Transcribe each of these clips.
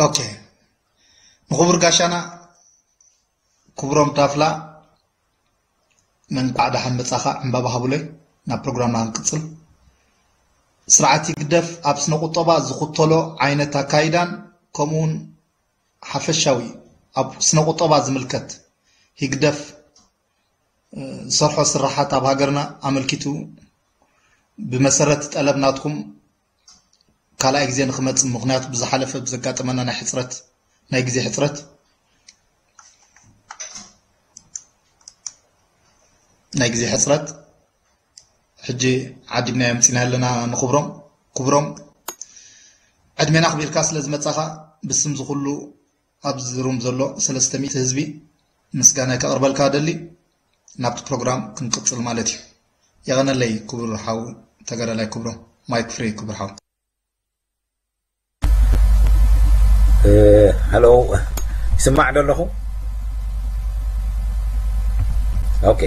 ኦኬ፣ ንኽቡር ጋሻና ክቡሮም ታፍላ እንኳዕ ደሓን መጻኻ። ዕምባባ ሃቡለይ፣ ናብ ፕሮግራምና ክንቅጽል። ስርዓት ህግደፍ ኣብ ስነ ቁጠባ ዝኽተሎ ዓይነት ኣካይዳን ከምኡውን ሓፈሻዊ ኣብ ስነ ቁጠባ ዝምልከት ህግደፍ ዝሰርሖ ስራሓት ኣብ ሃገርና ኣመልኪቱ ብመሰረት ጠለብ ናትኩም ካልኣይ ግዜ ንክመጽእ፣ ምኽንያቱ ብዝሓለፈ ብዘጋጠመና ናይ ሕጽረት ናይ ግዜ ሕጽረት ናይ ግዜ ሕጽረት ሕጂ ዓዲግናዮ ምጺና ኣለና። ንክብሮም ክብሮም ዕድሜና ኣኽቢርካ ስለ ዝመጻኻ ብስም ዝኹሉ ኣብዚ ሩም ዘሎ ሰለስተ ሚእቲ ህዝቢ ምስጋናይ ከቕርበልካ ደሊ። ናብቲ ፕሮግራም ክንቅጽል ማለት እዩ። የቐነለይ ክቡር ሓው ተጋዳላይ ክብሮም። ማይክ ፍሪ ክቡር ሓው። ሃሎ፣ ይስማዕ ዶ ኣለኹ? ኦኬ፣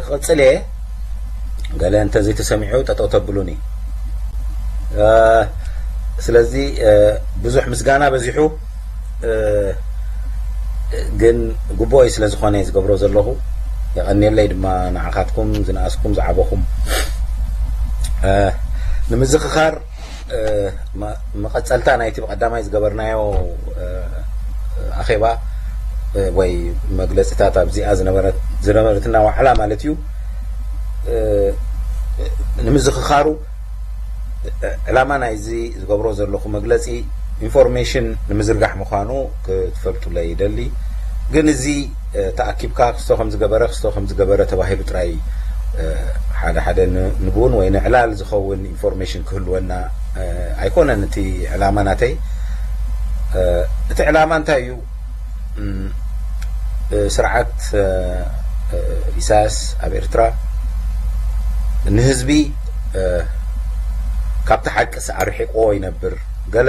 ክቕጽል እየ። ገለ እንተዘይተሰሚዑ ጠጠው ተብሉኒ። ስለዚ ብዙሕ ምስጋና በዚሑ፣ ግን ግቡኦይ ስለ ዝኾነ ዝገብሮ ዘለኹ። የቐንየለይ ድማ ንዓኻትኩም ዝነኣስኩም ዝዓበኹም። ንምዝኽኻር መቐጸልታ ናይቲ ብቐዳማይ ዝገበርናዮ ኣኼባ ወይ መግለጺታት ኣብዚኣ ዝነበረትና ዋዕላ ማለት እዩ። ንምዝኽኻሩ ዕላማ ናይዚ ዝገብሮ ዘለኹ መግለጺ ኢንፎርሜሽን ንምዝርጋሕ ምዃኑ ክትፈልጡለይ ይደሊ። ግን እዚ ተኣኪብካ ክስቶ ከም ዝገበረ ክስቶ ከም ዝገበረ ተባሂሉ ጥራይ ሓደ ሓደ ንቡን ወይ ንዕላል ዝኸውን ኢንፎርሜሽን ክህልወና ኣይኮነን እቲ ዕላማ ናተይ። እቲ ዕላማ እንታይ እዩ? ስርዓት ኢሳያስ ኣብ ኤርትራ ንህዝቢ ካብቲ ሓቂ ኣርሒቅዎ ይነብር። ገለ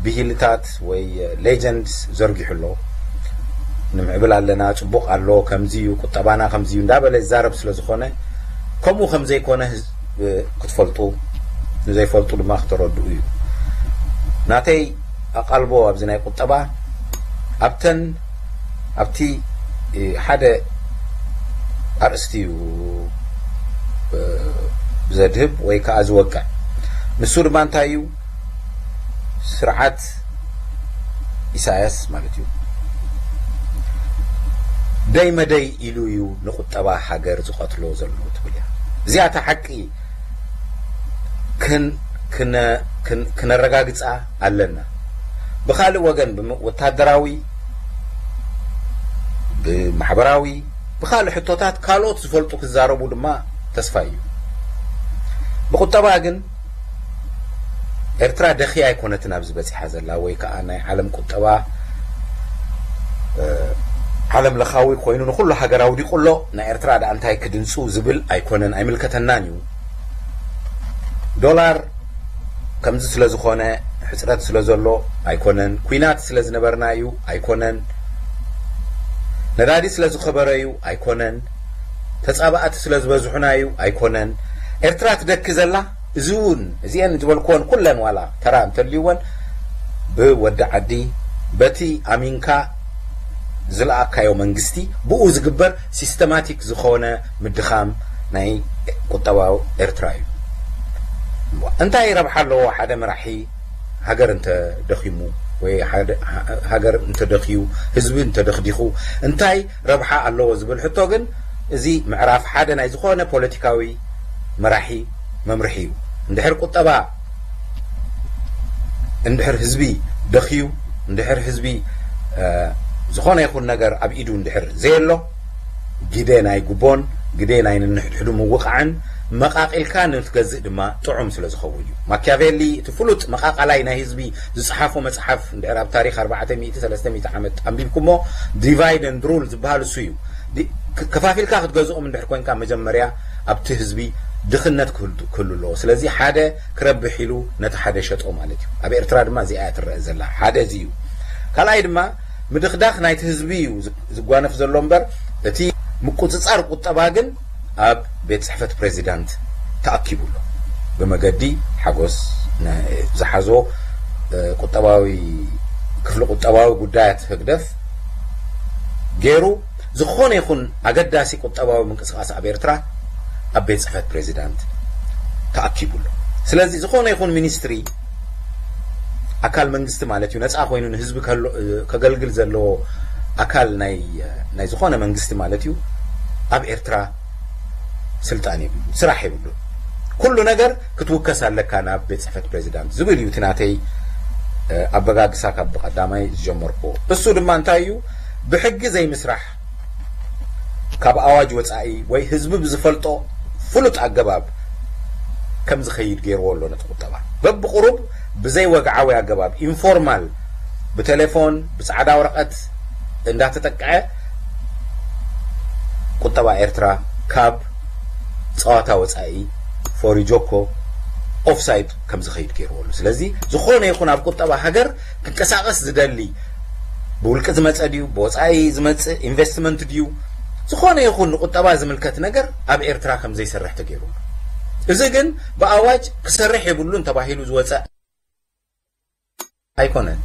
ብሂልታት ወይ ሌጀንድስ ዘርጊሑ ኣሎ። ንምዕብል ኣለና፣ ጽቡቕ ኣሎ፣ ከምዚ እዩ፣ ቁጠባና ከምዚ እዩ እንዳበለ ይዛረብ ስለ ዝኾነ፣ ከምኡ ከም ዘይኮነ ክትፈልጡ፣ ንዘይፈልጡ ድማ ክተረድኡ እዩ። ናተይ ኣቓልቦ ኣብዚ ናይ ቁጠባ ኣብተን ኣብቲ ሓደ ኣርእስቲ እዩ ዘድህብ ወይ ከዓ ዝወቅዕ። ንሱ ድማ እንታይ እዩ? ስርዓት ኢሳያስ ማለት እዩ፣ ደይ መደይ ኢሉ እዩ ንቁጠባ ሃገር ዝቐትሎ ዘሎ ትብል እያ። እዚኣ እታ ሓቂ ክነረጋግፃ ኣለና። ብኻልእ ወገን ወታደራዊ፣ ብማሕበራዊ፣ ብኻልእ ሕቶታት ካልኦት ዝፈልጡ ክዛረቡ ድማ ተስፋ እዩ። ብቁጠባ ግን ኤርትራ ደኽያ ኣይኮነትን ኣብዚ በፂሓ ዘላ፣ ወይ ከዓ ናይ ዓለም ቁጠባ ዓለም ለኻዊ ኮይኑ ንኩሉ ሃገር ኣውዲቁ ኣሎ። ናይ ኤርትራ ደኣ እንታይ ክድንፁ ዝብል ኣይኮነን፣ ኣይምልከተናን እዩ። ዶላር ከምዚ ስለ ዝኾነ፣ ሕፅረት ስለ ዘሎ ኣይኮነን፣ ኩናት ስለ ዝነበርና እዩ ኣይኮነን፣ ነዳዲ ስለ ዝኸበረ እዩ ኣይኮነን፣ ተፃባእቲ ስለ ዝበዝሑና እዩ ኣይኮነን። ኤርትራ ትደኪ ዘላ እዚ እውን እዚአን ዝበልክወን ኩለን ዋላ ተራ እንተልይወን ብወዲ ዓዲ በቲ ኣሚንካ ዝለኣካዮ መንግስቲ ብኡ ዝግበር ሲስተማቲክ ዝኾነ ምድኻም ናይ ቁጠባዊ ኤርትራ እዩ። እንታይ ረብሓ ኣለዎ ሓደ መራሒ ሃገር እንተ ደኺሙ ወይ ሃገር እንተ ደኽዩ ህዝቢ እንተ ደኽዲኹ እንታይ ረብሓ ኣለዎ ዝብል ሕቶ ግን እዚ ምዕራፍ ሓደ ናይ ዝኾነ ፖለቲካዊ መራሒ መምርሒ እዩ። እንድሕር ቁጠባ እንድሕር ህዝቢ ደኽዩ፣ እንድሕር ህዝቢ ዝኾነ ይኹን ነገር ኣብ ኢዱ እንድሕር ዘየሎ ግደ ናይ ጉቦን ግደ ናይ ንንሕድሕዱ ምውቃዕን መቃቂልካ ንትገዝእ ድማ ጥዑም ስለ ዝኸውን እዩ። ማኪያቬሊ እቲ ፍሉጥ መቃቃላይ ናይ ህዝቢ ዝፀሓፎ መፅሓፍ እንድሕር ኣብ ታሪክ ኣርባዕተ ሚእቲ ሰለስተ ሚእቲ ዓመት ኣንቢብኩሞ ዲቫይድ ኤንድ ሩል ዝበሃል እሱ እዩ። ከፋፊልካ ክትገዝኦም እንድሕር ኮንካ መጀመርያ ኣብቲ ህዝቢ ድኽነት ክህሉ ኣለዎ። ስለዚ ሓደ ክረብሕ ኢሉ ነቲ ሓደ ሸጦ ማለት እዩ። ኣብ ኤርትራ ድማ እዚኣ እያ ትረአ ዘላ። ሓደ እዚ እዩ። ካልኣይ ድማ ምድኽዳኽ ናይቲ ህዝቢ እዩ ዝጓነፍ ዘሎ እምበር እቲ ምቁፅፃር ቁጠባ ግን ኣብ ቤት ፅሕፈት ፕሬዚዳንት ተኣኪቡ ኣሎ። ብመገዲ ሓጎስ ዝሓዞ ቁጠባዊ ክፍሊ ቁጠባዊ ጉዳያት ህግደፍ ገይሩ ዝኾነ ይኹን ኣገዳሲ ቁጠባዊ ምንቅስቃስ ኣብ ኤርትራ ኣብ ቤት ጽሕፈት ፕሬዚዳንት ተኣኪቡሉ። ስለዚ ዝኾነ ይኹን ሚኒስትሪ ኣካል መንግስቲ ማለት እዩ፣ ነፃ ኮይኑ ንህዝቢ ከገልግል ዘለዎ ኣካል ናይ ዝኾነ መንግስቲ ማለት እዩ፣ ኣብ ኤርትራ ስልጣን የብሉ፣ ስራሕ የብሉ። ኩሉ ነገር ክትውከስ ኣለካ ናብ ቤት ጽሕፈት ፕሬዚዳንት ዝብል እዩ እቲ ናተይ ኣበጋግሳ ካብ ብቀዳማይ ዝጀመርኩዎ። እሱ ድማ እንታይ እዩ? ብሕጊ ዘይምስራሕ፣ ካብ ኣዋጅ ወጻኢ ወይ ህዝቢ ብዝፈልጦ ፍሉጥ ኣገባብ ከም ዝኸይድ ገይርዎ ኣሎ ነቲ ቁጠባ። በብቁሩብ ብዘይ ወግዓዊ ኣገባብ፣ ኢንፎርማል፣ ብቴሌፎን ብጻዕዳ ወረቐት እንዳተጠቅዐ ቁጠባ ኤርትራ ካብ ጸዋታ ወጻኢ ፎሪጆኮ ኦፍሳይድ ከም ዝኸይድ ገይርዎ ኣሎ። ስለዚ ዝኾነ ይኹን ኣብ ቁጠባ ሃገር ክንቀሳቐስ ዝደሊ ብውልቂ ዝመጸ ድዩ ብወጻኢ ዝመጽእ ኢንቨስትመንት ድዩ ዝኾነ ይኹን ንቁጠባ ዝምልከት ነገር ኣብ ኤርትራ ከም ዘይሰርሕ ተገይሩ። እዚ ግን ብኣዋጅ ክሰርሕ የብሉን ተባሂሉ ዝወጸ ኣይኮነን።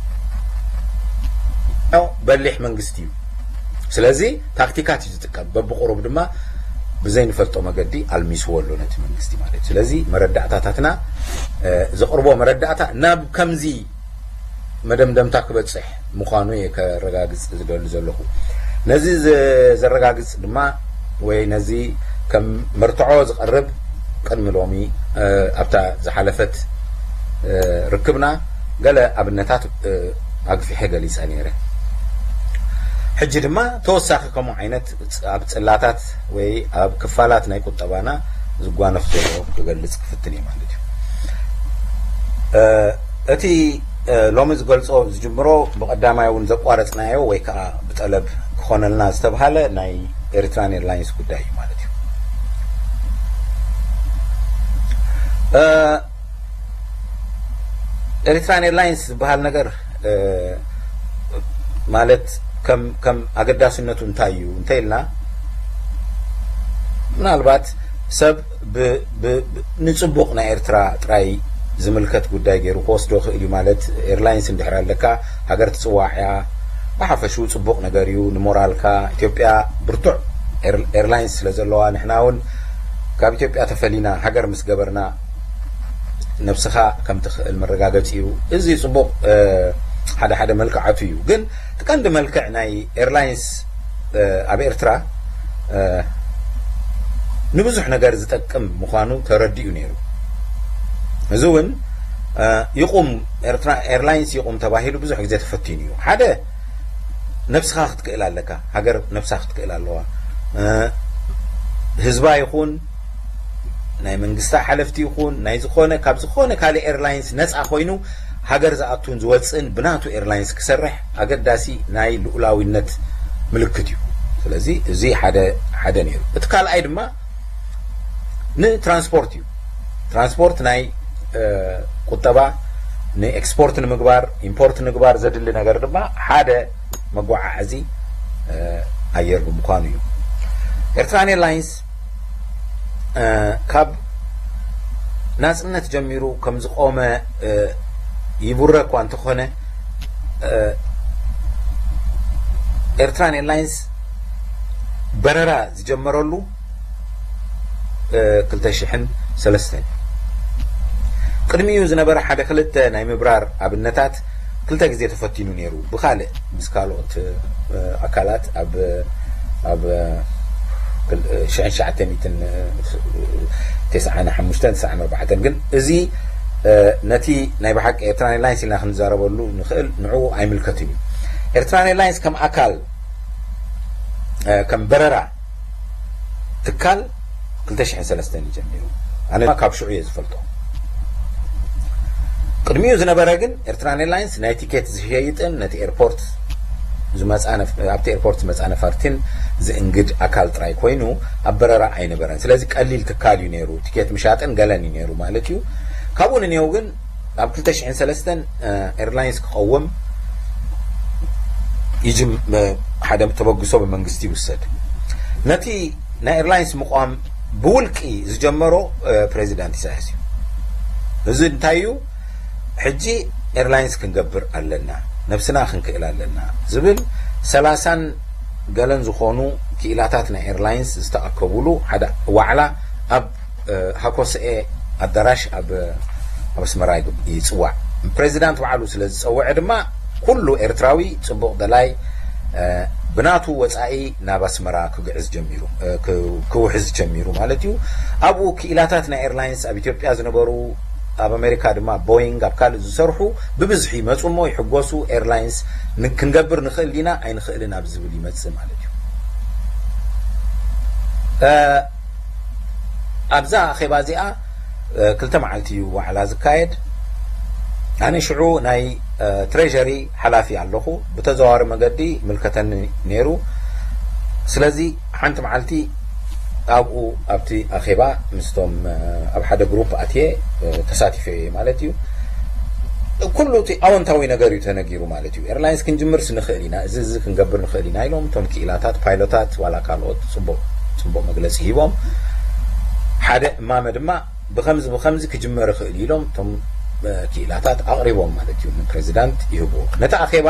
ያው በሊሕ መንግስቲ እዩ። ስለዚ ታክቲካት እዩ ዝጥቀም። በብቁሩብ ድማ ብዘይንፈልጦ መገዲ ኣልሚስዎ ኣሎ ነቲ መንግስቲ ማለት እዩ። ስለዚ መረዳእታታትና ዘቕርቦ መረዳእታ ናብ ከምዚ መደምደምታ ክበጽሕ ምዃኑ እየ ከረጋግጽ ዝደሊ ዘለኹ። ነዚ ዘረጋግጽ ድማ ወይ ነዚ ከም መርትዖ ዝቐርብ ቅድሚ ሎሚ ኣብታ ዝሓለፈት ርክብና ገለ ኣብነታት ኣግፊሐ ገሊጸ ነይረ። ሕጂ ድማ ተወሳኺ ከምኡ ዓይነት ኣብ ጽላታት ወይ ኣብ ክፋላት ናይ ቁጠባና ዝጓነፍ ዘሎ ክገልጽ ክፍትን እየ ማለት እዩ። እቲ ሎሚ ዝገልጾ ዝጅምሮ ብቐዳማይ እውን ዘቋረጽናዮ ወይ ከዓ ብጠለብ ክኾነልና ዝተብሃለ ናይ ኤሪትራን ኤርላይንስ ጉዳይ እዩ ማለት እዩ። ኤሪትራን ኤርላይንስ ዝበሃል ነገር ማለት ከም ኣገዳስነቱ እንታይ እዩ እንተ ኢልና ምናልባት ሰብ ንፅቡቕ ናይ ኤርትራ ጥራይ ዝምልከት ጉዳይ ገይሩ ክወስዶ ክእል እዩ። ማለት ኤርላይንስ እንድሕር ኣለካ ሃገር ትፅዋዕ እያ፣ ብሓፈሽኡ ፅቡቕ ነገር እዩ ንሞራልካ። ኢትዮጵያ ብርቱዕ ኤርላይንስ ስለ ዘለዋ ንሕና እውን ካብ ኢትዮጵያ ተፈሊና ሃገር ምስ ገበርና ነብስኻ ከም ትኽእል መረጋገፂ እዩ። እዚ ፅቡቕ ሓደ ሓደ መልክዓቱ እዩ። ግን እቲ ቀንዲ መልክዕ ናይ ኤርላይንስ ኣብ ኤርትራ ንብዙሕ ነገር ዝጠቅም ምዃኑ ተረዲኡ ነይሩ። እዚ እውን ይቑም፣ ኤርትራ ኤርላይንስ ይቑም ተባሂሉ ብዙሕ ግዜ ተፈቲኑ እዩ። ሓደ ነብስኻ ክትክእል ኣለካ፣ ሃገር ነብሳ ክትክእል ኣለዋ። ህዝባ ይኹን ናይ መንግስታ ሓለፍቲ ይኹን ናይ ዝኾነ ካብ ዝኾነ ካልእ ኤርላይንስ ነፃ ኮይኑ ሃገር ዝኣቱን ዝወፅእን ብናቱ ኤርላይንስ ክሰርሕ ኣገዳሲ ናይ ልኡላዊነት ምልክት እዩ። ስለዚ እዚ ሓደ ሓደ ነይሩ። እቲ ካልኣይ ድማ ንትራንስፖርት እዩ። ትራንስፖርት ናይ ቁጠባ ንኤክስፖርት ንምግባር ኢምፖርት ንምግባር ዘድሊ ነገር ድማ ሓደ መጓዓዓዚ ኣየር ብምዃኑ እዩ። ኤርትራን ኤርላይንስ ካብ ናጽነት ጀሚሩ ከም ዝቆመ ይቡረ እኳ እንተኾነ ኤርትራን ኤርላይንስ በረራ ዝጀመረሉ ክልተ ሽሕን ሰለስተን ቅድሚኡ ዝነበረ ሓደ ክልተ ናይ ምብራር ኣብነታት ክልተ ግዜ ተፈቲኑ ነይሩ። ብኻልእ ምስ ካልኦት ኣካላት ኣብ ኣብ ሽሕን ትሽዓተ ሚእትን ተስዓን ሓሙሽተን ተስዓን ኣርባዕተን ግን እዚ ነቲ ናይ ብሓቂ ኤርትራን ኤርላይንስ ኢልና ክንዛረበሉ ንኽእል ንዕኡ ኣይምልከትን እዩ። ኤርትራን ኤርላይንስ ከም ኣካል ከም በረራ ትካል ክልተ ሽሕን ሰለስተን እዩ ጀሚሩ። ኣነ ድማ ካብ ሽዑ እየ ዝፈልጦ። ቅድሚኡ ዝነበረ ግን ኤርትራን ኤርላይንስ ናይ ቲኬት ዝሸይጥን ነቲ ኤርፖርት ዝመጻ ነፍ- ኣብቲ ኤርፖርት ዝመጻ ነፈርቲን ዝእንግድ ኣካል ጥራይ ኮይኑ ኣብ በረራ ኣይነበረን። ስለዚ ቀሊል ትካል እዩ ነይሩ። ቲኬት ምሻጥን ገለን እዩ ነይሩ ማለት እዩ። ካብኡ ንኔው ግን ኣብ ክልተ ሽሕን ሰለስተን ኤርላይንስ ክቐውም ይጅም ሓደ ተበግሶ ብመንግስቲ ይውሰድ። ነቲ ናይ ኤርላይንስ ምቋም ብውልቂ ዝጀመሮ ፕሬዚዳንት ኢሳያስ እዩ። እዚ እንታይ እዩ? ሕጂ ኤርላይንስ ክንገብር ኣለና፣ ነብስና ክንክእል ኣለና ዝብል ሰላሳን ገለን ዝኾኑ ክኢላታት ናይ ኤርላይንስ ዝተኣከቡሉ ሓደ ዋዕላ ኣብ ሃኮስኤ ኣዳራሽ ኣብ ኣስመራ ይፅዋዕ። ፕሬዚዳንት ባዕሉ ስለ ዝፀወዐ ድማ ኩሉ ኤርትራዊ ፅቡቕ ደላይ ብናቱ ወፃኢ ናብ ኣስመራ ክግዕዝ ጀሚሩ፣ ክውሕዝ ጀሚሩ ማለት እዩ። ኣብኡ ክኢላታት ናይ ኤርላይንስ ኣብ ኢትዮጵያ ዝነበሩ፣ ኣብ ኣሜሪካ ድማ ቦይንግ፣ ኣብ ካልእ ዝሰርሑ ብብዝሒ ይመፁ እሞ ይሕጎሱ። ኤርላይንስ ክንገብር ንኽእል ዲና ኣይንኽእልን ኣብ ዝብል ይመፅእ ማለት እዩ። ኣብዛ ኣኼባ እዚኣ ክልተ መዓልቲ እዩ ዋዕላ ዝካየድ። ኣነ ሽዑ ናይ ትሬሪ ሓላፊ ኣለኹ፣ ብተዘዋዋሪ መገዲ ምልከተኒ ነይሩ። ስለዚ ሓንቲ መዓልቲ ኣብኡ ኣብቲ ኣኼባ ምስቶም ኣብ ሓደ ግሩፕ ኣትየ ተሳቲፈ እየ ማለት እዩ። ኩሉ እቲ ኣወንታዊ ነገር እዩ ተነጊሩ ማለት እዩ። ኤርላይንስ ክንጅምርስ ንኽእል ኢና፣ እዚ እዚ ክንገብር ንኽእል ኢና ኢሎም እቶም ክኢላታት ፓይሎታት ዋላ ካልኦት ፅቡቕ ፅቡቕ መግለፂ ሂቦም። ሓደ እማመ ድማ ብኸምዚ ብኸምዚ ክጅመር ይኽእል ኢሎም እቶም ክኢላታት ኣቕሪቦም ማለት እዩ ንፕሬዚዳንት ይህብዎ። ነቲ ኣኼባ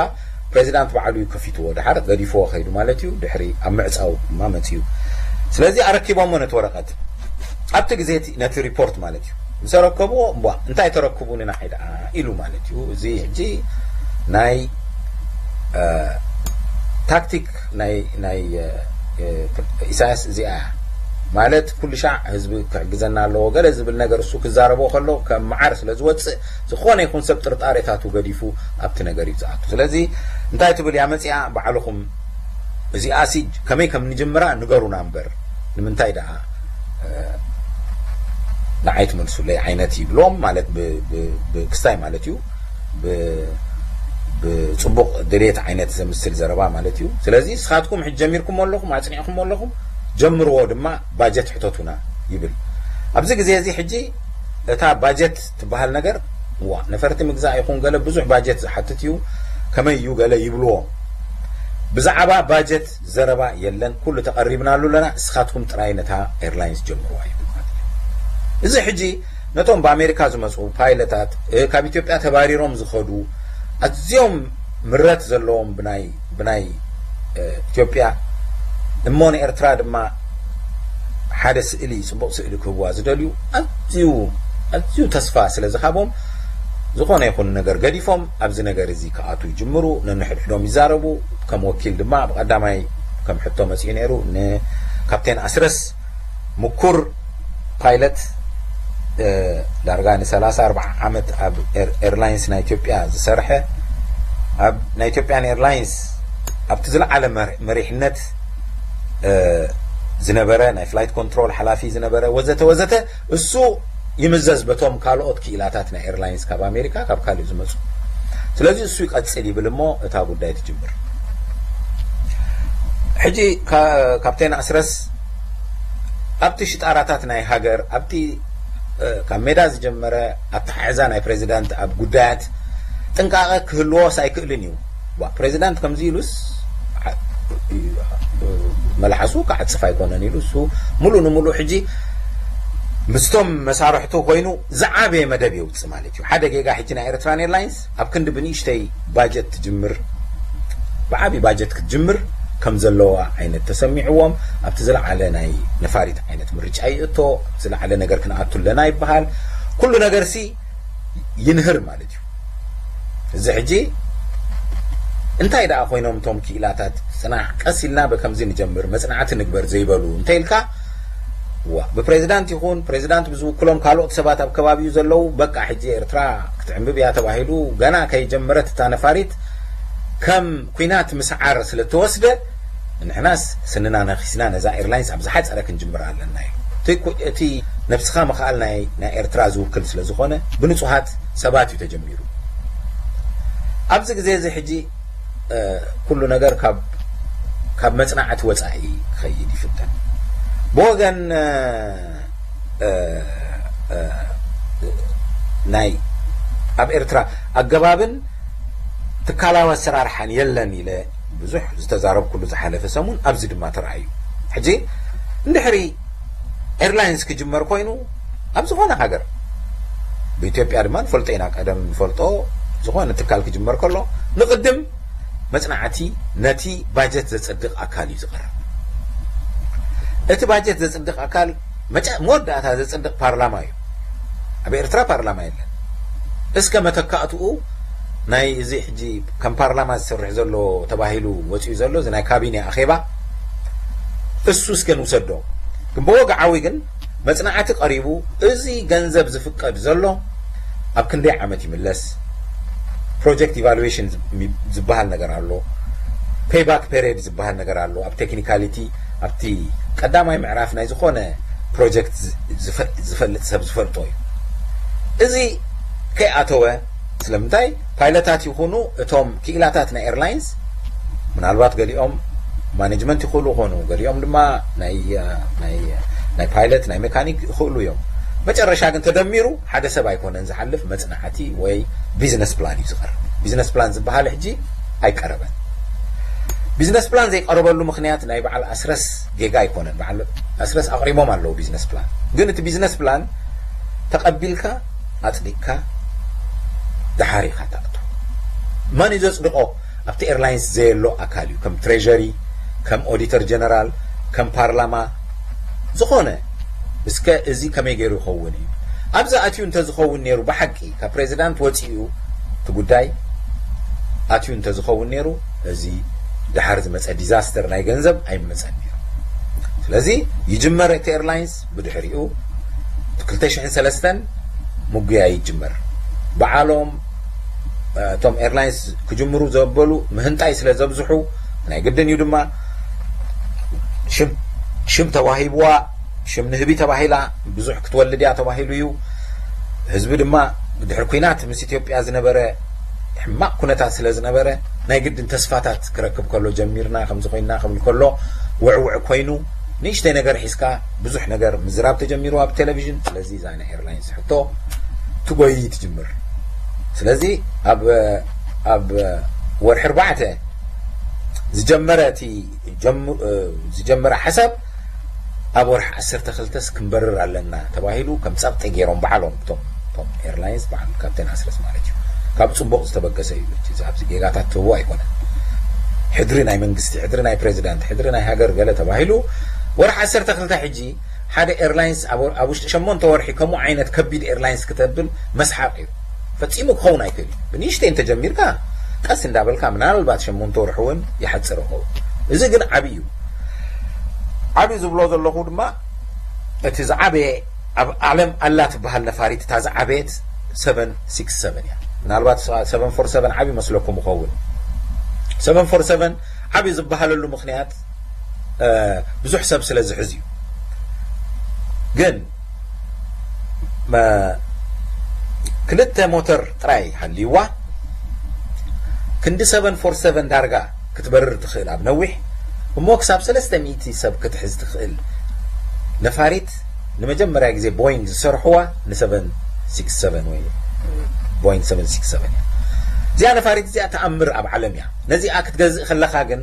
ፕሬዚዳንት ባዕሉ እዩ ከፊትዎ፣ ድሓር ገዲፍዎ ከይዱ ማለት እዩ። ድሕሪ ኣብ ምዕፃው ድማ መፅዩ። ስለዚ ኣረኪቦሞ ነቲ ወረቐት ኣብቲ ግዜ ነቲ ሪፖርት ማለት እዩ። ምስ ኣረከብዎ እምቧ እንታይ ተረክቡ ንናይ ደኣ ኢሉ ማለት እዩ። እዚ ሕጂ ናይ ታክቲክ ናይ ናይ ኢሳያስ እዚኣ ማለት ኩሉ ሻዕ ህዝቢ ክሕግዘና ኣለዎ ገለ ዝብል ነገር እሱ ክዛረቦ ከሎ ከም መዓር ስለ ዝወፅእ ዝኾነ ይኹን ሰብ ጥርጣሬታቱ ገዲፉ ኣብቲ ነገር እዩ ዝኣቱ። ስለዚ እንታይ ትብል እያ መፅኣ ባዕልኹም እዚኣ ሲ ከመይ ከም ንጅምራ ንገሩና እምበር ንምንታይ ደኣ ንዓይ ትመልሱለይ ዓይነት ይብሎም ማለት ብክስታይ ማለት እዩ። ብፅቡቕ ድሌት ዓይነት ዘምስል ዘረባ ማለት እዩ። ስለዚ ንስኻትኩም ሕጂ ጀሚርኩም ኣለኹም ኣፅኒዕኩም ኣለኹም ጀምርዎ ድማ ባጀት ሕተቱና ይብል። ኣብዚ ግዜ እዚ ሕጂ እታ ባጀት ትበሃል ነገር ዋ ነፈርቲ ምግዛእ ይኹን ገለ ብዙሕ ባጀት ዝሓትት እዩ ከመይ እዩ ገለ ይብልዎም። ብዛዕባ ባጀት ዘረባ የለን፣ ኩሉ ተቐሪብናሉ ኣለና፣ እስኻትኩም ጥራይ ነታ ኤርላይንስ ጀምርዋ ይብል ማለት እዩ። እዚ ሕጂ ነቶም ብኣሜሪካ ዝመፁ ፓይለታት ካብ ኢትዮጵያ ተባሪሮም ዝኸዱ ኣዝዮም ምረት ዘለዎም ብናይ ብናይ ኢትዮጵያ እሞ ንኤርትራ ድማ ሓደ ስእሊ ፅቡቕ ስእሊ ክህብዋ ዝደልዩ ኣዝዩ ኣዝዩ ተስፋ ስለ ዝሃቦም ዝኾነ ይኹን ነገር ገዲፎም ኣብዚ ነገር እዚ ክኣቱ ይጅምሩ። ነንሕድሕዶም ይዛረቡ። ከም ወኪል ድማ ብቐዳማይ ከም ሕቶ መፅኡ ነይሩ ንካፕቴን ኣስረስ ምኩር ፓይለት ዳርጋ ን34 ዓመት ኣብ ኤርላይንስ ናይ ኢትዮጵያ ዝሰርሐ ኣብ ናይ ኢትዮጵያን ኤርላይንስ ኣብቲ ዝለዓለ መሪሕነት ዝነበረ ናይ ፍላይት ኮንትሮል ሓላፊ ዝነበረ ወዘተ ወዘተ እሱ ይምዘዝ በቶም ካልኦት ክኢላታት ናይ ኤርላይንስ ካብ ኣሜሪካ ካብ ካልእ ዝመፁ። ስለዚ እሱ ይቀፅል ይብል እሞ እታ ጉዳይ ትጅምር። ሕጂ ካፕቴን ኣስረስ ኣብቲ ሽጣራታት ናይ ሃገር ኣብቲ ካብ ሜዳ ዝጀመረ ኣተሓሕዛ ናይ ፕሬዚዳንት ኣብ ጉዳያት ጥንቃቐ ክህልዎስ ኣይክእልን እዩ። ፕሬዚዳንት ከምዚ ኢሉስ መልሓሱ ክዓፅፍ ኣይኮነን ኢሉ እሱ ሙሉእ ንሙሉእ ሕጂ ምስቶም መሳርሕቱ ኮይኑ ዝዓበየ መደብ የውፅእ ማለት እዩ። ሓደ ጌጋ ሕጂ ናይ ኤርትራን ኤርላይንስ ኣብ ክንዲ ብንእሽተይ ባጀት ትጅምር ብዓብዪ ባጀት ክትጅምር ከም ዘለዋ ዓይነት ተሰሚዕዎም ኣብቲ ዝለዓለ ናይ ነፋሪት ዓይነት ምርጫ ይእቶ ዝለዓለ ነገር ክንኣቱ ኣለና ይበሃል። ኩሉ ነገር ሲ ይንህር ማለት እዩ። እዚ ሕጂ እንታይ ደኣ ኮይኖም እቶም ክኢላታት ፅናሕ ቀስ ኢልና በከምዚ ንጀምር መፅናዕቲ ንግበር ዘይበሉ እንተ ኢልካ ዋ ብፕሬዚዳንት ይኹን ፕሬዚዳንት ብዝውክሎም ካልኦት ሰባት ኣብ ከባቢኡ ዘለዉ በቃ ሕጂ ኤርትራ ክትዕምብብ እያ ተባሂሉ ገና ከይጀመረት እታ ነፋሪት ከም ኩናት ምስዓር ስለ እተወስደ ንሕናስ ስንና ነኺስና ነዛ ኤርላይንስ ኣብ ዝሓፀረ ክንጅምር ኣለና እዩ። እቲ ነብስኻ ምኽኣል ናይ ኤርትራ ዝውክል ስለ ዝኾነ ብንፁሃት ሰባት እዩ ተጀሚሩ። ኣብዚ ግዜ እዚ ሕጂ ኩሉ ነገር ካብ መፅናዕቲ ወፃኢ ክኸይድ ይፍተን። ብወገን ናይ ኣብ ኤርትራ ኣገባብን ትካላዊ ኣሰራርሓን የለን ኢለ ብዙሕ ዝተዛረብኩሉ ዝሓለፈ ሰሙን ኣብዚ ድማ ተራእዩ። ሕጂ እንድሕሪ ኤርላይንስ ክጅመር ኮይኑ ኣብ ዝኾነ ሃገር ብኢትዮጵያ ድማ ንፈልጦ ኢና። ቀደም ንፈልጦ፣ ዝኾነ ትካል ክጅመር ከሎ ንቕድም መጽናዕቲ ነቲ ባጀት ዘጸድቕ ኣካል እዩ ዝቐርብ። እቲ ባጀት ዘጽድቕ ኣካል መወዳእታ ዘጽድቕ ፓርላማ እዩ። ኣብ ኤርትራ ፓርላማ የለን። እስከ መተካእትኡ ናይ እዚ ሕጂ ከም ፓርላማ ዝሰርሕ ዘሎ ተባሂሉ ወፂኡ ዘሎ እዚ ናይ ካቢኔ ኣኼባ፣ እሱ እስከ ንውሰዶ። ግን ብወግዓዊ ግን መጽናዕቲ ቀሪቡ፣ እዚ ገንዘብ ዝፍቀድ ዘሎ ኣብ ክንደይ ዓመት ይምለስ? ፕሮጀክት ኢቫሉዌሽን ዝበሃል ነገር ኣሎ፣ ፔይባክ ፔሪድ ዝበሃል ነገር ኣሎ። ኣብ ቴክኒካሊቲ ኣብቲ ቀዳማይ ምዕራፍ ናይ ዝኾነ ፕሮጀክት ዝፈልጥ ሰብ ዝፈልጦ እዩ። እዚ ከይኣተወ፣ ስለምንታይ ፓይለታት ይኹኑ እቶም ክኢላታት ናይ ኤርላይንስ፣ ምናልባት ገሊኦም ማኔጅመንት ይኽእሉ ይኾኑ፣ ገሊኦም ድማ ናይ ፓይለት ናይ ሜካኒክ ይኽእሉ እዮም። መጨረሻ ግን ተደሚሩ ሓደ ሰብ ኣይኮነን ዝሓልፍ፣ መፅናዕቲ ወይ ቢዝነስ ፕላን እዩ ዝቐርብ። ቢዝነስ ፕላን ዝበሃል ሕጂ ኣይቀረበን። ቢዝነስ ፕላን ዘይቀረበሉ ምክንያት ናይ በዓል ኣስረስ ጌጋ ኣይኮነን። በዓል ኣስረስ ኣቕሪቦም ኣለዉ ቢዝነስ ፕላን። ግን እቲ ቢዝነስ ፕላን ተቐቢልካ ኣጽዲቅካ ደሓር ኢኻ ትኣቱ። መን እዩ ዘጽድቆ? ኣብቲ ኤርላይንስ ዘየሎ ኣካል እዩ። ከም ትሬዠሪ፣ ከም ኦዲተር ጀነራል፣ ከም ፓርላማ ዝኾነ። እስከ እዚ ከመይ ገይሩ ይኸውን እዩ? ኣብዚ ኣትዩ እንተዝኸውን ነይሩ፣ ብሓቂ ካብ ፕሬዚዳንት ወፂኡ እቲ ጉዳይ ኣትዩ እንተዝኸውን ነይሩ፣ እዚ ደሓር ዝመፀ ዲዛስተር ናይ ገንዘብ ኣይመፀን ነይሩ። ስለዚ ይጅመር እቲ ኤርላይንስ፣ ብድሕሪኡ ክልተ ሽሕን ሰለስተን ምጉያይ ይጅመር። በዓሎም እቶም ኤርላይንስ ክጅምሩ ዘበሉ ምህንጣይ ስለ ዘብዝሑ፣ ናይ ግድን እዩ ድማ። ሽም ተዋሂብዋ፣ ሽም ንህቢ ተባሂላ፣ ብዙሕ ክትወልድ እያ ተባሂሉ እዩ። ህዝቢ ድማ ድሕሪ ኲናት ምስ ኢትዮጵያ ዝነበረ ሕማቕ ኩነታት ስለ ዝነበረ፣ ናይ ግድን ተስፋታት ክረክብ ከሎ፣ ጀሚርና ከምዚ ኮይና ክብል ከሎ፣ ውዕውዕ ኮይኑ፣ ንእሽተይ ነገር ሒዝካ ብዙሕ ነገር ምዝራብ ተጀሚሩ ኣብ ቴሌቪዥን። ስለዚ እዛ ናይ ኤርላይንስ ሕቶ ትጎይ ትጅምር። ስለዚ ኣብ ኣብ ወርሒ ኣርባዕተ ዝጀመረ እቲ ዝጀመረ ሓሳብ ኣብ ወርሒ ዓሰርተ ክልተስ ክንበርር ኣለና ተባሂሉ ከም ጸቕጢ ገይሮም ባዕሎም እቶም እቶም ኤርላይንስ ባዕሉ ካፕቴን ኣስረስ ማለት እዩ። ካብ ጽቡቕ ዝተበገሰ እዩ። እቲ ኣብዚ ጌጋታት ትህቦ ኣይኮነን። ሕድሪ ናይ መንግስቲ፣ ሕድሪ ናይ ፕሬዚዳንት፣ ሕድሪ ናይ ሃገር ገለ ተባሂሉ ወርሒ ዓሰርተ ክልተ ሕጂ ሓደ ኤርላይንስ ኣብ ውሽጢ ሸሞንተ ወርሒ ከምኡ ዓይነት ከቢድ ኤርላይንስ ክተብል መስሓቕ እዩ። ፈጺሙ ክኸውን ኣይክእል እዩ። ብንእሽተይ እንተጀሚርካ ቀስ እንዳበልካ ምናልባት ሸሞንተ ወርሒ እውን ይሓጽር ይኸውን። እዚ ግን ዓብዪ እዩ። ዓብዪ ዝብሎ ዘለኹ ድማ እቲ ዝዓበየ ኣብ ዓለም ኣላ ትበሃል ነፋሪት እታ ዝዓበየት ሰቨን ሲክስ ሰቨን እያ። ምናልባት ሰቨን ፎር ሰቨን ዓብዪ መስለኩም ይኸውን። ሰቨን ፎር ሰቨን ዓብዪ ዝበሃለሉ ምክንያት ብዙሕ ሰብ ስለ ዝሕዝ እዩ። ግን ክልተ ሞተር ጥራይ ሃልይዋ ክንዲ ሰቨን ፎር ሰቨን ዳርጋ ክትበርር ትኽእል ኣብ ነዊሕ እሞ ክሳብ ሰለስተ ሚእቲ ሰብ ክትሕዝ ትኽእል ነፋሪት ንመጀመርያ ግዜ ቦይንግ ዝሰርሕዋ ን ሰቨን ሲክስ ሰቨን ወይ ቦይንግ ሰቨን ሲክስ ሰቨን እያ። እዚኣ ነፋሪት እዚኣ ተኣምር ኣብ ዓለም እያ። ነዚኣ ክትገዝእ ከለኻ ግን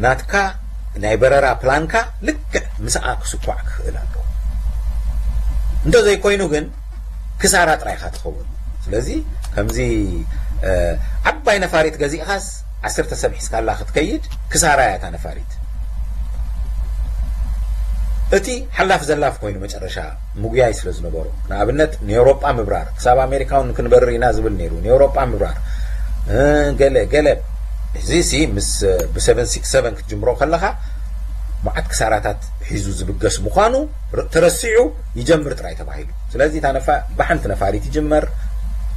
ናትካ ናይ በረራ ፕላንካ ልክዕ ምስኣ ክስኳዕ ክኽእል ኣለዎ። እንተዘይኮይኑ ግን ክሳራ ጥራይ ኢኻ ትኸውን። ስለዚ ከምዚ ዓባይ ነፋሪት ገዚእኻስ ዓሰርተ ሰብ ሒዝካላ ክትከይድ ክሳራ እያ እታ ነፋሪት። እቲ ሓላፍ ዘላፍ ኮይኑ መጨረሻ ምጉያይ ስለ ዝነበሮ ንኣብነት ንኤውሮጳ ምብራር ክሳብ ኣሜሪካ እውን ክንበርር ኢና ዝብል ነይሩ። ንኤውሮጳ ምብራር ገለ ገለ እዚ ሲ ምስ ብ ሰቨን ሲክስ ሰቨን ክትጅምሮ ከለኻ መዓት ክሳራታት ሒዙ ዝብገስ ምዃኑ ተረሲዑ ይጀምር ጥራይ ተባሂሉ። ስለዚ እታ ነፋ ብሓንቲ ነፋሪት ይጅመር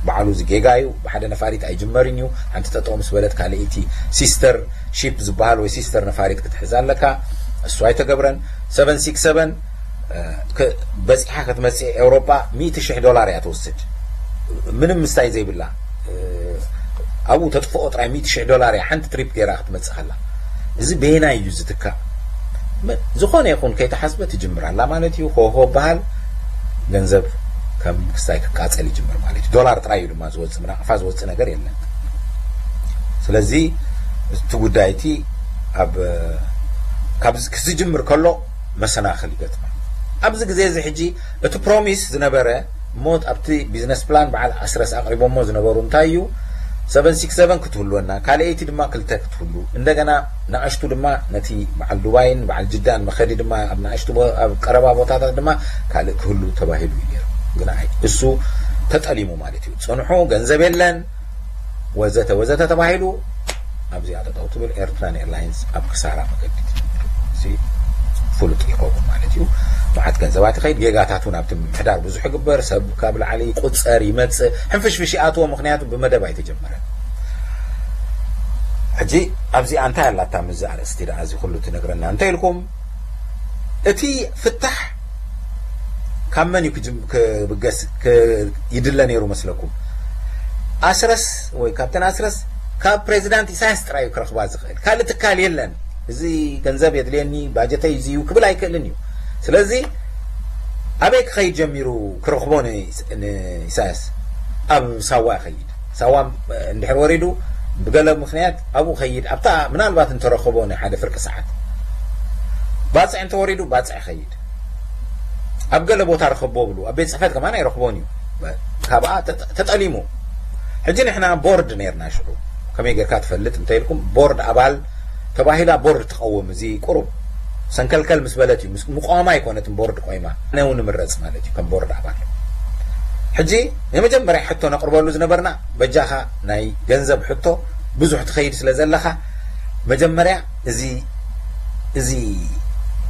ባዕሉ እዚ ጌጋ እዩ። ብሓደ ነፋሪት ኣይጅመርን እዩ። ሓንቲ ጠጠው ምስ በለት ካልኣይቲ ሲስተር ሺፕ ዝበሃል ወይ ሲስተር ነፋሪት ክትሕዝ ኣለካ። እሱ ኣይተገብረን። ሰቨን ሲክስ ሰቨን በፂሓ ክትመፅእ ኤውሮጳ ሚእቲ ሽሕ ዶላር እያ ትወስድ። ምንም ምስታይ ዘይብላ ኣብኡ ተጥፍኦ ጥራይ ሚእቲ ሽሕ ዶላር እያ ሓንቲ ትሪፕ ገይራ ክትመፅእ ከላ። እዚ በየናይ እዩ ዝትካእ? ዝኾነ ይኹን ከይተሓስበ ትጅምር ኣላ ማለት እዩ። ሆሆ በሃል ገንዘብ ከም ክስታይ ክቃፀል ይጅምር ማለት እዩ። ዶላር ጥራይ እዩ ድማ ዝወፅእ፣ ብናቕፋ ዝወፅእ ነገር የለን። ስለዚ እቲ ጉዳይ እቲ ኣብ ካብ ክዝጅምር ከሎ መሰናኽል ይገጥማ። ኣብዚ ግዜ እዚ ሕጂ እቲ ፕሮሚስ ዝነበረ እሞ ኣብቲ ቢዝነስ ፕላን በዓል ኣስረስ ኣቕሪቦሞ ዝነበሩ እንታይ እዩ? ሰቨን ሲክስ ሰቨን ክትህልወና፣ ካልኣይቲ ድማ ክልተ ክትህሉ፣ እንደገና ንኣሽቱ ድማ ነቲ በዓል ዱባይን በዓል ጅዳን መኸዲ ድማ ኣብ ንኣሽቱ ቦ- ኣብ ቀረባ ቦታታት ድማ ካልእ ክህሉ ተባሂሉ እዩ ነይሩ። ግን ኣይ እሱ ተጠሊሙ ማለት እዩ። ጽንሑ፣ ገንዘብ የለን፣ ወዘተ ወዘተ ተባሂሉ ኣብዚኣ ጠጠው ትብል። ኤርትራን ኤርላይንስ ኣብ ክሳራ መገዲ ትጅምር። እዚ ፍሉጥ ይኸውን ማለት እዩ። መዓት ገንዘባት ይኸይድ፣ ጌጋታት እውን ኣብቲ ምምሕዳር ብዙሕ ይግበር፣ ሰብ ካብ ላዕሊ ይቁፀር ይመፅእ፣ ሕንፍሽፍሽ ይኣትዎ፣ ምክንያቱ ብመደብ ኣይተጀመረን። ሕጂ ኣብዚኣ እንታይ ኣላታ ምዚ ኣርእስቲ ደኣ እዚ ኩሉ ትነግረና እንተኢልኩም፣ እቲ ፍታሕ ካብ መን እዩ ክጅም- ክብገስ ክ- ይድለ ነይሩ መስለኩም? ኣስረስ ወይ ካፕተን ኣስረስ ካብ ፕሬዚዳንት ኢሳያስ ጥራይ እዩ ክረኽባ ዝኽእል፣ ካልእ ትካል የለን። እዚ ገንዘብ የድልየኒ፣ ባጀተይ እዚ እዩ ክብል ኣይክእልን እዩ። ስለዚ ኣበይ ክኸይድ ጀሚሩ ክረኽቦ ን- ንኢሳያስ? ኣብ ሳዋ ይኸይድ። ሳዋ እንድሕር ወሪዱ ብገለ ምክንያት ኣብኡ ኸይድ፣ ኣብታ ምናልባት እንተረኸቦ ናይ ሓደ ፍርቂ ሰዓት ባፅዕ እንተወሪዱ ባፅዕ ኸይድ፣ ኣብ ገለ ቦታ ረኸቦ ብሉ፣ ኣብ ቤት ፅሕፈት ከማን ኣይረኽቦን እዩ። ካብኣ ተጠ- ተጠሊሙ። ሕጂ ንሕና ቦርድ ነርና ሽዑ፣ ከመይ ጌርካ ትፈልጥ እንተኢልኩም፣ ቦርድ ኣባል ተባሂላ ቦርድ ትቐውም። እዚ ቁሩብ ሰንከልከል ምስ በለት እዩ፣ ምስ ምቋማ ኣይኮነትን ቦርድ ቆይማ፣ ኣነ እውን ንምረፅ ማለት እዩ ከም ቦርድ ኣባል። ሕጂ ንመጀመርያ ሕቶ ነቕርበሉ ዝነበርና፣ በጃኻ ናይ ገንዘብ ሕቶ ብዙሕ ትኸይድ ስለ ዘለኻ፣ መጀመርያ እዚ እዚ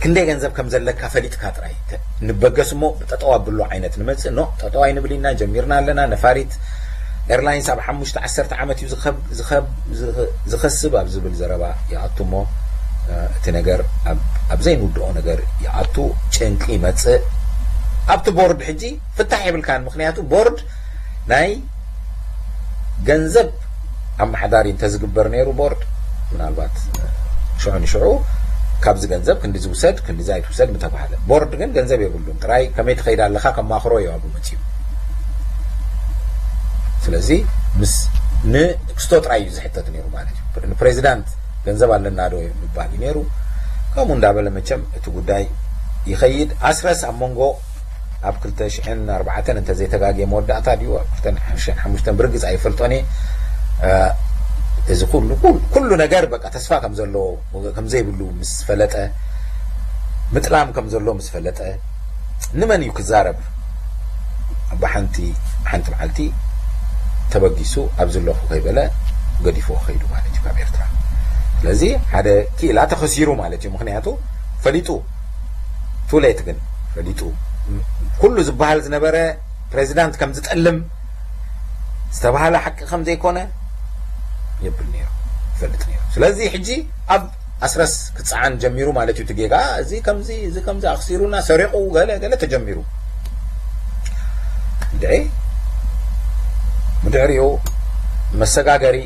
ክንደይ ገንዘብ ከም ዘለካ ፈሊጥካ ጥራይ ተ- ንበገስ እሞ ጠጠው ኣብሉ ዓይነት ንመጽእ። ኖ፣ ጠጠው ኣይንብል ኢና፣ ጀሚርና ኣለና። ነፋሪት ኤርላይንስ ኣብ ሓሙሽተ ዓሰርተ ዓመት እዩ ዝኸብ- ዝኸብ- ዝኸ- ዝኸስብ ኣብ ዝብል ዘረባ ይኣቱ እሞ፣ እ፣ እቲ ነገር ኣብ- ኣብ ዘይንውድኦ ነገር ይኣቱ፣ ጭንቂ ይመጽእ። ኣብቲ ቦርድ ሕጂ ፍታሕ የብልካን፣ ምክንያቱ ቦርድ ናይ ገንዘብ ኣመሓዳሪ እንተዝግበር ነይሩ ቦርድ፣ ምናልባት ሽዑ ንሽዑ ካብዚ ገንዘብ ክንዲ ዝውሰድ ክንዲ ኣይትውሰድ ምተባህለ። ቦርድ ግን ገንዘብ የብሉን፣ ጥራይ ከመይ ትኸይድ ኣለኻ ከማኽሮ እዩ ኣብኡ መፅዩ። ስለዚ ምስ ንክስቶ ጥራይ እዩ ዝሕተት ነይሩ ማለት እዩ። ንፕሬዚዳንት ገንዘብ ኣለና ዶ ምባል እዩ ነይሩ። ከምኡ እንዳበለ መቸም እቲ ጉዳይ ይኸይድ። ኣስረስ ኣብ መንጎ ኣብ ክልተ ሽሕን ኣርባዕተን እንተዘይተጋግየ መወዳእታ ድዩ ኣብ ክልተ ሽሕን ሓሙሽተን ብርግፅ ኣይፈልጦን እየ። እዚ ኩሉ ኩሉ ነገር በቃ ተስፋ ከም ዘለዎ ከም ዘይብሉ ምስ ፈለጠ፣ ምጥላም ከም ዘሎ ምስ ፈለጠ፣ ንመን እዩ ክዛረብ? ብሓንቲ ሓንቲ መዓልቲ ተበጊሱ ኣብዚ ኣለኹ ከይበለ ገዲፎ ከይዱ ማለት እዩ ካብ ኤርትራ። ስለዚ ሓደ ክኢላ ተኸሲሩ ማለት እዩ። ምክንያቱ ፈሊጡ፣ ቱሌት ግን ፈሊጡ፣ ኩሉ ዝበሃል ዝነበረ ፕሬዚዳንት ከም ዝጠልም ዝተባህለ ሓቂ ከም ዘይኮነ የብል ነይሩ፣ ይፈልጥ ነይሩ። ስለዚ ሕጂ ኣብ ኣስረስ ክፀዓን ጀሚሩ ማለት እዩ። እቲ ጌጋ እዚ ከምዚ እዚ ከምዚ ኣኽሲሩና ሰሪቑ ገለ ገለ ተጀሚሩ። እንድዒ ብድሕሪኡ መሰጋገሪ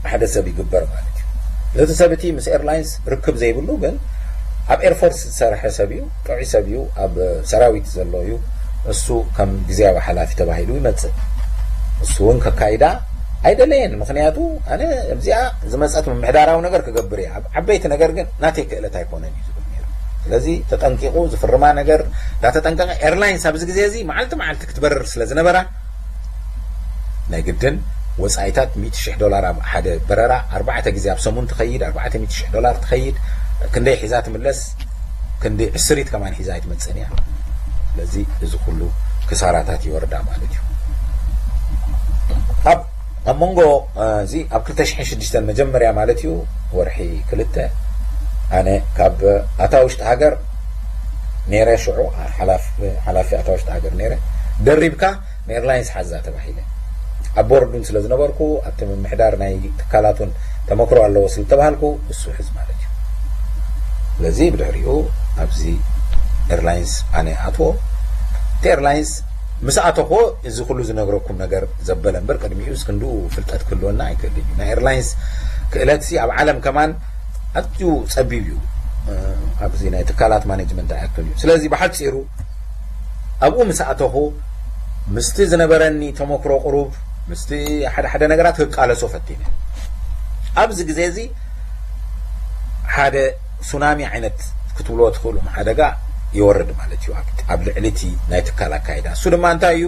ሓደ ሰብ ይግበር ማለት እዩ። ነቲ ሰብ እቲ ምስ ኤርላይንስ ርክብ ዘይብሉ ግን ኣብ ኤርፎርስ ዝሰርሐ ሰብ እዩ፣ ጥዑይ ሰብ እዩ፣ ኣብ ሰራዊት ዘሎ እዩ። እሱ ከም ግዜያዊ ሓላፊ ተባሂሉ ይመጽእ። እሱ እውን ከካይዳ ኣይደለየን። ምክንያቱ ኣነ እዚኣ ዝመጸት ምምሕዳራዊ ነገር ክገብር እየ፣ ኣብ ዓበይቲ ነገር ግን ናተይ ክእለት ኣይኮነን እዩ ዝብል ነይሩ። ስለዚ ተጠንቂቑ ዝፍርማ ነገር እንዳተጠንቀቐ፣ ኤርላይንስ ኣብዚ ግዜ እዚ መዓልቲ መዓልቲ ክትበርር ስለ ዝነበራ ናይ ግድን ወጻኢታት ሚእቲ ሽሕ ዶላር ኣብ ሓደ በረራ ኣርባዕተ ግዜ ኣብ ሰሙን ትኸይድ፣ ኣርባዕተ ሚእቲ ሽሕ ዶላር ትኸይድ፣ ክንደይ ሒዛ ትምለስ? ክንዲ ዕስሪት ከማን ሒዛ ኣይትመጽእን እያ። ስለዚ እዚ ኩሉ ክሳራታት ይወርዳ ማለት እዩ። ኣብ ኣብ መንጎ እዚ ኣብ ክልተ ሽሕን ሽዱሽተን መጀመርያ ማለት እዩ፣ ወርሒ ክልተ፣ ኣነ ካብ ኣታ ውሽጢ ሃገር ነይረ፣ ሽዑ ሓላፊ ኣታ ውሽጢ ሃገር ነይረ። ደሪብካ ንኤርላይንስ ሓዛ ተባሂለ። ኣብ ቦርድ እውን ስለ ዝነበርኩ ኣብቲ ምምሕዳር ናይ ትካላት እውን ተመክሮ ኣለዎ ስለ ዝተባሃልኩ እሱ ሕዝ ማለት እዩ። ስለዚ ብድሕሪኡ ኣብዚ ኤርላይንስ ኣነ ኣትዎ። እቲ ኤርላይንስ ምስ ኣተኹዎ እዚ ኩሉ ዝነግረኩም ነገር ዘበለ እምበር ቅድሚኡ እስክንድኡ ፍልጠት ክህልወና ኣይክእልን እዩ። ናይ ኤርላይንስ ክእለትሲ ኣብ ዓለም ከማን ኣዝዩ ጸቢብ እዩ። ኣብዚ ናይ ትካላት ማኔጅመንት ኣይኣቱን እዩ። ስለዚ ብሓጺሩ ኣብኡ ምስ ኣተኹ ምስቲ ዝነበረኒ ተመክሮ ቁሩብ ምስቲ ሓደ ሓደ ነገራት ክቃለሶ ፈቲነ። ኣብዚ ግዜ እዚ ሓደ ሱናሚ ዓይነት ክትብልዎ ትኽእሉ ሓደጋ ይወርድ ማለት እዩ ኣብ ልዕሊ እቲ ናይ ትካል ኣካይዳ። እሱ ድማ እንታይ እዩ?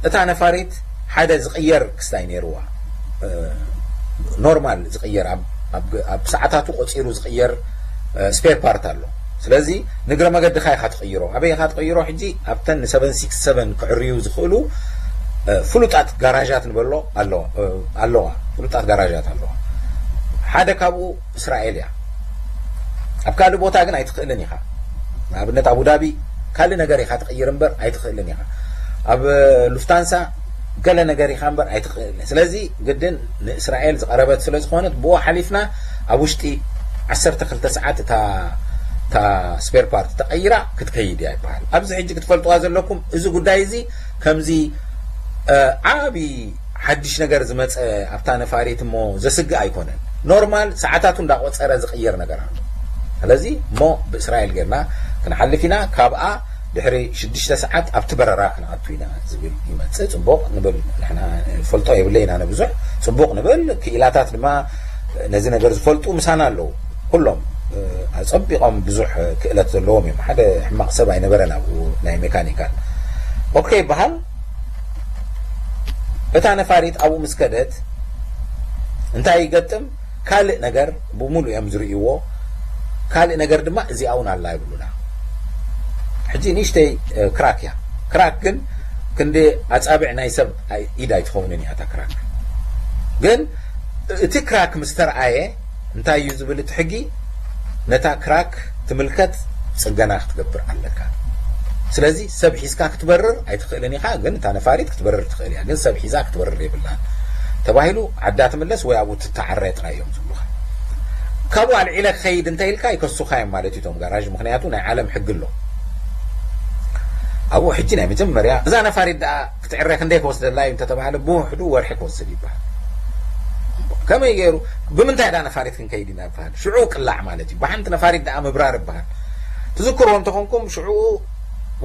እታ ነፋሪት ሓደ ዝቕየር ክስታይ ነይርዋ፣ ኖርማል ዝቕየር፣ ኣብ ሰዓታቱ ቆፂሩ ዝቕየር ስፔር ፓርት ኣሎ። ስለዚ ንግረ መገድኻ ኢኻ ትቕይሮ። ኣበይ ኢኻ ትቕይሮ? ሕጂ ኣብተን ን767 ክዕርዩ ዝኽእሉ ፍሉጣት ጋራጃት ንበሎ ኣለዋ፣ ፍሉጣት ጋራጃት ኣለዋ። ሓደ ካብኡ እስራኤል እያ። ኣብ ካልእ ቦታ ግን ኣይትኽእልን ኢኻ። ንኣብነት ኣቡዳቢ ካልእ ነገር ኢኻ ትቕይር እምበር ኣይትኽእልን ኢኻ። ኣብ ሉፍታንሳ ገለ ነገር ኢኻ እምበር ኣይትኽእልን። ስለዚ ግድን ንእስራኤል ዝቐረበት ስለ ዝኾነት ብኡ ሓሊፍና ኣብ ውሽጢ 12 ሰዓት እታ እታ ስፔር ፓርት ተቐይራ ክትከይድ እያ ይበሃል። ኣብዚ ሕጂ ክትፈልጥዋ ዘለኩም እዚ ጉዳይ እዚ ከምዚ ዓቢ ሓድሽ ነገር ዝመፀ ኣብታ ነፋሪት እሞ ዘስግእ ኣይኮነን። ኖርማል ሰዓታቱ እንዳቆፀረ ዝቕየር ነገር ኣሎ። ስለዚ እሞ ብእስራኤል ጌርና ክንሓልፍ ኢና። ካብኣ ድሕሪ ሽዱሽተ ሰዓት ኣብቲ በረራ ክንኣቱ ኢና ዝብል ይመፅእ። ፅቡቕ ንብል፣ ንሕና ንፈልጦ የብለይና ንብዙሕ። ፅቡቕ ንብል። ክኢላታት ድማ ነዚ ነገር ዝፈልጡ ምሳና ኣለዉ። ኩሎም ኣፀቢቖም ብዙሕ ክእለት ዘለዎም እዮም። ሓደ ሕማቕ ሰብ ኣይነበረን ኣብኡ ናይ ሜካኒካል። ኦኬ ይበሃል። እታ ነፋሪት ኣብኡ ምስ ከደት እንታይ ይገጥም? ካልእ ነገር ብሙሉ እዮም ዝርእይዎ። ካልእ ነገር ድማ እዚኣ እውን ኣላ ይብሉና። ሕጂ ንእሽተይ ክራክ እያ። ክራክ ግን ክንዲ ኣፃብዕ ናይ ሰብ ኢድ ኣይትኸውንን እያ እታ ክራክ። ግን እቲ ክራክ ምስ ተረኣየ እንታይ እዩ ዝብል እቲ ሕጊ? ነታ ክራክ ትምልከት ጽገና ክትገብር ኣለካ። ስለዚ ሰብ ሒዝካ ክትበርር ኣይትኽእልን ኢኻ፣ ግን እታ ነፋሪት ክትበርር ትኽእል እያ፣ ግን ሰብ ሒዛ ክትበርር የብላን ተባሂሉ ዓዳ ትምለስ ወይ ኣብኡ ትተዓረ ጥራይ እዮም ዝብሉኻ። ካብኡ ኣልዒለ ክኸይድ እንተ ኢልካ ይከሱኻ እዮም ማለት እዩ እቶም ጋራዥ፣ ምኽንያቱ ናይ ዓለም ሕጊ ኣሎ። ኣብኡ ሕጂ ናይ መጀመርያ እዛ ነፋሪት ደኣ ክትዕረ ክንደይ ክወስደላ እዩ እንተተባህለ ብውሕዱ ወርሒ ክወስድ ይበሃል። ከመይ ገይሩ ብምንታይ ዳ ነፋሪት ክንከይድ ኢና ይበሃል። ሽዑ ቅላዕ ማለት እዩ። ብሓንቲ ነፋሪት ደኣ ምብራር ይበሃል። ትዝክርዎ እንተኾንኩም ሽዑ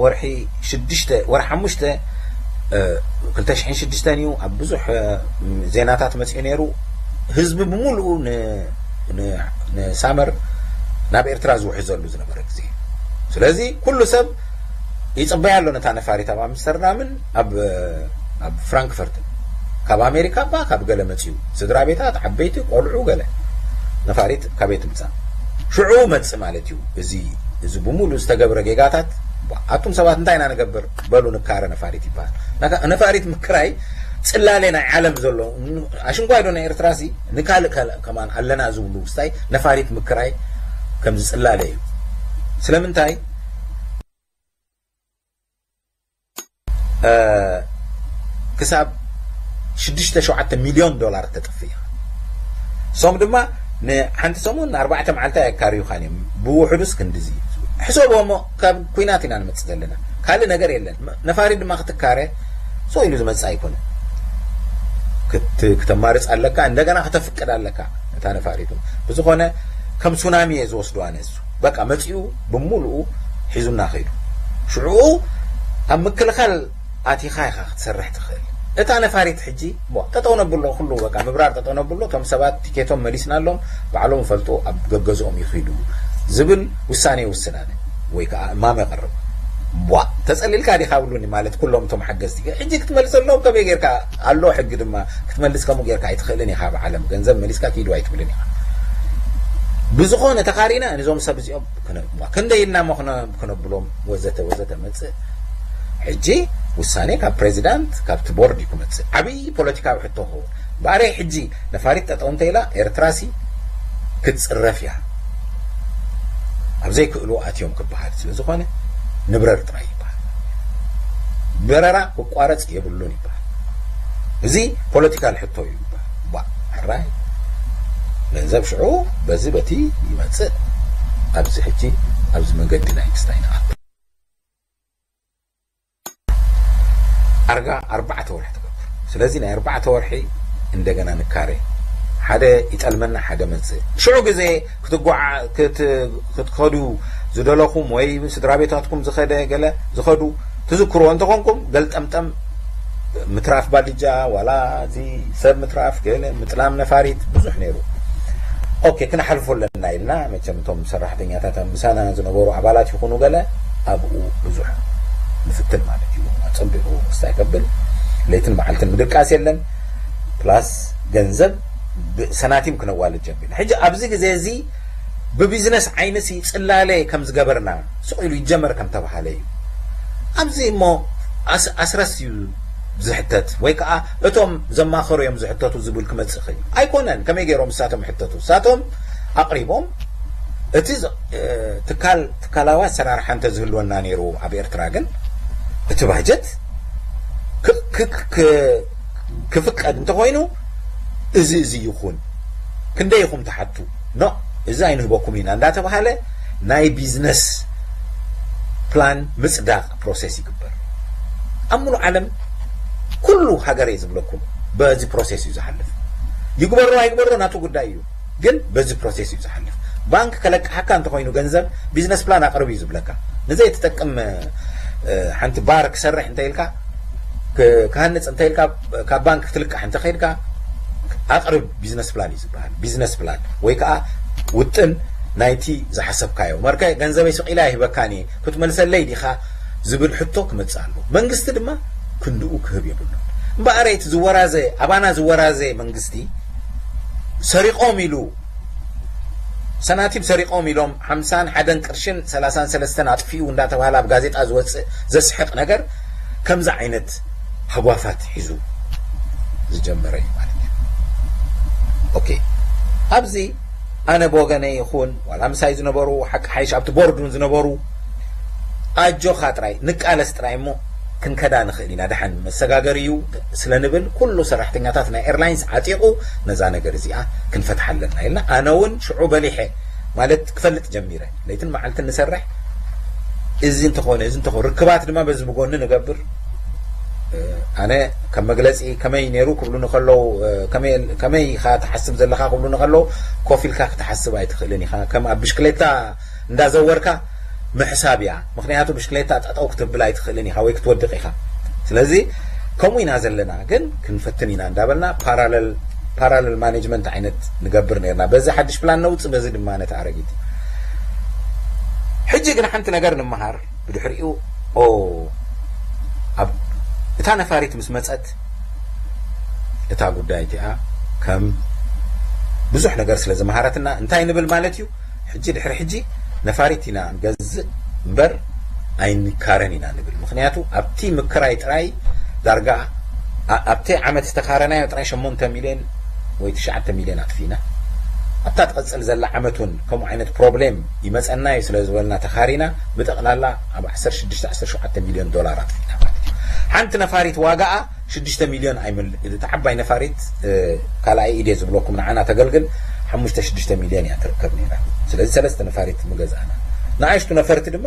ወርሒ ሽዱሽተ ወርሒ ሓሙሽተ ክልተ ሽሕን ሽዱሽተን እዩ ኣብ ብዙሕ ዜናታት መፅኡ ነይሩ። ህዝቢ ብምሉኡ ንሳመር ናብ ኤርትራ ዝውሕዘሉ ዝነበረ ግዜ። ስለዚ ኩሉ ሰብ ይፅበያ ኣሎ ነታ ነፋሪት ኣብ ኣምስተርዳምን ኣብ ኣብ ፍራንክፈርትን። ካብ ኣሜሪካ እባ ካብ ገለ መፅኡ ስድራ ቤታት ዓበይቲ ቆልዑ ገለ ነፋሪት ካበይ ትምፃእ? ሽዑ መፅእ ማለት እዩ። እዚ እዚ ብምሉእ ዝተገብረ ጌጋታት ኣቱም ሰባት እንታይ ኢና ንገብር በሉ ንካረ ነፋሪት ይበሃል። ነፋሪት ምክራይ ፅላሌ ናይ ዓለም ዘሎ ኣሽንኳይ ዶ ናይ ኤርትራ ሲ ንካልእ ካልእ ከማን ኣለና ዝብሉ ውስታይ ነፋሪት ምክራይ ከምዚ ፅላለ እዩ። ስለምንታይ ክሳብ ሽዱሽተ ሸውዓተ ሚልዮን ዶላር ተጥፍእ እሶም ድማ ንሓንቲ ሰሙን ንኣርባዕተ መዓልቲ ኣየካርዩኻን እዮም። ብውሕዱስ ክንድዚ ሕሰቦ እሞ ካብ ኩናት ኢና ንመፅእ ዘለና ካልእ ነገር የለን። ነፋሪ ድማ ክትካረ ሰው ኢሉ ዝመፅእ ኣይኮነን። ክተማርፅ ኣለካ፣ እንደገና ከተፍቅድ ኣለካ እታ ነፋሪቱ። ብዝኾነ ከም ሱናሚ እየ ዝወስዶ ኣነ። እሱ በቃ መፂኡ ብምሉኡ ሒዙና ከይዱ። ሽዑኡ ኣብ ምክልኻል ኣቲኻ ኢኻ ክትሰርሕ ትኽእል። እታ ነፋሪት ሕጂ ጠጠው ነብሎ፣ ኩሉ በቃ ምብራር ጠጠው ነብሎ። እቶም ሰባት ቲኬቶም መሊስናሎም፣ ባዕሎም ይፈልጡ፣ ኣብ ገገዝኦም ይኺዱ ዝብል ውሳኔ ይውስን ኣነ። ወይ ከዓ እማመ የቕርብ። ቧ ተጸሊልካ ዲኻ ብሉኒ ማለት ኩሎም እቶም ሓገዝቲ። ሕጂ ክትመልሰሎም ከመይ ጌርካ ኣሎ ሕጊ ድማ ክትመልስ ከምኡ ጌርካ ኣይትኽእልን ኢኻ። ብዓለም ገንዘብ መሊስካ ኪዱ ኣይትብልን ኢኻ። ብዝኾነ ተኻሪና ንዞም ሰብ እዚኦም ክንደይ ኢልና እሞ ክነብሎም ወዘተ ወዘተ መጽእ። ሕጂ ውሳኔ ካብ ፕሬዚዳንት ካብቲ ቦርድ እዩ ክመጽእ። ዓብዪ ፖለቲካዊ ሕቶ ክኸውን ባዕረይ ሕጂ ነፋሪት ጠጠው እንተኢላ ኤርትራሲ ክትፅረፍ እያ። ኣብ ዘይክእሉ ኣትዮም ክበሃል ስለ ዝኾነ ንብረር ጥራይ ይበሃል። በረራ ክቋረፅ የብሉን ይበሃል። እዚ ፖለቲካል ሕቶ እዩ ይበሃል። ባ ሕራይ ገንዘብ ሽዑ በዚ በቲ ይመፅእ። ኣብዚ ሕጂ ኣብዚ መንገዲ ናይ ክስታይ ንኣቱ ኣርጋ ኣርባዕተ ወርሒ ትገብር። ስለዚ ናይ ኣርባዕተ ወርሒ እንደገና ንካረ። ሓደ ይጠልመና፣ ሓደ መጽእ። ሽዑ ግዜ ክትጓዓ ክትከዱ ዝደለኹም ወይ ስድራ ቤታትኩም ዝኸደ ገለ ዝኸዱ ትዝክርዎ እንተኾንኩም ገልጠምጠም ምትራፍ ባልጃ ዋላ እዚ ሰብ ምትራፍ ገለ ምጥላም ነፋሪት ብዙሕ ነይሩ። ኦኬ፣ ክነሓልፎ ኣለና ኢልና መቸም እቶም ሰራሕተኛታት ምሳና ዝነበሩ ኣባላት ይኹኑ ገለ ኣብኡ ብዙሕ ንፍትን ማለት እዩ። ኣጸቢቑ ክስታይ ከብል ለይትን መዓልትን ምድቃስ የለን። ፕላስ ገንዘብ ብሰናቲም ክነዋልድ ጀሚርና። ሕጂ ኣብዚ ግዜ እዚ ብቢዝነስ ዓይንሲ ጽላለ ከም ዝገበርና ስቕ ኢሉ ይጀመር ከም ተባሃለ እዩ። ኣብዚ እሞ ኣስ-፣ ኣስረስ እዩ ዝሕተት፣ ወይ ከዓ እቶም ዘማኸሩ እዮም ዝሕተቱ ዝብል ክመጽእ ይኽእል እዩ። ኣይኮነን፣ ከመይ ገይሮም ንሳቶም ይሕተቱ? ንሳቶም ኣቕሪቦም እቲ ዝ-፣ እ፣ ትካል፣ ትካላዊ ኣሰራርሓ እንተዝህልወና ነይሩ ኣብ ኤርትራ ግን እቲ ባጀት ክ-፣ ክ-፣ ክ-፣ ክፍቀድ እንተኾይኑ እዚ፣ እዚ ይኹን፣ ክንደይ ኢኹም ትሓቱ? ኖ፣ እዚ ኣይንህበኩም ኢና እንዳተባሃለ ናይ ቢዝነስ ፕላን ምጽዳቕ ፕሮሰስ ይግበር። ኣብ ሙሉእ ዓለም ኩሉ ሃገር እየ ዝብለኩም በዚ ፕሮሰስ እዩ ዝሓልፍ። ይግበሮ ኣይግበሮ ናቱ ጉዳይ እዩ፣ ግን በዚ ፕሮሰስ እዩ ዝሓልፍ። ባንክ ከለቅሓካ እንተኾይኑ ገንዘብ ቢዝነስ ፕላን ኣቕርብ እዩ ዝብለካ። ንዘይ ትጠቅም፣ እ፣ ሓንቲ ባር ክሰርሕ እንተ ኢልካ፣ ክ-፣ ክሃንጽ እንተ ኢልካ፣ ካብ ባንክ ክትልቃሕ እንተ ኸይድካ ኣቕርብ ቢዝነስ ፕላን እዩ ዝበሃል። ቢዝነስ ፕላን ወይ ከዓ ውጥን ናይቲ ዝሓሰብካዮ። መርከ ገንዘበይ ስቕ ኢለ ኣይህበካን እየ፣ ክትመልሰለይ ዲኻ ዝብል ሕቶ ክመጽእ ኣለዎ። መንግስቲ ድማ ክንድኡ ክህብ የብሉን። እምበኣር እቲ ዝወራዘ፣ ኣባና ዝወራዘ መንግስቲ ሰሪቖም ኢሉ፣ ሰናቲም ሰሪቖም ኢሎም ሓምሳን ሓደን ቅርሽን ሰላሳን ሰለስተን ኣጥፊኡ እንዳተባሃለ ኣብ ጋዜጣ ዝወጽእ ዘስሕቕ ነገር ከምዚ ዓይነት ሃጓፋት ሒዙ ዝጀመረ እዩ ማለት እዩ። ኦኬ፣ ኣብዚ ኣነ ብወገነይ ይኹን ዋላ ምሳይ ዝነበሩ ሓቂ ሓይሽ ኣብቲ ቦርድ እውን ዝነበሩ ኣጆኻ ጥራይ ንቃለስ ጥራይ እሞ ክንከዳ ንኽእል ኢና። ደሓን መሰጋገሪ እዩ ስለ ንብል ኩሉ ሰራሕተኛታት ናይ ኤርላይንስ ዓጢቑ ነዛ ነገር እዚኣ ክንፈትሓ ኣለና ኢልና። ኣነ እውን ሽዑ በሊሐ ማለት ክፈልጥ ጀሚረ። ለይትን መዓልትን ንሰርሕ። እዚ እንተኾነ፣ እዚ እንተኾነ፣ ርክባት ድማ በዚ ብጎኒ ንገብር። እ፣ ኣነ ከም መግለጺ ከመይ ነይሩ ክብሉኒ ከለዉ፣ እ፣ ከመይ፣ ከመይ ኢኻ ትሓስብ ዘለኻ ክብሉኒ ከለዉ፣ ኮፍ ኢልካ ክትሓስብ ኣይትኽእልን ኢኻ። ከም ኣብ ብሽክሌታ እንዳዘወርካ ምሕሳብ እያ። ምኽንያቱ ብሽክሌታ ጠጠው ክትብል ኣይትኽእልን ኢኻ ወይ ክትወድቕ ኢኻ። ስለዚ ከምኡ ኢና ዘለና፣ ግን ክንፈትን ኢና እንዳበልና ፓራለል፣ ፓራለል ማኔጅመንት ዓይነት ንገብር ነርና። በዚ ሓድሽ ፕላን ነውጽእ፣ በዚ ድማ ነቲ ኣረጊት። ሕጂ ግን ሓንቲ ነገር ንምሃር። ብድሕሪኡ፣ ኦ፣ ኣብ እታ ነፋሪት ምስ መጸት፣ እታ ጉዳይ እቲኣ ከም ብዙሕ ነገር ስለ ዝመሃረትና፣ እንታይ ንብል ማለት እዩ? ሕጂ ድሕሪ ሕጂ ነፋሪት ኢና ንገዝእ እምበር ኣይንካረን ኢና ንብል። ምኽንያቱ ኣብቲ ምክራይ ጥራይ ዳርጋ ኣ-፣ ኣብቲ ዓመት ዝተኻረናዮ ጥራይ ሸሞንተ ሚልዮን ወይ ትሽዓተ ሚልዮን ኣጥፊእና። ኣብታ ትቐጽል ዘላ ዓመት እውን ከምኡ ዓይነት ፕሮብሌም ይመጸና እዩ ስለ ዝበልና ተኻሪና ብጠቕላላ ኣብ ዓሰርተ ሽዱሽተ ዓሰርተ ሸውዓተ ሚልዮን ዶላር ኣጥፊእና ማለት እዩ። ሓንቲ ነፋሪት ዋጋኣ ሽዱሽተ ሚልዮን ኣይምል-፣ እታ ዓባይ ነፋሪት፣ እ፣ ካልኣይ ኢድ እየ ዝብለኩም ንዓና ተገልግል ሓሙሽተ ሽዱሽተ ሚልዮን እያ ትርከብ ነይራ። ስለዚ ሰለስተ ነፋሪት ምገዛእና። ንኣሽቱ ነፈርቲ ድማ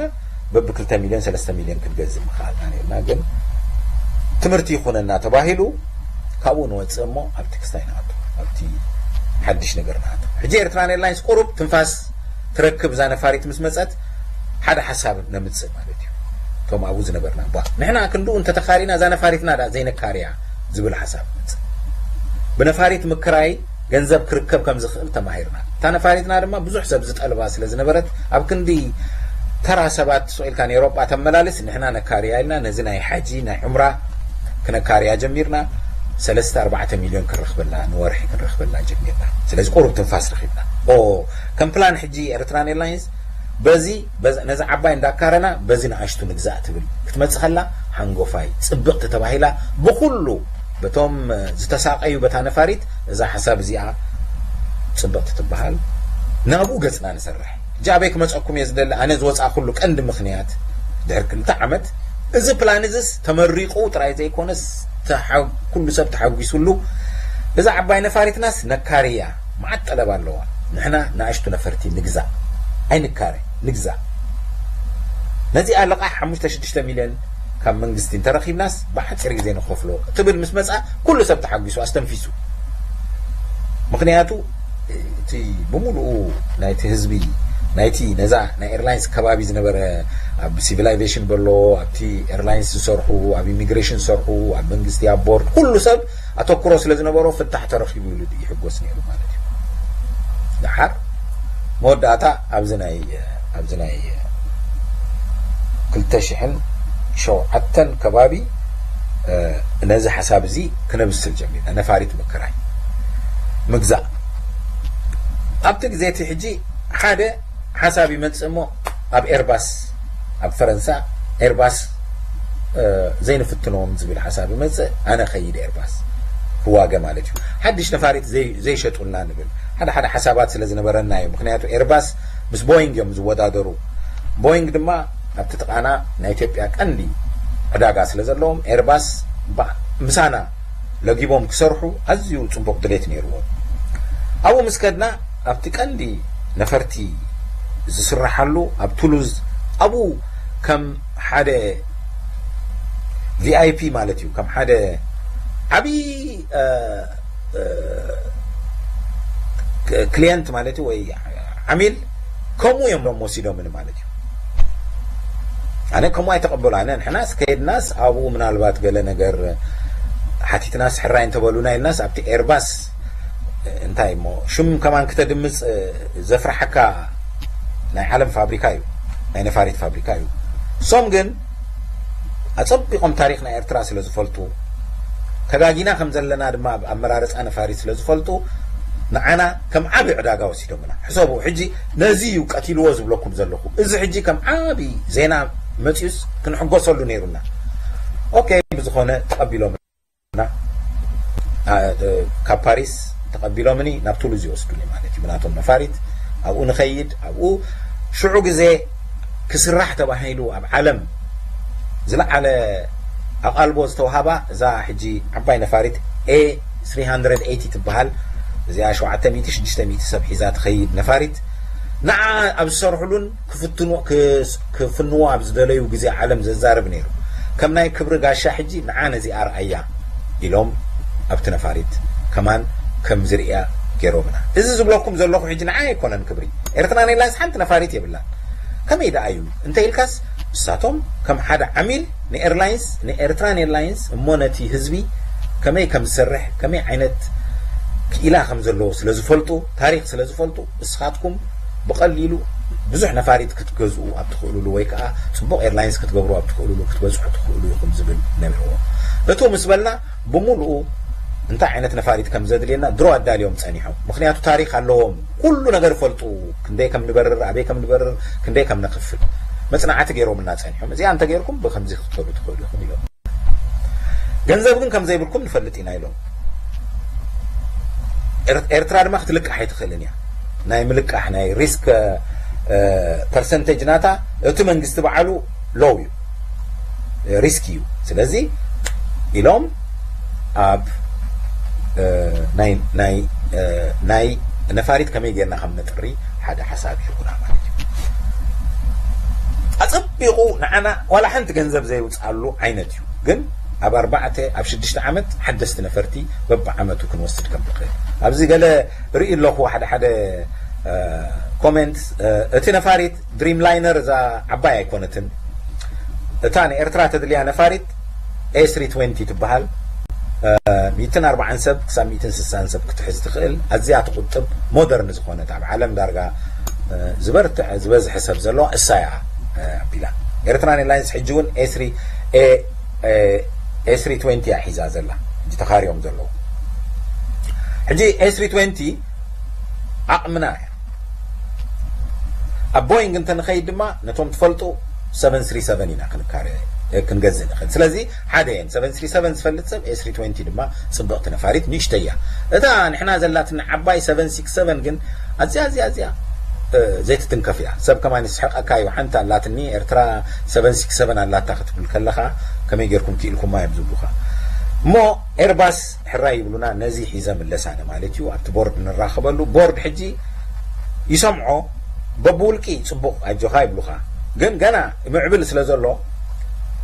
በብክልተ ሚልዮን ሰለስተ ሚልዮን ክንገዝእ ምኽኣልና ነርና። ግን ትምህርቲ ይኹነና ተባሂሉ ካብኡ ንወፅእ እሞ ኣብቲ ክስታይ ንኣቱ፣ ኣብቲ ሓድሽ ነገር ንኣቱ። ሕጂ ኤርትራን ኤርላይንስ ቁሩብ ትንፋስ ትረክብ እዛ ነፋሪት ምስ መፀት ሓደ ሓሳብ ነምፅእ ማለት እዩ። እቶም ኣብኡ ዝነበርና ባ ንሕና ክንድኡ እንተተኻሪና እዛ ነፋሪትና ዳ ዘይነካርያ ዝብል ሓሳብ መፅእ። ብነፋሪት ምክራይ ገንዘብ ክርከብ ከም ዝኽእል ተማሂርና። እታ ነፋሪትና ድማ ብዙሕ ሰብ ዝጠልባ ስለ ዝነበረት ኣብ ክንዲ ተራ ሰባት ስቕ ኢልካ ንኤሮጳ ተመላልስ ንሕና ነካርያ ኢልና ነዚ ናይ ሓጂ ናይ ዑምራ ክነካርያ ጀሚርና። ሰለስተ ኣርባዕተ ሚልዮን ክንረኽበላ ንወርሒ ክንረኽበላ ጀሚርና። ስለዚ ቁሩብ ትንፋስ ረኺብና። ኦ ከም ፕላን ሕጂ ኤርትራን ኤርላይንስ በዚ በዚ- ነዚ ዓባይ እንዳካረና በዚ ንኣሽቱ ንግዛእ ትብል ክትመጽእ ከላ ሓንጎፋይ ጽብቕቲ ተባሂላ ብኹሉ በቶም ዝተሳቀዩ በታ ነፋሪት እዛ ሓሳብ እዚኣ ጽብቕቲ ትበሃል። ናብኡ ገጽና ንሰርሕ። ሕጂ ኣበይ ክመጸኩም እየ ዝደሊ? ኣነ ዝወጻእኩሉ ቀንዲ ምኽንያት ድሕሪ ክልተ ዓመት እዚ ፕላን እዚስ ተመሪቑ ጥራይ ዘይኮነስ ተሓ- ኩሉ ሰብ ተሓጒሱሉ። እዛ ዓባይ ነፋሪትናስ ነካርያ መዓት ጠለብ ኣለዋ። ንሕና ንኣሽቱ ነፈርቲ ንግዛእ፣ ኣይንካረ፣ ንግዛእ። ነዚኣ ልቓሕ ሓሙሽተ ሽዱሽተ ሚልዮን ካብ መንግስቲ እንተረኺብናስ ብሓፂር ግዜ ንኸፍሎ ትብል ምስ መፃ ኩሉ ሰብ ተሓጒሱ ኣስተንፊሱ። ምኽንያቱ እቲ ብምሉኡ ናይቲ ህዝቢ ናይቲ ነዛ ናይ ኤርላይንስ ከባቢ ዝነበረ ኣብ ሲቪል ኣቪዬሽን በሎ ኣብቲ ኤርላይንስ ዝሰርሑ ኣብ ኢሚግሬሽን ዝሰርሑ ኣብ መንግስቲ ኣብ ቦርድ ኩሉ ሰብ ኣተኩሮ ስለ ዝነበሮ ፍታሕ ተረኺቡ ኢሉ ይሕጎስ ነይሩ ማለት እዩ። ደሓር መወዳእታ ኣብዚ ናይ ኣብዚ ናይ ክልተ ሽሕን ሸውዓተን ከባቢ ነዚ ሓሳብ እዚ ክነብስል ጀሚርና። ነፋሪት ምክራይ ምግዛእ። ኣብቲ ግዜ እቲ ሕጂ ሓደ ሓሳብ ይመጽእ እሞ፣ ኣብ ኤርባስ፣ ኣብ ፈረንሳ ኤርባስ ዘይንፍትኖም ዝብል ሓሳብ ይመጽእ። ኣነ ኸይድ ኤርባስ ክዋገ ማለት እዩ። ሓድሽ ነፋሪት ዘይሸጡልና ንብል። ሓደ ሓደ ሓሳባት ስለ ዝነበረና እዩ። ምክንያቱ ኤርባስ ምስ ቦይንግ እዮም ዝወዳደሩ። ቦይንግ ድማ ኣብቲ ጥቓና ናይ ኢትዮጵያ ቀንዲ ዕዳጋ ስለ ዘለዎም፣ ኤርባስ ምሳና ለጊቦም ክሰርሑ ኣዝዩ ጽቡቕ ድሌት ነይርዎም። ኣብኡ ምስ ከድና፣ ኣብቲ ቀንዲ ነፈርቲ ዝስረሓሉ ኣብ ቱሉዝ፣ ኣብኡ ከም ሓደ ቪኣይፒ ማለት እዩ፣ ከም ሓደ ዓብዪ ክሊየንት ማለት እዩ፣ ወይ ዓሚል፣ ከምኡ እዮም ሎም ወሲዶምኒ ማለት እዩ። ኣነ ከምኡ ኣይተቐበሉ። ኣነ ንሕናስ ከይድናስ ኣብኡ ምናልባት ገለ ነገር ሓቲትናስ ሕራይ እንተበሉና ኢልናስ ኣብቲ ኤርባስ እንታይ እሞ ሽም ከማን ክተድምፅ ዘፍርሓካ ናይ ዓለም ፋብሪካ እዩ፣ ናይ ነፋሪት ፋብሪካ እዩ። እሶም ግን ኣጸቢቖም ታሪኽ ናይ ኤርትራ ስለ ዝፈልጡ፣ ተጋጊና ከም ዘለና ድማ ኣብ ኣመራርጻ ነፋሪት ስለ ዝፈልጡ፣ ንዓና ከም ዓቢ ዕዳጋ ወሲዶምና። ሕሰቡ፣ ሕጂ ነዚ እዩ ቀቲልዎ ዝብለኩም ዘለኹ። እዚ ሕጂ ከም ዓቢ ዜና መጺኡስ ክንሕጎሰሉ ነይሩና። ኦኬ፣ ብዝኾነ ተቐቢሎምና። ኣ፣ እ፣ ካብ ፓሪስ ተቐቢሎምኒ ናብ ቱሉዝ ይወስዱኒ ማለት እዩ። ብናቶም ነፋሪት ኣብኡ ንኸይድ፣ ኣብኡ ሽዑ ግዜ ክስራሕ ተባሂሉ ኣብ ዓለም ዝለዓለ ኣቓልቦ ዝተዋሃባ እዛ ሕጂ ዓባይ ነፋሪት ኤ ስሪ ሃንድረድ ኤይቲ ትበሃል። እዚኣ ሸውዓተ ሚእቲ ሽዱሽተ ሚእቲ ሰብ ሒዛ ትኸይድ ነፋሪት። ንዓ ኣብ ዝሰርሕሉን ክፍትኑ-፣ ክስ-፣ ክፍንዎ ኣብ ዝደለዩ ግዜ ዓለም ዘዛርብ ነይሩ። ከም ናይ ክብሪ ጋሻ ሕጂ ንዓ ነዚ ኣርኣያ ኢሎም ኣብቲ ነፋሪት ከማን ከም ዝርእያ ገይሮምና። እዚ ዝብለኩም ዘለኹ ሕጂ ንዓ ኣይኮነን ክብሪ። ኤርትራን ኤርላይንስ ሓንቲ ነፋሪት የብላን። ከመይ ደኣ እዩ እንተ ኢልካስ፣ ንሳቶም ከም ሓደ ዓሚል ንኤርላይንስ፣ ንኤርትራን ኤርላይንስ እሞ ነቲ ህዝቢ ከመይ ከም ዝሰርሕ፣ ከመይ ዓይነት ክኢላ ከም ዘለዎ ስለ ዝፈልጡ፣ ታሪኽ ስለ ዝፈልጡ፣ እስኻትኩም ብቐሊሉ ብዙሕ ነፋሪት ክትገዝኡ ኣብ ትኽእሉሉ ወይ ከዓ ጽቡቕ ኤርላይንስ ክትገብሩ ኣብ ትኽእሉሉ ክትበጽሑ ትኽእሉ ኢኹም ዝብል ነቢርዎ። እቱ ምስ በልና ብምሉኡ እንታይ ዓይነት ነፋሪት ከም ዘድልየና ድሮ ኣዳልዮም ጸኒሖም። ምኽንያቱ ታሪኽ ኣለዎም። ኩሉ ነገር ይፈልጡ። ክንደይ ከም ንበርር፣ ኣበይ ከም ንበርር፣ ክንደይ ከም ነኽፍል መጽናዕቲ ገይሮምልና ጸኒሖም። እዚኣ እንተገይርኩም ብከምዚ ክትከዱ ትኽእሉ ኢኹም ኢሎም። ገንዘብ ግን ከም ዘይብልኩም ንፈልጥ ኢና ኢሎም። ኤር-፣ ኤርትራ ድማ ክትልቃሕ ኣይትኽእልን እያ። ናይ ምልቃሕ፣ ናይ ሪስክ፣ እ፣ ፐርሰንቴጅ ናታ እቲ መንግስቲ በዓሉ ሎው እዩ፣ ሪስክ እዩ። ስለዚ ኢሎም ኣብ፣ እ፣ ናይ፣ ናይ፣ እ፣ ናይ ነፋሪት ከመይ ጌርና ከም ነጥሪ ሓደ ሓሳብ ይህቡና ማለት እዩ። ኣጸቢቑ ንዓና ዋላ ሓንቲ ገንዘብ ዘይውጽኣሉ ዓይነት እዩ። ግን ኣብ ኣርባዕተ፣ ኣብ ሽዱሽተ ዓመት ሓደስቲ ነፈርቲ በብዓመቱ ክንወስድ ከም ንኽእል። ኣብዚ ገለ ርኢ ኣለኹ ሓደ ሓደ፣ እ፣ ኮሜንት፣ እ፣ እቲ ነፋሪት ድሪም ላይነር እዛ ዓባይ ኣይኮነትን። እታ ንኤርትራ ተድልያ ነፋሪት ኤ ስሪ ትዌንቲ ትበሃል። እ፣ ሚእትን ኣርባዓን ሰብ ክሳብ ሚእትን ስሳን ሰብ ክትሕዝ ትኽእል፣ ኣዝያ ትቑጥብ፣ ሞደርን ዝኾነት፣ ኣብ ዓለም ዳርጋ፣ እ፣ ዝበርትዐ፣ ዝበዝሐ ሰብ ዘለዋ እሳ እያ፣ እ፣ ኣቢላ። ኤርትራን ኤርላይንስ ሕጂ እውን ኤ ስሪ፣ ኤ፣ ኤ፣ ኤ ስሪ ትዌንቲ እያ ሒዛ ዘላ፣ ሕጂ ተኻርዮም ዘለዉ። ሕጂ ኤ ስሪ ትዌንቲ ዓቕምና እያ። ኣብ ቦይንግ እንተ ንኸይድ ድማ ነቶም ትፈልጡ ሰቨን ስሪ ሰቨን ኢና ክንካረ፣ ክንገዝእ ንኽእል። ስለዚ ሓደ እየን። ሰቨን ስሪ ሰቨን ዝፈልጥ ሰብ ኤ ስሪ ትዌንቲ ድማ ጽብቕቲ ነፋሪት ንእሽተይ እያ። እታ ንሕና ዘላትና ዓባይ ሰቨን ሲክስ ሰቨን ግን ኣዝያ፣ ኣዝያ፣ ኣዝያ፣ እ፣ ዘይትትንከፍ እያ። ሰብ ከማን ይስሕቐካ እዩ። ሓንቲ ኣላትኒ ኤርትራ ሰቨን ሲክስ ሰቨን ኣላታ ክትብል ከለኻ ከመይ ጌርኩም ክኢልኩማ እዮም ዝብሉኻ። እሞ ኤርባስ ሕራይ ይብሉና፣ ነዚ ሒዘ ምለስ ኣነ ማለት እዩ። ኣብቲ ቦርድ ንራኸበሉ። ቦርድ ሕጂ ይሰምዖ፣ በብውልቂ ጽቡቕ ኣጆኻ ይብሉኻ። ግን ገና ምዕብል ስለ ዘሎ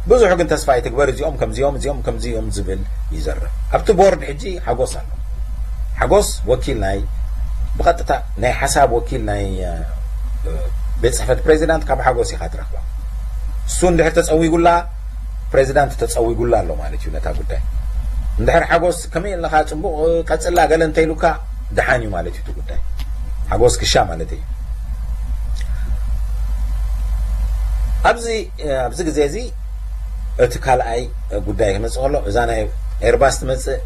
ብዙሕ ግን ተስፋ ኣይትግበር፣ እዚኦም ከምዚኦም፣ እዚኦም ከምዚኦም ዝብል ይዘርብ። ኣብቲ ቦርድ ሕጂ ሓጎስ ኣሎ። ሓጎስ ወኪል ናይ፣ ብቐጥታ ናይ ሓሳብ ወኪል ናይ፣ እ፣ ቤት ጽሕፈት ፕሬዚዳንት ካብ ሓጎስ ኢኻ ትረኽባ። እሱ እንድሕር ተጸዊጉላ፣ ፕሬዚዳንት ተጸዊጉላ ኣሎ ማለት እዩ ነታ ጉዳይ። እንድሕር ሓጎስ ከመይ ኣለኻ፣ ጽቡቕ ቀጽላ፣ ገለ እንተኢሉካ፣ ደሓን እዩ ማለት እዩ እቲ ጉዳይ። ሓጎስ ክሻ ማለት እዩ። ኣብዚ ኣብዚ ግዜ እዚ እቲ ካልኣይ ጉዳይ ክመጽእ ከሎ፣ እዛ ናይ ኤርባስ ትመጽእ፣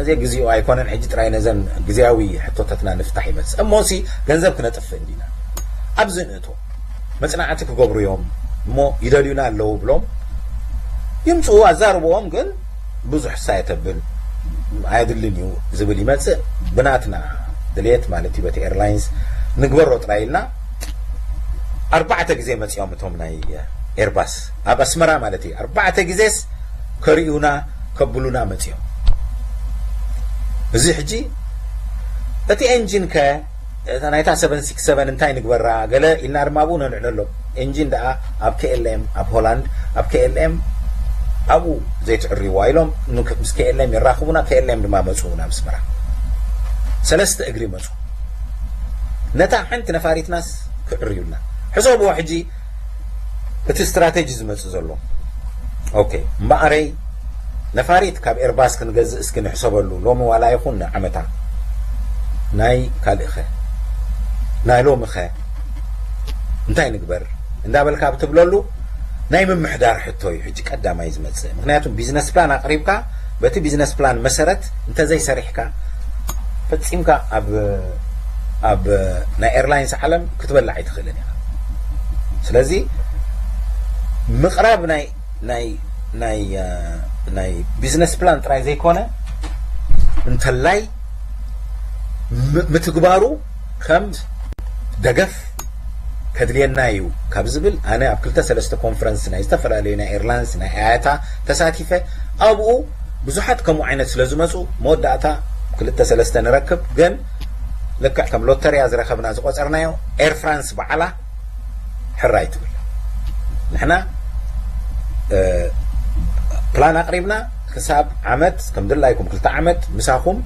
እዚ ግዜኡ ኣይኮነን። ሕጂ ጥራይ ነዘን ግዜያዊ ሕቶታትና ንፍታሕ ይመጽእ። እሞሲ ገንዘብ ክነጥፍእ እንዲና ኣብዚ ንእቶ መጽናዕቲ ክገብሩ እዮም እሞ ይደልዩና ኣለዉ ብሎም ይምጽኡ፣ ኣዛርብዎም። ግን ብዙሕ ሳይ ተብል ኣየድልን እዩ ዝብል ይመጽእ። ብናትና ድልየት ማለት እዩ፣ በቲ ኤርላይንስ ንግበሮ ጥራይ ኢልና ኣርባዕተ ግዜ መጺኦም እቶም ናይ ኤርባስ ኣብ ኣስመራ ማለት እዩ። ኣርባዕተ ግዜስ ከርእዩና ከብሉና መጺኦም። እዚ ሕጂ እቲ ኤንጂን ከ እታ ናይታ ሰቨን ሲክስ ሰቨን እንታይ ንግበራ ገለ ኢልና ድማ ኣብኡ ነልዕለሎም። ኤንጂን ደኣ ኣብ ኬኤልኤም ኣብ ሆላንድ ኣብ ኬኤልኤም ኣብኡ ዘይትዕርይዋ ኢሎም ምስ ኬኤልኤም የራኽቡና። ኬኤልኤም ድማ መፁ ናብ ኣስመራ። ሰለስተ እግሪ መፁ። ነታ ሓንቲ ነፋሪትናስ ክዕርዩልና ሕሰብዎ። ሕጂ እቲ ስትራቴጂ ዝመፅእ ዘሎ ኦኬ እምበኣረይ ነፋሪት ካብ ኤርባስ ክንገዝእ እስኪ ንሕሰበሉ። ሎሚ ዋላ ይኹን ንዓመታ ናይ ካልእኸ ናይ ሎምኸ እንታይ ንግበር እንዳበልካ ብትብለሉ ናይ ምምሕዳር ሕቶ እዩ ሕጂ ቀዳማይ ዝመፅእ። ምክንያቱ ቢዝነስ ፕላን ኣቕሪብካ በቲ ቢዝነስ ፕላን መሰረት እንተዘይሰሪሕካ ፈፂምካ ኣብ ኣብ ናይ ኤርላይንስ ዓለም ክትበላዕ ኣይትኽእልን ኢኻ። ስለዚ ምቕራብ ናይ ናይ ናይ ናይ ቢዝነስ ፕላን ጥራይ ዘይኮነ እንተላይ ምትግባሩ ከም ደገፍ ከድልየና እዩ ካብ ዝብል ኣነ ኣብ ክልተ ሰለስተ ኮንፈረንስ ናይ ዝተፈላለዩ ናይ ኤርላይንስ ናይ ኣያታ ተሳቲፈ ኣብኡ ብዙሓት ከምኡ ዓይነት ስለ ዝመፁ መወዳእታ ክልተ ሰለስተ ንረክብ። ግን ልክዕ ከም ሎተርያ ዝረኸብና ዝቆፀርናዮ ኤር ፍራንስ በዓላ ሕራይ ትብል። ንሕና ፕላን ኣቕሪብና ክሳብ ዓመት ከም ድላይኩም ክልተ ዓመት ምሳኹም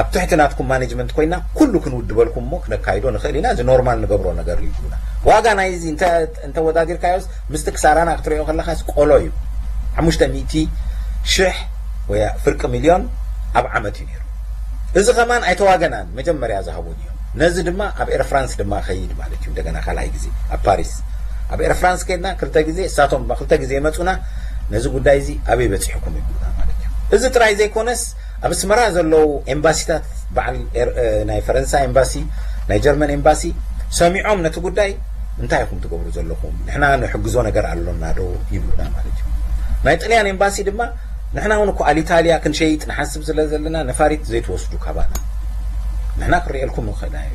ኣብ ትሕቲ ናትኩም ማኔጅመንት ኮይና ኩሉ ክንውድበልኩም እሞ ክነካይዶ ንኽእል ኢና። እዚ ኖርማል ንገብሮ ነገር እዩ። ዋጋ ናይዚ እንተወዳዲርካዮስ ምስቲ ክሳራና ክትሪኦ ከለኻስ ቆሎ እዩ። ሓሙሽተ ሚእቲ ሽሕ ወይ ፍርቂ ሚልዮን ኣብ ዓመት እዩ ነይሩ። እዚ ከማን ኣይተዋገናን፣ መጀመርያ ዝሃቡን እዮም። ነዚ ድማ ኣብ ኤር ፍራንስ ድማ ኸይድ ማለት እዩ። እንደገና ካልኣይ ግዜ ኣብ ፓሪስ ኣብ ኤር ፍራንስ ከድና ክልተ ግዜ እሳቶም ድማ ክልተ ግዜ የመፁና። ነዚ ጉዳይ እዚ ኣበይ በፂሕኩም ይብሉና ማለት እዩ። እዚ ጥራይ ዘይኮነስ ኣብ ኣስመራ ዘለዉ ኤምባሲታት በዓል ናይ ፈረንሳ ኤምባሲ ናይ ጀርመን ኤምባሲ ሰሚዖም ነቲ ጉዳይ እንታይ ኢኹም ትገብሩ ዘለኹም ንሕና ንሕግዞ ነገር ኣሎና ዶ ይብሉና ማለት እዩ። ናይ ጥልያን ኤምባሲ ድማ ንሕና እውን እኮ ኣሊታልያ ክንሸይጥ ንሓስብ ስለ ዘለና ነፋሪት ዘይትወስዱ ካባና ንሕና ክርእየልኩም ንኽእልና እዩ።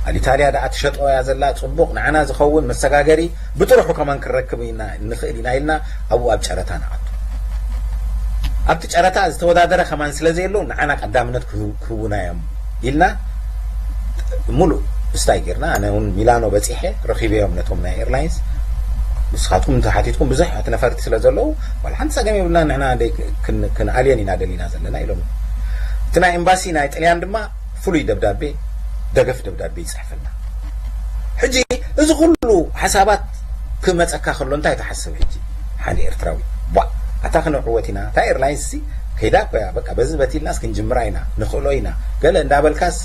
ኣሊታልያ ደኣ ትሸጦ እያ ዘላ ጽቡቕ ንዓና ዝኸውን መሰጋገሪ ብጥርሑ ከማን ክንረክብ ኢና ንኽእል ኢና ኢልና ኣብኡ ኣብ ጨረታ ንኣቱ። ኣብቲ ጨረታ ዝተወዳደረ ከማን ስለ ዘየሎ ንዓና ቀዳምነት ክህቡና እዮም ኢልና ሙሉእ ስታይ ጌርና ኣነ እውን ሚላኖ በፂሐ ረኺበዮም ነቶም ናይ ኤርላይንስ ንስኻትኩም እንተሓቲትኩም ብዙሕ እቲ ነፈርቲ ስለ ዘለዉ ዋላ ሓንቲ ፀገም የብልና ንሕና ክንኣልየን ኢና ደሊና ዘለና ኢሎም እቲ ናይ ኤምባሲ ናይ ጥልያን ድማ ፍሉይ ደብዳቤ ደገፍ ደብዳቤ ይፅሕፈልና ሕጂ እዚ ኩሉ ሓሳባት ክመፀካ ከሎ እንታይ ትሓስብ ሕጂ ሓደ ኤርትራዊ ቧ ኣታ ክነዕወት ኢና እታ ኤርላይንስ ሲ ከይዳ ኮያ በቃ በዚ በቲልናስ ክንጅምራ ኢና ንኽእሎ ኢና ገለ እንዳበልካስ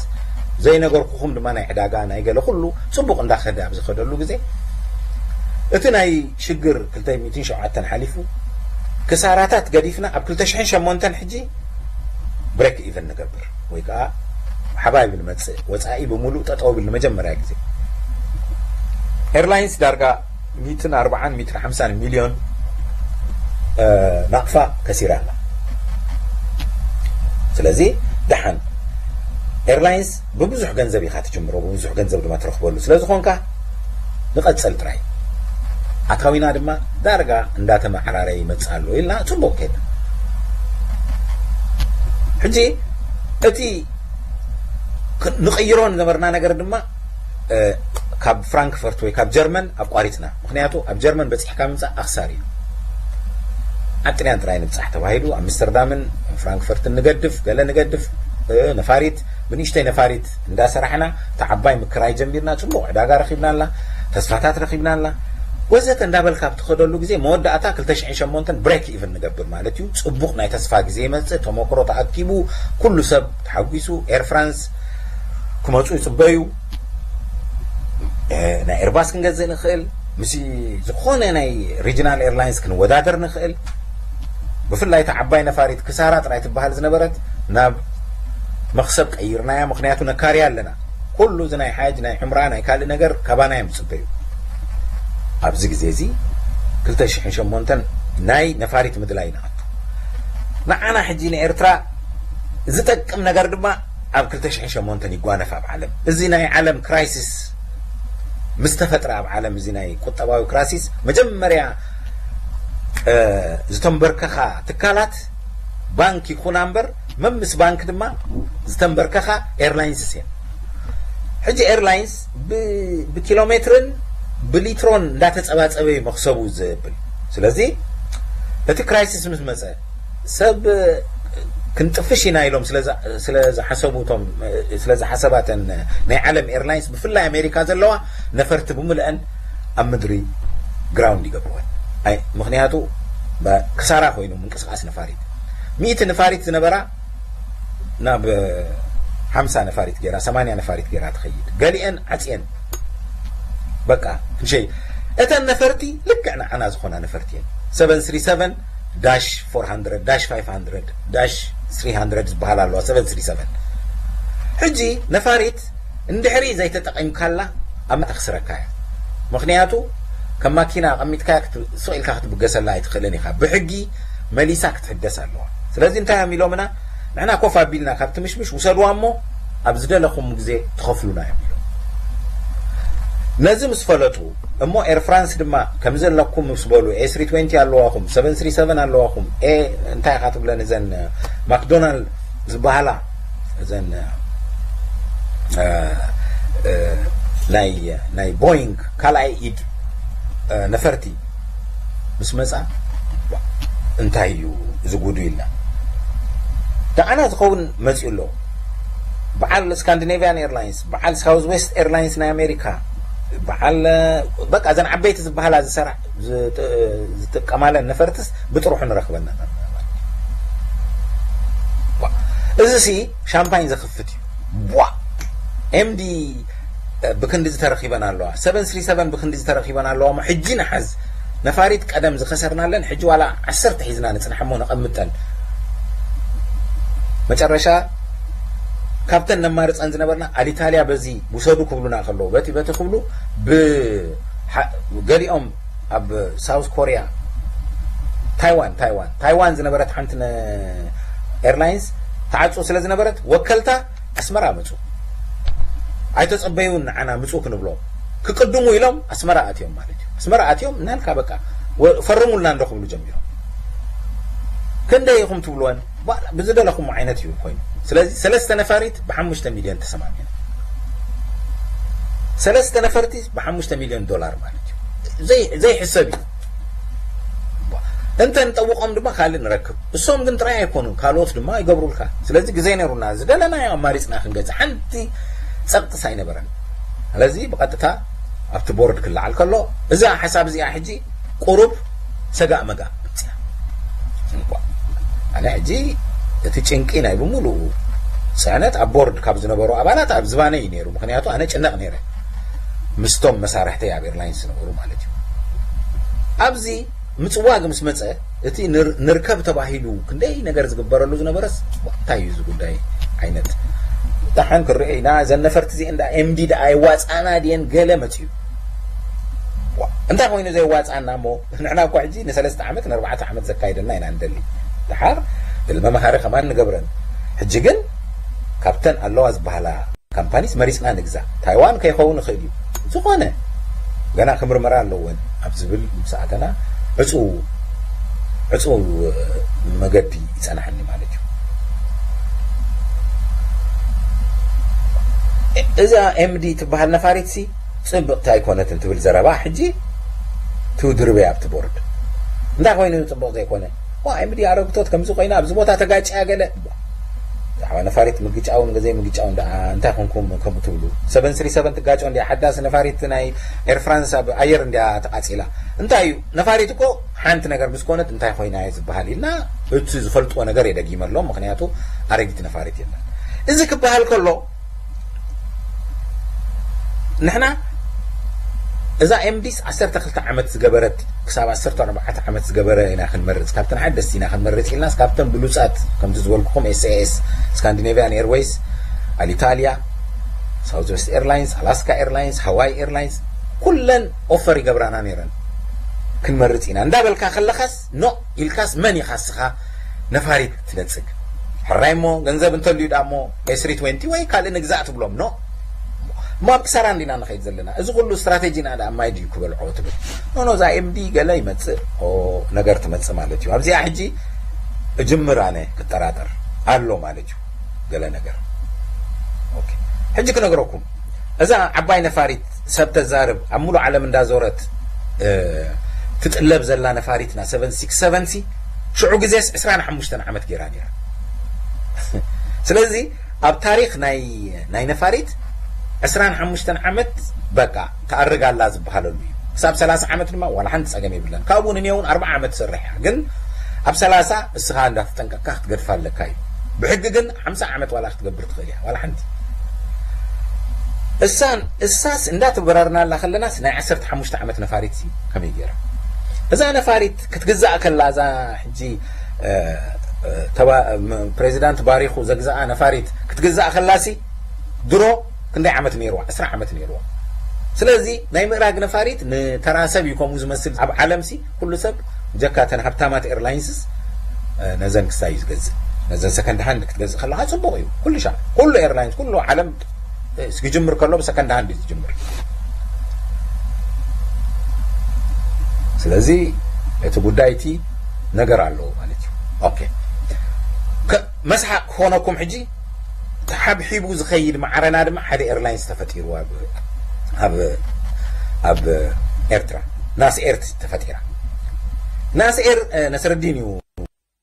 ዘይነገርኩኹም ድማ ናይ ዕዳጋ ናይ ገለ ኩሉ ፅቡቕ እንዳኸደ ኣብ ዝኸደሉ ግዜ እቲ ናይ ሽግር ክልተ ሚእትን ሸውዓተን ሓሊፉ ክሳራታት ገዲፍና ኣብ ክልተ ሽሕን ሸሞንተን ሕጂ ብሬክ ኢቨን ንገብር ወይ ከዓ ሓባይብ ንመፅእ ወፃኢ ብምሉእ ጠጠው ብል ንመጀመርያ ግዜ ኤርላይንስ ዳርጋ ሚትን ኣርባዓን ሚትን ሓምሳን ሚልዮን ናቕፋ ከሲራ ኣላ ስለዚ ደሓን ኤርላይንስ ብብዙሕ ገንዘብ ኢኻ ትጅምሮ ብብዙሕ ገንዘብ ድማ ትረኽበሉ ስለ ዝኾንካ ንቐፅል ጥራይ ኣታዊና ድማ ዳርጋ እንዳተመዓራረየ ይመፅእ ኣሎ ኢልና ፅቡቕ ከይድና ሕጂ እቲ ንቕይሮ ዝነበርና ነገር ድማ ካብ ፍራንክፈርት ወይ ካብ ጀርመን ኣቋሪፅና ምክንያቱ ኣብ ጀርመን በፂሕካ ምምፃእ ኣኽሳር እዩ ኣብ ጥልያን ጥራይ ንብፃሕ ተባሂሉ ኣምስተርዳምን ፍራንክፈርትን ንገድፍ ገለ ንገድፍ ነፋሪት ብንእሽተይ ነፋሪት እንዳሰራሕና እታ ዓባይ ምክራይ ጀሚርና ፅቡቕ ዕዳጋ ረኺብና ኣላ ተስፋታት ረኺብና ኣላ ወዘተ እንዳበልካ ኣብ ትኸደሉ ግዜ መወዳእታ ክልተ ሽሕን ሸሞንተን ብሬክ ኢቨን ንገብር ማለት እዩ ፅቡቕ ናይ ተስፋ ግዜ ይመፅእ ተመክሮ ተኣኪቡ ኩሉ ሰብ ተሓጒሱ ኤር ፍራንስ ክመፁ ይፅበዩ ናይ ኤርባስ ክንገዝእ ንኽእል ምስ ዝኾነ ናይ ሪጅናል ኤርላይንስ ክንወዳደር ንኽእል። ብፍላይ እታ ዓባይ ነፋሪት ክሳራ ጥራይ ትበሃል ዝነበረት ናብ መኽሰብ ቀይርናያ፣ ምኽንያቱ ነካርያ ኣለና። ኩሉ እዚ ናይ ሓጅ፣ ናይ ዑምራ፣ ናይ ካልእ ነገር ካባና እዮም ዝጽበዩ። ኣብዚ ግዜ እዚ ክልተ ሽሕን ሸሞንተን ናይ ነፋሪት ምድላይ ንኣቱ። ንዓና ሕጂ ንኤርትራ ዝጠቅም ነገር ድማ ኣብ ክልተ ሽሕን ሸሞንተን ይጓነፍ ኣብ ዓለም። እዚ ናይ ዓለም ክራይሲስ ምስ ተፈጥረ፣ ኣብ ዓለም እዚ ናይ ቁጠባዊ ክራሲስ መጀመርያ ዝተንበርከኻ ትካላት ባንክ ይኹና እምበር፣ መምስ ባንክ ድማ ዝተንበርከኻ ኤርላይንስስ እየን። ሕጂ ኤርላይንስ ብኪሎ ሜትርን ብሊትሮን እንዳተጸባጸበ እዩ መኽሰቡ ዘብል። ስለዚ እቲ ክራይሲስ ምስ መጸ፣ ሰብ ክንጥፍሽ ኢና ኢሎም ስለ ዝሓሰቡ፣ እቶም ስለ ዝሓሰባተን ናይ ዓለም ኤርላይንስ፣ ብፍላይ ኣሜሪካ ዘለዋ ነፈርቲ ብምልአን ኣብ ምድሪ ግራውንድ ይገብርወን። ኣይ ምኽንያቱ ክሳራ ኮይኑ ምንቅስቃስ ነፋሪት፣ ሚእቲ ነፋሪት ዝነበራ ናብ ሓምሳ ነፋሪት ገይራ፣ ሰማንያ ነፋሪት ገይራ ትኸይድ። ገሊአን ዓፅየን በቃ ክንሸይ። እተን ነፈርቲ ልክዕ ንዓና ዝኾና ነፈርቲ እየን። ሰቨን ስሪ ሰቨን ዳሽ ፎር ሃንድረድ፣ ዳሽ ፋይቭ ሃንድረድ፣ ዳሽ ስሪ ሃንድረድ ዝበሃላ ኣለዋ። ሰቨን ስሪ ሰቨን ሕጂ ነፋሪት እንድሕሪ ዘይተጠቒምካላ ኣብ ተኽስረካ እያ። ምኽንያቱ ከም ማኪና ኣቐሚጥካ ስቕ ኢልካ ክትብገሰላ ኣይትኽእልን ኢኻ። ብሕጊ መሊሳ ክትሕደስ ኣለዋ። ስለዚ እንታይ እዮም ኢሎምና? ንሕና ኮፍ ኣቢልና ካብ ትምሽምሽ ውሰድዋ እሞ ኣብ ዝደለኹም ግዜ ትኸፍሉና እዮም ኢሎም። ነዚ ምስ ፈለጡ እሞ ኤር ፍራንስ ድማ ከምዚ ኣለኩም ምስ በሉ፣ ኤ ስሪ ትዌንቲ ኣለዋኹም፣ ሰቨን ስሪ ሰቨን ኣለዋኹም፣ ኤ እንታይ ኢኻ ትብለን እዘን ማክዶናልድ ዝበሃላ እዘን ናይ ናይ ቦይንግ ካልኣይ ኢድ ነፈርቲ ምስ መጻ፣ እንታይ እዩ እዚ ጉዱ ኢልና። ንዓና ዝኸውን መጺኡ ኣሎ። በዓል ስካንዲኔቪያን ኤርላይንስ፣ በዓል ሳውዝ ዌስት ኤርላይንስ ናይ ኣሜሪካ፣ በዓል በቃ እዘን ዓበይቲ ዝበሃላ ዝሰራ ዝጥቀማለን ነፈርትስ ብጥርሑ ንረኽበና። እዚ ሲ ሻምፓኝ ዘኽፍት እዩ። ቧ ኤምዲ ብክንዲ ዝተረኺበን ኣለዋ፣ ሰቨን ስሪ ሰቨን ብክንዲ ዝተረኺበን ኣለዋ። እሞ ሕጂ ንሓዝ፣ ነፋሪት ቀደም ዝኸሰርናለን ሕጂ ዋላ ዓሰርተ ሒዝና ንጽንሐሞ ነቐምጠን። መጨረሻ ካብተን ነማርጸን ዝነበርና ኣሊታልያ በዚ ውሰዱ ክብሉና ከለዉ፣ በቲ በቲ ክብሉ፣ ብ ገሊኦም ኣብ ሳውዝ ኮርያ፣ ታይዋን ታይዋን ታይዋን ዝነበረት ሓንቲ ኤርላይንስ ተዓጹ ስለ ዝነበረት፣ ወከልታ ኣስመራ መጹ። ኣይተጸበዩን ንዓና ምጹ ክንብሎም። ክቅድሙ ኢሎም ኣስመራ ኣትዮም ማለት እዩ። ኣስመራ ኣትዮም እናልካ በቃ ፈርሙልና እንዶ ክብሉ ጀሚሮም። ክንደይ ኢኹም ትብልወን? ብዝደለኹም ዓይነት እዩ ኮይኑ። ስለዚ ሰለስተ ነፋሪት ብሓሙሽተ ሚልዮን ተሰማሚና። ሰለስተ ነፈርቲ ብሓሙሽተ ሚልዮን ዶላር ማለት እዩ። ዘይሕሰብ እዩ። እንተ ንጠውቖም ድማ ካልእ ንረክብ። እሶም ግን ጥራይ ኣይኮኑን፣ ካልኦት ድማ ይገብሩልካ። ስለዚ ግዜ ነይሩና፣ ዝደለናዮ ኣማሪፅና ክንገዝእ ሓንቲ ጸቕጥስ ኣይነበረን። ስለዚ ብቐጥታ ኣብቲ ቦርድ ክለዓል ከሎ፣ እዛ ሓሳብ እዚኣ ሕጂ ቁሩብ ሰጋእ መጋእ መፅያ። ኣነ ሕጂ እቲ ጭንቂ ናይ ብምሉኡ ፅዕነት ኣብ ቦርድ ካብ ዝነበሩ ኣባላት ኣብ ዝባነይ እዩ ነይሩ። ምኽንያቱ ኣነ ጭነቕ ነይረ ምስቶም መሳርሕተይ ኣብ ኤርላይንስ ዝነበሩ ማለት እዩ። ኣብዚ ምፅዋግ ምስ መፀ፣ እቲ ንርከብ ተባሂሉ ክንደይ ነገር ዝግበረሉ ዝነበረስ፣ እንታይ እዩ እዚ ጉዳይ ዓይነት? ደሓን ክርአ ኢና። እዘን ነፈርቲ እዚአን ዳ ኤምዲ ዳ ኣይዋፃና ድየን ገለ መፅዩ። እንታይ ኮይኑ ዘይዋፃና እሞ? ንሕና እኮ ሕጂ ንሰለስተ ዓመት ንኣርባዕተ ዓመት ዘካይደልና ኢና ንደሊ። ደሓር መምሃሪ ከማን ንገብረን። ሕጂ ግን ካብተን ኣለዋ ዝበሃላ ካምፓኒስ መሪፅና ንግዛ። ታይዋን ከይኸውን ይኽእል እዩ። ዝኾነ ገና ክምርመራ ኣለወን ኣብ ዝብል ምስ ኣተና፣ ዕፁ ዕፁ መገዲ ይፀናሕኒ ማለት እዩ። እዛ ኤምዲ ትበሃል ነፋሪት ሲ ፅብቕቲ ኣይኮነትን ትብል ዘረባ ሕጂ ትውድርበ ኣብቲ ቦርድ። እንታይ ኮይኑ ፅቡቕ ዘይኮነ? ዋ፣ ኤምዲ ኣረግቶት ከምዚ ኮይና ኣብዚ ቦታ ተጋጭያ ገለ። ብዛዕባ ነፋሪት ምግጫውን ዘይምግጫውን ደኣ እንታይ ኮንኩም ከምኡ ትብሉ? ሰቨን ስሪ ሰቨን ትጋጮ እንድያ? ሓዳስ ነፋሪት ናይ ኤር ፍራንስ ኣብ ኣየር እንድያ ተቃጺላ? እንታይ እዩ? ነፋሪት እኮ ሓንቲ ነገር ምስ ኮነት እንታይ ኮይና እየ ዝበሃል ኢልና እቲ ዝፈልጥዎ ነገር የደጊመሎም። ምኽንያቱ ኣረጊት ነፋሪት የለን። እዚ ክበሃል ከሎ ንሕና እዛ ኤምዲስ ዓሰርተ ክልተ ዓመት ዝገበረት ክሳብ ዓሰርተ ኣርባዕተ ዓመት ዝገበረ ኢና ክንመርፅ፣ ካብተን ሓደስቲ ኢና ክንመርፅ ኢልናስ፣ ካብተን ብሉፃት ከምቲ ዝበልኩኹም ኤስኤኤስ፣ ስካንዲኔቪያን ኤርዌይስ፣ ኣሊታልያ፣ ሳውዝ ዌስት ኤርላይንስ፣ ኣላስካ ኤርላይንስ፣ ሃዋይ ኤርላይንስ፣ ኩለን ኦፈር ይገብራና ነይረን። ክንመርፅ ኢና እንዳበልካ ከለኻስ፣ ኖ ኢልካስ፣ መን ኢኻ እስኻ ነፋሪት ትነፅግ? ሕራይ እሞ ገንዘብ እንተልዩ ዳ እሞ ኤስሪ ትወንቲ ወይ ካልእ ንግዛእ ትብሎም። ኖ እሞ ኣብ ክሳራ እንዲና ንኸይድ ዘለና። እዚ ኩሉ ስትራቴጂ ኢና ዳ ማይ ድዩ ክበልዖ ትብል? ኖ ኖ፣ እዛ ኤምዲ ገለ ይመፅእ፣ ኦ፣ ነገር ትመፅእ ማለት እዩ። ኣብዚኣ ሕጂ እጅምር ኣነ ክጠራጠር ኣሎ ማለት እዩ። ገለ ነገር ኦኬ። ሕጂ ክነግረኩም፣ እዛ ዓባይ ነፋሪት ሰብ ተዛርብ ኣብ ሙሉ ዓለም እንዳዞረት ትጥለብ ዘላ ነፋሪትና ሰቨን ሲክስ ሰቨን ሲ ሽዑ ግዜስ ዕስራን ሓሙሽተን ዓመት ገይራ ነይራ። ስለዚ ኣብ ታሪኽ ናይ ናይ ነፋሪት ዕስራን ሓሙሽተን ዓመት በቃ ትኣርግ ኣላ ዝበሃለሉ እዩ። ክሳብ ሰላሳ ዓመት ድማ ዋላ ሓንቲ ጸገም የብለን። ካብኡ ንኔውን ኣርባዓ ዓመት ትሰርሕ እያ። ግን ኣብ ሰላሳ እስኻ እንዳተጠንቀቅካ ክትገድፋ ኣለካ እዩ። ብሕጊ ግን ሓምሳ ዓመት ዋላ ክትገብር ትኽእል እያ። ዋላ ሓንቲ እሳን እሳስ እንዳተበራርናላ ከለናስ ናይ ዓሰርተ ሓሙሽተ ዓመት ነፋሪት ሲ ከመይ ገይራ እዛ ነፋሪት ክትግዛእ ከላ እዛ ሕጂ እ፣ እ፣ ተባ- ም- ፕሬዚዳንት ባሪኹ ዘግዛኣ ነፋሪት ክትግዛእ ከላሲ ድሮ ክንደይ ዓመት ነይርዋ? ዕስራ ዓመት ነይርዋ። ስለዚ ናይ ምእራግ ነፋሪት ንተራ ሰብ እዩ ከምኡ ዝመስል። ኣብ ዓለምሲ ኩሉ ሰብ ጀካ ተን ሃብታማት ኤርላይንስስ እ፣ ነዘን ክሳይ እዩ ዝገዝእ። ነዘን ሰከንድ ሃንድ ክትገዝእ ከለካ ጽቡቕ እዩ። ኩሉ ሻ ኩሉ ኤርላይንስ ኩሉ ዓለም እ፣ ክጅምር ከሎ ብሰከንድ ሃንድ እዩ ዝጅምር። ስለዚ እቲ ጉዳይ እቲ ነገር ኣለዎ ማለት እዩ። ኦኬ። ከ- መስሓቅ ክኾነኩም ሕጂ ተሓብሒቡ ዝኸይድ ማዕረና ድማ ሓደ ኤርላይንስ ተፈጢሩ ኣብ ኣብ ኣብ ኤርትራ ናስ ኤር ተፈጢራ። ናስ ኤር እ፣ ነስረዲን እዩ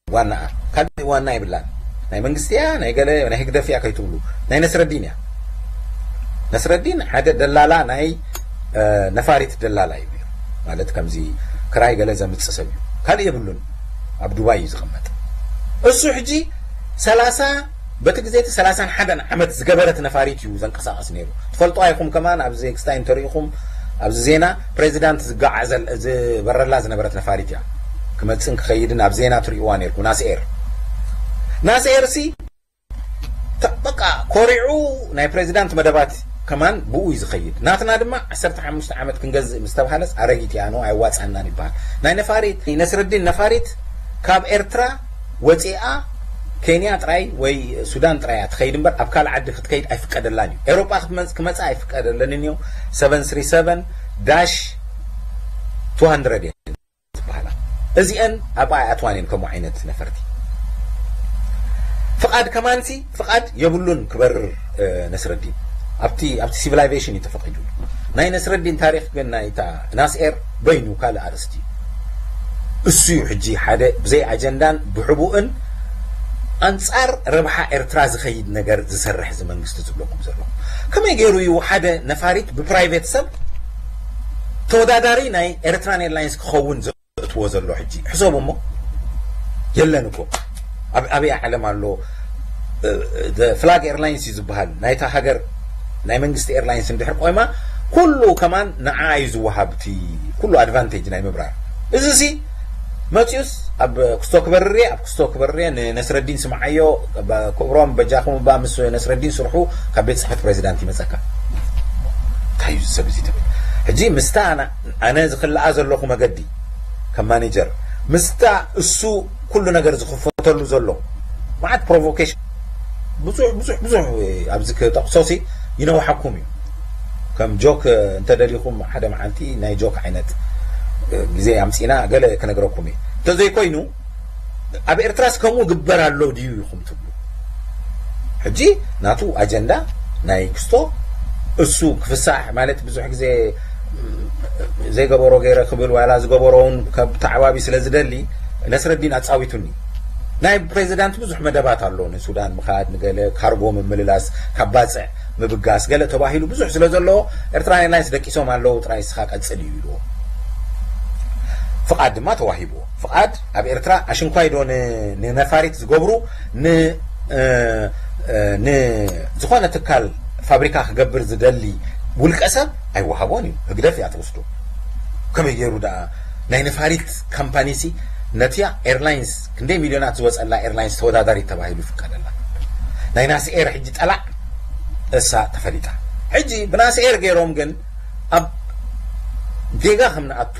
ዋናኣ። ካልእ ዋና የብላን። ናይ መንግስቲ እያ፣ ናይ ገለ ናይ ህግደፍ እያ ከይትብሉ፣ ናይ ነስረዲን እያ። ነስረዲን ሓደ ደላላ ናይ እ፣ ነፋሪት ደላላ እዩ ነይሩ። ማለት ከምዚ ክራይ ገለ ዘምጽእ ሰብ እዩ። ካልእ የብሉን። ኣብ ዱባይ እዩ ዝቕመጥ። እሱ ሕጂ ሰላሳ በቲ ግዜ እቲ ሰላሳን ሓደን ዓመት ዝገበረት ነፋሪት እዩ ዘንቀሳቐስ ነይሩ። ትፈልጦ ኣይኹም ከማን ኣብዚ ክስታይ እንተሪኢኹም ኣብዚ ዜና ፕሬዚዳንት ዝገዓዘል ዝበረላ ዝነበረት ነፋሪት እያ። ክመጽእን ክኸይድን ኣብ ዜና ትሪእዋ ነይርኩ ናስኤር ናስኤር ሲ ተ- በቃ ኮሪዑ ናይ ፕሬዚዳንት መደባት ከማን ብኡ እዩ ዝኸይድ። ናትና ድማ ዓሰርተ ሓሙሽተ ዓመት ክንገዝእ ምስ ተባሃለስ ኣረጊት እያ ነው ኣይዋፃናን ይበሃል። ናይ ነፋሪት ነስረዲን ነፋሪት ካብ ኤርትራ ወፂኣ ኬንያ ጥራይ ወይ ሱዳን ጥራይ እያ ትኸይድ እምበር ኣብ ካልእ ዓዲ ክትከይድ ኣይፍቀደላን እዩ። ኤውሮጳ ክትመፅ ክመፃ ኣይፍቀደለንን እዩ። ሰቨን ስሪ ሰቨን ዳሽ ቱ ሃንድረድ እየን ዝበሃላ። እዚአን ኣብ ኣይኣትዋን እየን ከምኡ ዓይነት ነፈርቲ። ፍቓድ ከማንሲ ፍቓድ የብሉን ክበርር እ፣ ነስረዲን ኣብቲ ኣብቲ ሲቪላይዜሽን እዩ ተፈቒዱ። ናይ ነስረዲን ታሪክ ግን ናይታ ናስኤር በይኑ ካልእ ኣርእስቲ እዩ። እሱ እዩ ሕጂ ሓደ ብዘይ ኣጀንዳን ብሕቡእን ኣንጻር ረብሓ ኤርትራ ዝኸይድ ነገር ዝሰርሕ እዚ መንግስቲ ዝብለኩም ዘለኹ። ከመይ ገይሩ እዩ ሓደ ነፋሪት ብፕራይቬት ሰብ ተወዳዳሪ ናይ ኤርትራን ኤርላይንስ ክኸውን ዘእትዎ ዘሎ? ሕጂ ሕሰቡ እሞ የለን እኮ ኣብ ኣበይ ዓለም ኣሎ? ፍላግ ኤርላይንስ እዩ ዝበሃል ናይታ ሃገር ናይ መንግስቲ ኤርላይንስ እንድሕር ቆይማ ኩሉ ከማን ንዓ እዩ ዝወሃብ እቲ ኩሉ ኣድቫንቴጅ ናይ ምብራር። እዚ ሲ መፅዩስ ኣብ ክስቶ ክበርር እየ ኣብ ክስቶ ክበርር እየ ንነስረዲን ስምዓዮ ክብሮም በጃኹም እባ ምስ ነስረዲን ስርሑ ካብ ቤት ፅሕፈት ፕሬዚዳንት ይመፀካ እንታይ እዩ ሰብ እዚ ትብል ሕጂ ምስታ ኣነ ዝክልኣ ዘለኹ መገዲ ከም ማኔጀር ምስታ እሱ ኩሉ ነገር ዝኽፈተሉ ዘሎ መዓት ፕሮቮኬሽን ብዙሕ ብዙሕ ብዙሕ ኣብዚ ክጠቕሶሲ ይነውሓኩም እዩ ከም ጆክ እንተደሊኹም ሓደ መዓልቲ ናይ ጆክ ዓይነት ግዜ ኣምፂና ገለ ክነግረኩም እዩ እንተዘይኮይኑ ኣብ ኤርትራስ ከምኡ ግበር ኣሎ ድዩ ኢኹም ትብሉ ሕጂ ናቱ ኣጀንዳ ናይ ክስቶ እሱ ክፍሳሕ ማለት ብዙሕ ግዜ ዘይገበሮ ገይረ ክብል ዋላ ዝገበሮ እውን ካብ ተዓባቢ ስለ ዝደሊ ነስረዲን ኣጻዊቱኒ ናይ ፕሬዚዳንት ብዙሕ መደባት ኣሎ ንሱዳን ምኻድ ንገለ ካርጎ ምምልላስ ካብ ባፅዕ ምብጋስ ገለ ተባሂሉ ብዙሕ ስለ ዘለዎ ኤርትራ ኤርላይንስ ደቂሶም ኣለዉ ጥራይ ስኻ ቀፅል እዩ ኢልዎ ፍቓድ ድማ ተዋሂብዎ ፍቓድ ኣብ ኤርትራ ኣሽንኳይ ዶ ንነፋሪት ዝገብሩ ንዝኾነ ትካል ፋብሪካ ክገብር ዝደሊ ውልቀ ሰብ ኣይወሃቦን እዩ። ህግደፍ እያ ትወስዶ። ከመይ ገይሩ ደኣ ናይ ነፋሪት ካምፓኒ ሲ ነቲያ ኤርላይንስ ክንደይ ሚልዮናት ዝወፀላ ኤርላይንስ ተወዳዳሪት ተባሂሉ ይፍቀደላ? ናይ ናስኤር ሕጂ ጠላዕ እሳ ተፈሊጣ። ሕጂ ብናስኤር ገይሮም ግን ኣብ ጌጋ ከም ንኣቱ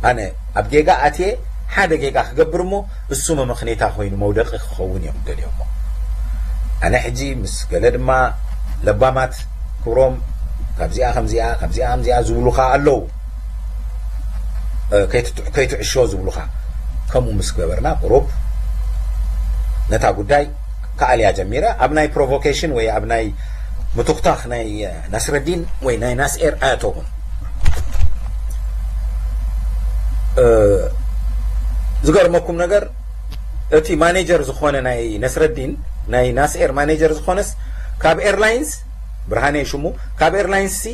ኣነ ኣብ ጌጋ ኣትየ ሓደ ጌጋ ክገብር እሞ እሱ መመኽኔታ ኮይኑ መውደቂ ክኸውን እዮም ደልዮሞ። ኣነ ሕጂ ምስ ገለ ድማ ለባማት ክብሮም ካብዚኣ ከምዚኣ ካብዚኣ ከምዚኣ ዝብሉኻ ኣለዉ። ከይትዕሾ ዝብሉኻ ከምኡ ምስ ገበርና ቁሩብ ነታ ጉዳይ ከኣልያ ጀሚረ። ኣብ ናይ ፕሮቮኬሽን ወይ ኣብ ናይ ምትኩታኽ ናይ ናስረዲን ወይ ናይ ናስኤር ኣያተውን ዝገርመኩም ነገር እቲ ማኔጀር ዝኾነ ናይ ነስረዲን ናይ ናስኤር ማኔጀር ዝኾነስ ካብ ኤርላይንስ ብርሃነ ሽሙ ካብ ኤርላይንስ ሲ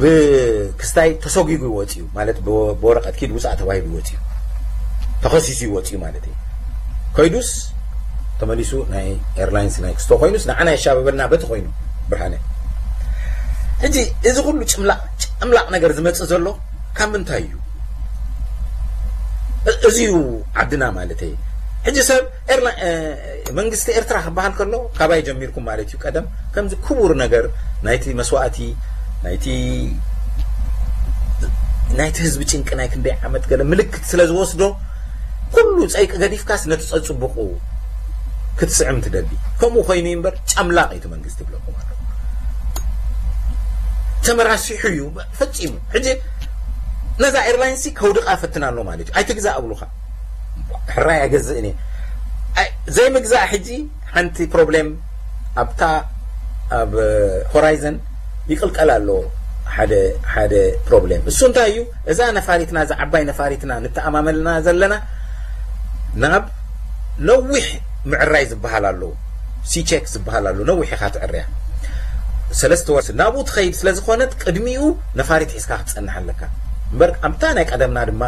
ብክስታይ ተሰጒጉ ይወፅዩ ማለት ብወረቀት ኪድ ውፃእ ተባሂሉ ይወፅዩ ተኸሲሱ ይወፅዩ ማለት እዩ። ከይዱስ ተመሊሱ ናይ ኤርላይንስ ናይ ክስቶ ኮይኑስ ንዓና የሻበበልና በቲ ኮይኑ ብርሃነ። ሕጂ እዚ ኩሉ ጭምላቕ ጭምላቕ ነገር ዝመጽእ ዘሎ ካብ ምንታይ እዩ? እዚ እዩ ዓድና ማለት እዩ። ሕጂ ሰብ መንግስቲ ኤርትራ ክበሃል ከሎ ካባይ ጀሚርኩም ማለት እዩ። ቀደም ከምዚ ክቡር ነገር ናይቲ መስዋእቲ ናይቲ ናይቲ ህዝቢ ጭንቂ ናይ ክንደይ ዓመት ገለ ምልክት ስለ ዝወስዶ ኩሉ ጸይቂ ገዲፍካስ ነቲ ጸጽቡቑ ክትስዕም ትደሊ። ከምኡ ኮይኑ እምበር ጨምላቕ እዩ እቲ መንግስቲ ይብለኩም ኣሎ። ተመራሲሑ እዩ ፈጺሙ። ሕጂ ነዛ ኤርላይንስ ከውድቃ ፈትና ኣሎ ማለት እዩ። ኣይትግዛእ ኣብሉኻ። ሕራይ ኣይገዝእን እየ። ዘይምግዛእ ሕጂ ሓንቲ ፕሮብሌም ኣብታ ኣብ ሆራይዘን ይቅልቀል ኣሎ ሓደ ሓደ ፕሮብሌም። እሱ እንታይ እዩ? እዛ ነፋሪትና እዛ ዓባይ ነፋሪትና ንተኣማመልና ዘለና ናብ ነዊሕ ምዕራይ ዝበሃል ኣሎ፣ ሲቼክ ዝበሃል ኣሎ። ነዊሕ ኢኻ ትዕርያ። ሰለስተ ወር ናብኡ ትኸይድ ስለ ዝኾነት ቅድሚኡ ነፋሪት ሒዝካ ክትጸንሕ ኣለካ። እምበር ኣብታ ናይ ቀደምና ድማ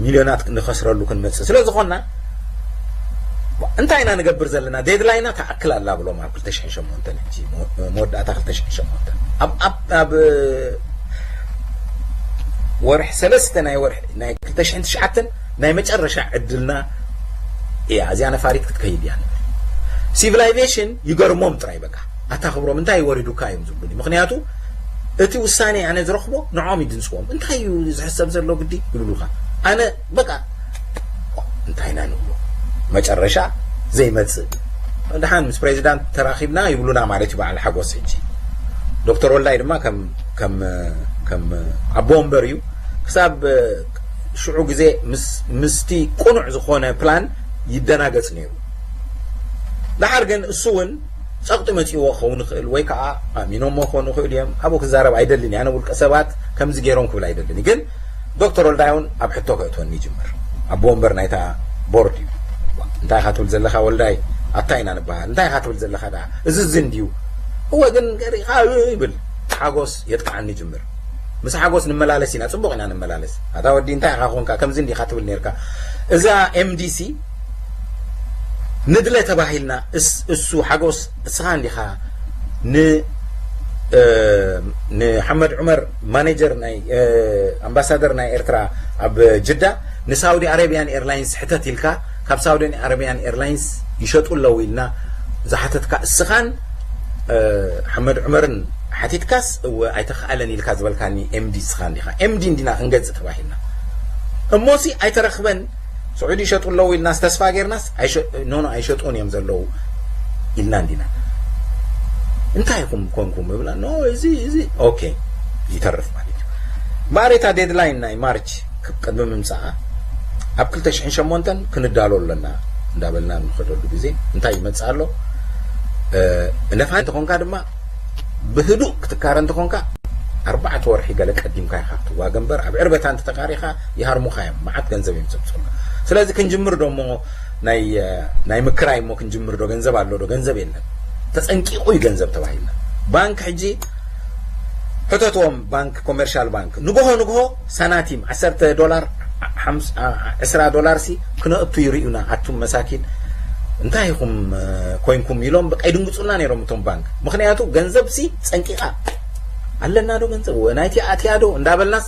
ሚልዮናት ንኸስረሉ ክንመጽእ ስለ ዝኾንና እንታይ ኢና ንገብር ዘለና? ዴድላይና ተኣክል ኣላ ብሎም ኣብ ክልተ ሽሕን ሸሞንተን ሕጂ መወዳእታ ክልተ ሽሕን ሸሞንተን ኣብ ኣብ ኣብ ወርሒ ሰለስተ ናይ ወርሒ ናይ ክልተ ሽሕን ትሽዓተን ናይ መጨረሻ ዕድልና እያ። እዚኣ ነፋሪት ክትከይድ እያ። ሲቪላይዜሽን ይገርሞም ጥራይ በቃ ኣታ ክብሮም እንታይ ወሪዱካ እዮም ዝብሉኒ። ምክንያቱ እቲ ውሳኔ ኣነ ዝረኽቦ ንዖም ይድንፅዎም። እንታይ እዩ ዝሕሰብ ዘሎ ግዲ ይብሉካ። ኣነ በቃ እንታይ ኢና ንብሎ መጨረሻ ዘይመፅእ። ደሓን ምስ ፕሬዚዳንት ተራኺብና ይብሉና ማለት እዩ በዓል ሓጎስ። ሕጂ ዶክተር ወልዳይ ድማ ከም ከም ከም ኣቦ ወንበር እዩ። ክሳብ ሽዑ ግዜ ምስ ምስቲ ቁኑዕ ዝኾነ ፕላን ይደናገጽ ነይሩ። ደሓር ግን እሱ እውን ጸቕጢ መጺእዎ ክኸውን ይኽእል ወይ ከዓ ኣሚኖሞ ክኾኑ ይኽእሉ እዮም። ኣብኡ ክዛረብ ኣይደልን እየ። ኣነ ውልቀ ሰባት ከምዚ ገይሮም ክብል ኣይደልን እየ። ግን ዶክተር ወልዳይ እውን ኣብ ሕቶ ከእትወኒ ይጅምር። ኣቦ ወንበር ናይታ ቦርድ እዩ። እንታይ ኢኻ ትብል ዘለኻ ወልዳይ? ኣታ ኢና ንበሃል። እንታይ ኢኻ ትብል ዘለኻ ደኣ? እዚ እዚ እንድዩ። እወ ግን ገሪኻ ይብል። ሓጎስ የጥቅዓኒ ይጅምር። ምስ ሓጎስ ንመላለስ ኢና፣ ጽቡቕ ኢና ንመላለስ። ኣታ ወዲ እንታይ ኢኻ ኮንካ ከምዚ እንዲኻ ትብል ነርካ። እዛ ኤምዲሲ ንድለ ተባሂልና እሱ ሓጎስ እስኻ እንዲኻ ን ንሓመድ ዑመር ማኔጀር ናይ ኣምባሳደር ናይ ኤርትራ ኣብ ጅዳ ንሳውዲ ኣረቢያን ኤርላይንስ ሕተት ኢልካ ካብ ሳውዲ ኣረቢያን ኤርላይንስ ይሸጡ ኣለዉ ኢልና ዝሓተትካ እስኻን ሓመድ ዑመርን ሓቲትካስ እወ ኣይተኸኣለን ኢልካ ዝበልካኒ ኤምዲ እስኻ እንዲኻ። ኤምዲ እንዲና ክንገዝእ ተባሂልና እሞሲ ኣይተረኽበን። ስዑዲ ይሸጡ ኣለዉ ኢልናስ ተስፋ ጌርናስ ኖኖ ኣይሸጡን እዮም ዘለዉ ኢልና እንዲና። እንታይ ኢኹም ኮንኩም እብላ ኖ እዚ እዚ ኦኬ ይተርፍ ማለት እዩ። እምበኣር እታ ዴድላይን ናይ ማርች ቅድሚ ምምፃኣ ኣብ ክልተ ሽሕን ሸሞንተን ክንዳሎ ኣለና እንዳበልና ንኸደሉ ግዜ እንታይ ይመፅእ ኣሎ? ነፋ እንተኾንካ ድማ ብህዱእ ክትካረ እንተኾንካ ኣርባዕተ ወርሒ ገለ ቀዲምካ ኢኻ ክትዋገ እምበር ኣብ ዕርበታ እንተተካሪኻ ይሃርሙኻ እዮም። መዓት ገንዘብ እዮም ዘምፅኡልካ። ስለዚ ክንጅምር ዶ እሞ ናይ ምክራይ እሞ ክንጅምር ዶ ገንዘብ ኣሎ ዶ? ገንዘብ የለን። ተፀንቂቑ እዩ ገንዘብ ተባሂልና። ባንክ ሕጂ ሕተትዎም ባንክ ኮመርሻል ባንክ ንግሆ ንግሆ ሳናቲም ዓሰርተ ዶላር ዕስራ ዶላር ሲ ክነእቱ ይርእዩና ኣቱም መሳኪን። እንታይ ኢኹም ኮይንኩም ኢሎም በቃ ይድንግፁና ነይሮም እቶም ባንክ። ምክንያቱ ገንዘብ ሲ ፀንቂቃ ኣለና ዶ ገንዘብ ናይቲ ኣትያ ዶ እንዳበልናስ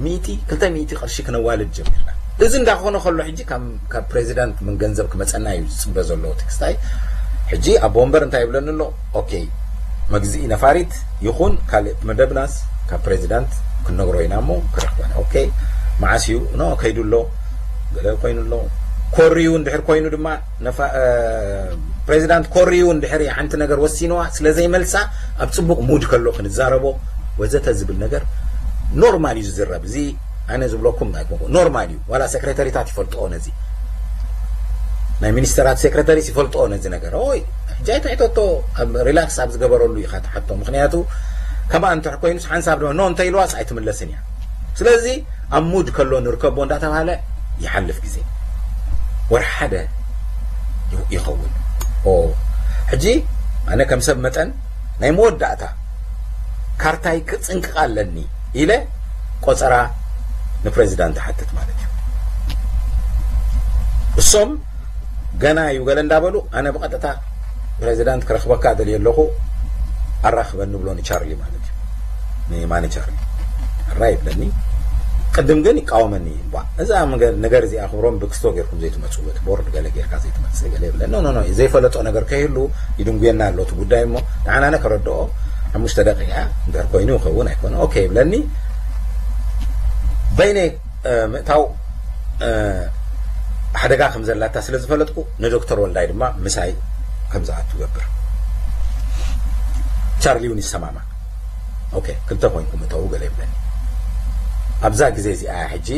ሚእቲ ክልተ ሚእቲ ቅርሺ ክነዋልድ ጀሚርና። እዚ እንዳኾነ ከሎ ሕጂ ካብ ፕሬዚዳንት ምን ገንዘብ ክመፀና እዩ ዝፅበ ዘሎ ትክስታይ። ሕጂ ኣቦ ወንበር እንታይ ይብለኒ ኣሎ? ኦኬ፣ መግዝኢ ነፋሪት ይኹን ካልእ መደብናስ ካብ ፕሬዚዳንት ክንነግሮ ኢና እሞ ክረኽበና። ኦኬ፣ መዓስ እዩ? ኖ ከይዱ ኣሎ፣ ገለ ኮይኑ ኣሎ። ኮርዩ እንድሕር ኮይኑ ድማ ፕሬዚዳንት ኮርዩ እንድሕር ሓንቲ ነገር ወሲንዋ ስለ ዘይመልሳ ኣብ ፅቡቕ ሙድ ከሎ ክንዛረቦ ወዘተ ዝብል ነገር ኖርማል እዩ ዝዝረብ። እዚ ኣነ ዝብለኩም ኖርማል እዩ። ዋላ ሴክሬተሪታት ይፈልጥኦ ነዚ፣ ናይ ሚኒስተራት ሴክሬተሪስ ይፈልጥኦ ነዚ ነገር። ኦይ ሕጂ ኣይትሕተቶ፣ ኣብ ሪላክስ ኣብ ዝገበረሉ ኢኻ ትሓቶ። ምክንያቱ ከምኣ እንተ ኮይኑስ ሓንሳብ ድማ ኖ እንተኢልዋስ ኣይትምለስን እያ። ስለዚ ኣብ ሙድ ከሎ ንርከቦ እንዳተባሃለ ይሓልፍ ግዜ። ወርሒ ሓደ ይኸውን። ሕጂ ኣነ ከም ሰብ መጠን ናይ መወዳእታ ካርታይ ክፅንቅቕ ኣለኒ ኢለ ቆፀራ ንፕሬዚዳንት ሓትት ማለት እዩ። እሶም ገና እዩ ገለ እንዳበሉ ኣነ ብቐጥታ ፕሬዚዳንት ክረኽበካ ደልየ ኣለኹ ኣራኽበኒ ብሎ ንቻርሊ ማለት እዩ። ንማኒ ቻርሊ ሕራይ ይብለኒ። ቅድም ግን ይቃወመኒ። እዛ ነገር እዚኣ ክብሮም ብክስቶ ጌርኩም ዘይትመፅኡ፣ እቲ ቦርድ ገለ ጌርካ ዘይትመፅእ ገለ ይብለኒ። ኖ ኖ ዘይፈለጦ ነገር ከይህሉ ይድንጉየና ኣሎ እቲ ጉዳይ እሞ ንዓናነ ከረድኦ ሓሙሽተ ደቂቃ እንድሕር ኮይኑ ይኸውን ኣይኮነ ኦኬ ይብለኒ። በይነ ምእታው ሓደጋ ከም ዘላታ ስለ ዝፈለጥኩ ንዶክተር ወልዳይ ድማ ምሳይ ከም ዝኣቱ ገብር። ቻርሊ እውን ይሰማማ። ኦኬ ክልተ ኮይንኩም እተው ገለ ይብለኒ። ኣብዛ ግዜ እዚኣ ሕጂ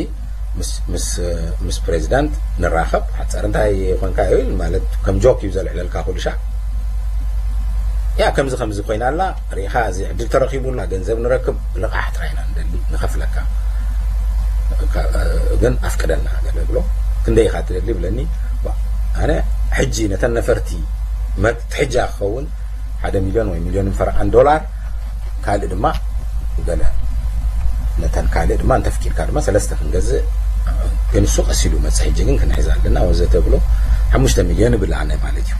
ምስ ፕሬዚዳንት ንራኸብ ሓፀር እንታይ ኮንካ ይብል ማለት ከም ጆክ እዩ ዘልዕለልካ ኩሉ ሻዕ። ያ ከምዚ ከምዚ ኮይና ኣላ ርኢኻ እዚ ዕድል ተረኺቡላ ገንዘብ ንረክብ ልቓሕ ጥራይ ኢና ንደሊ ንኸፍለካ ግን ኣፍቅደልና ገለ ብሎ። ክንደይ ኢኻ ትደሊ ብለኒ። ኣነ ሕጂ ነተን ነፈርቲ መትሕጃ ክኸውን ሓደ ሚልዮን ወይ ሚልዮንን ፈረቓን ዶላር ካልእ ድማ ገለ ነተን ካልእ ድማ እንተፍቂድካ ድማ ሰለስተ ክንገዝእ ግን እሱ ቀስ ኢሉ መፅእ ሕጂ ግን ክንሕዝ ኣለና ወዘተ ብሎ ሓሙሽተ ሚልዮን ይብል ኣነ ማለት እዩ።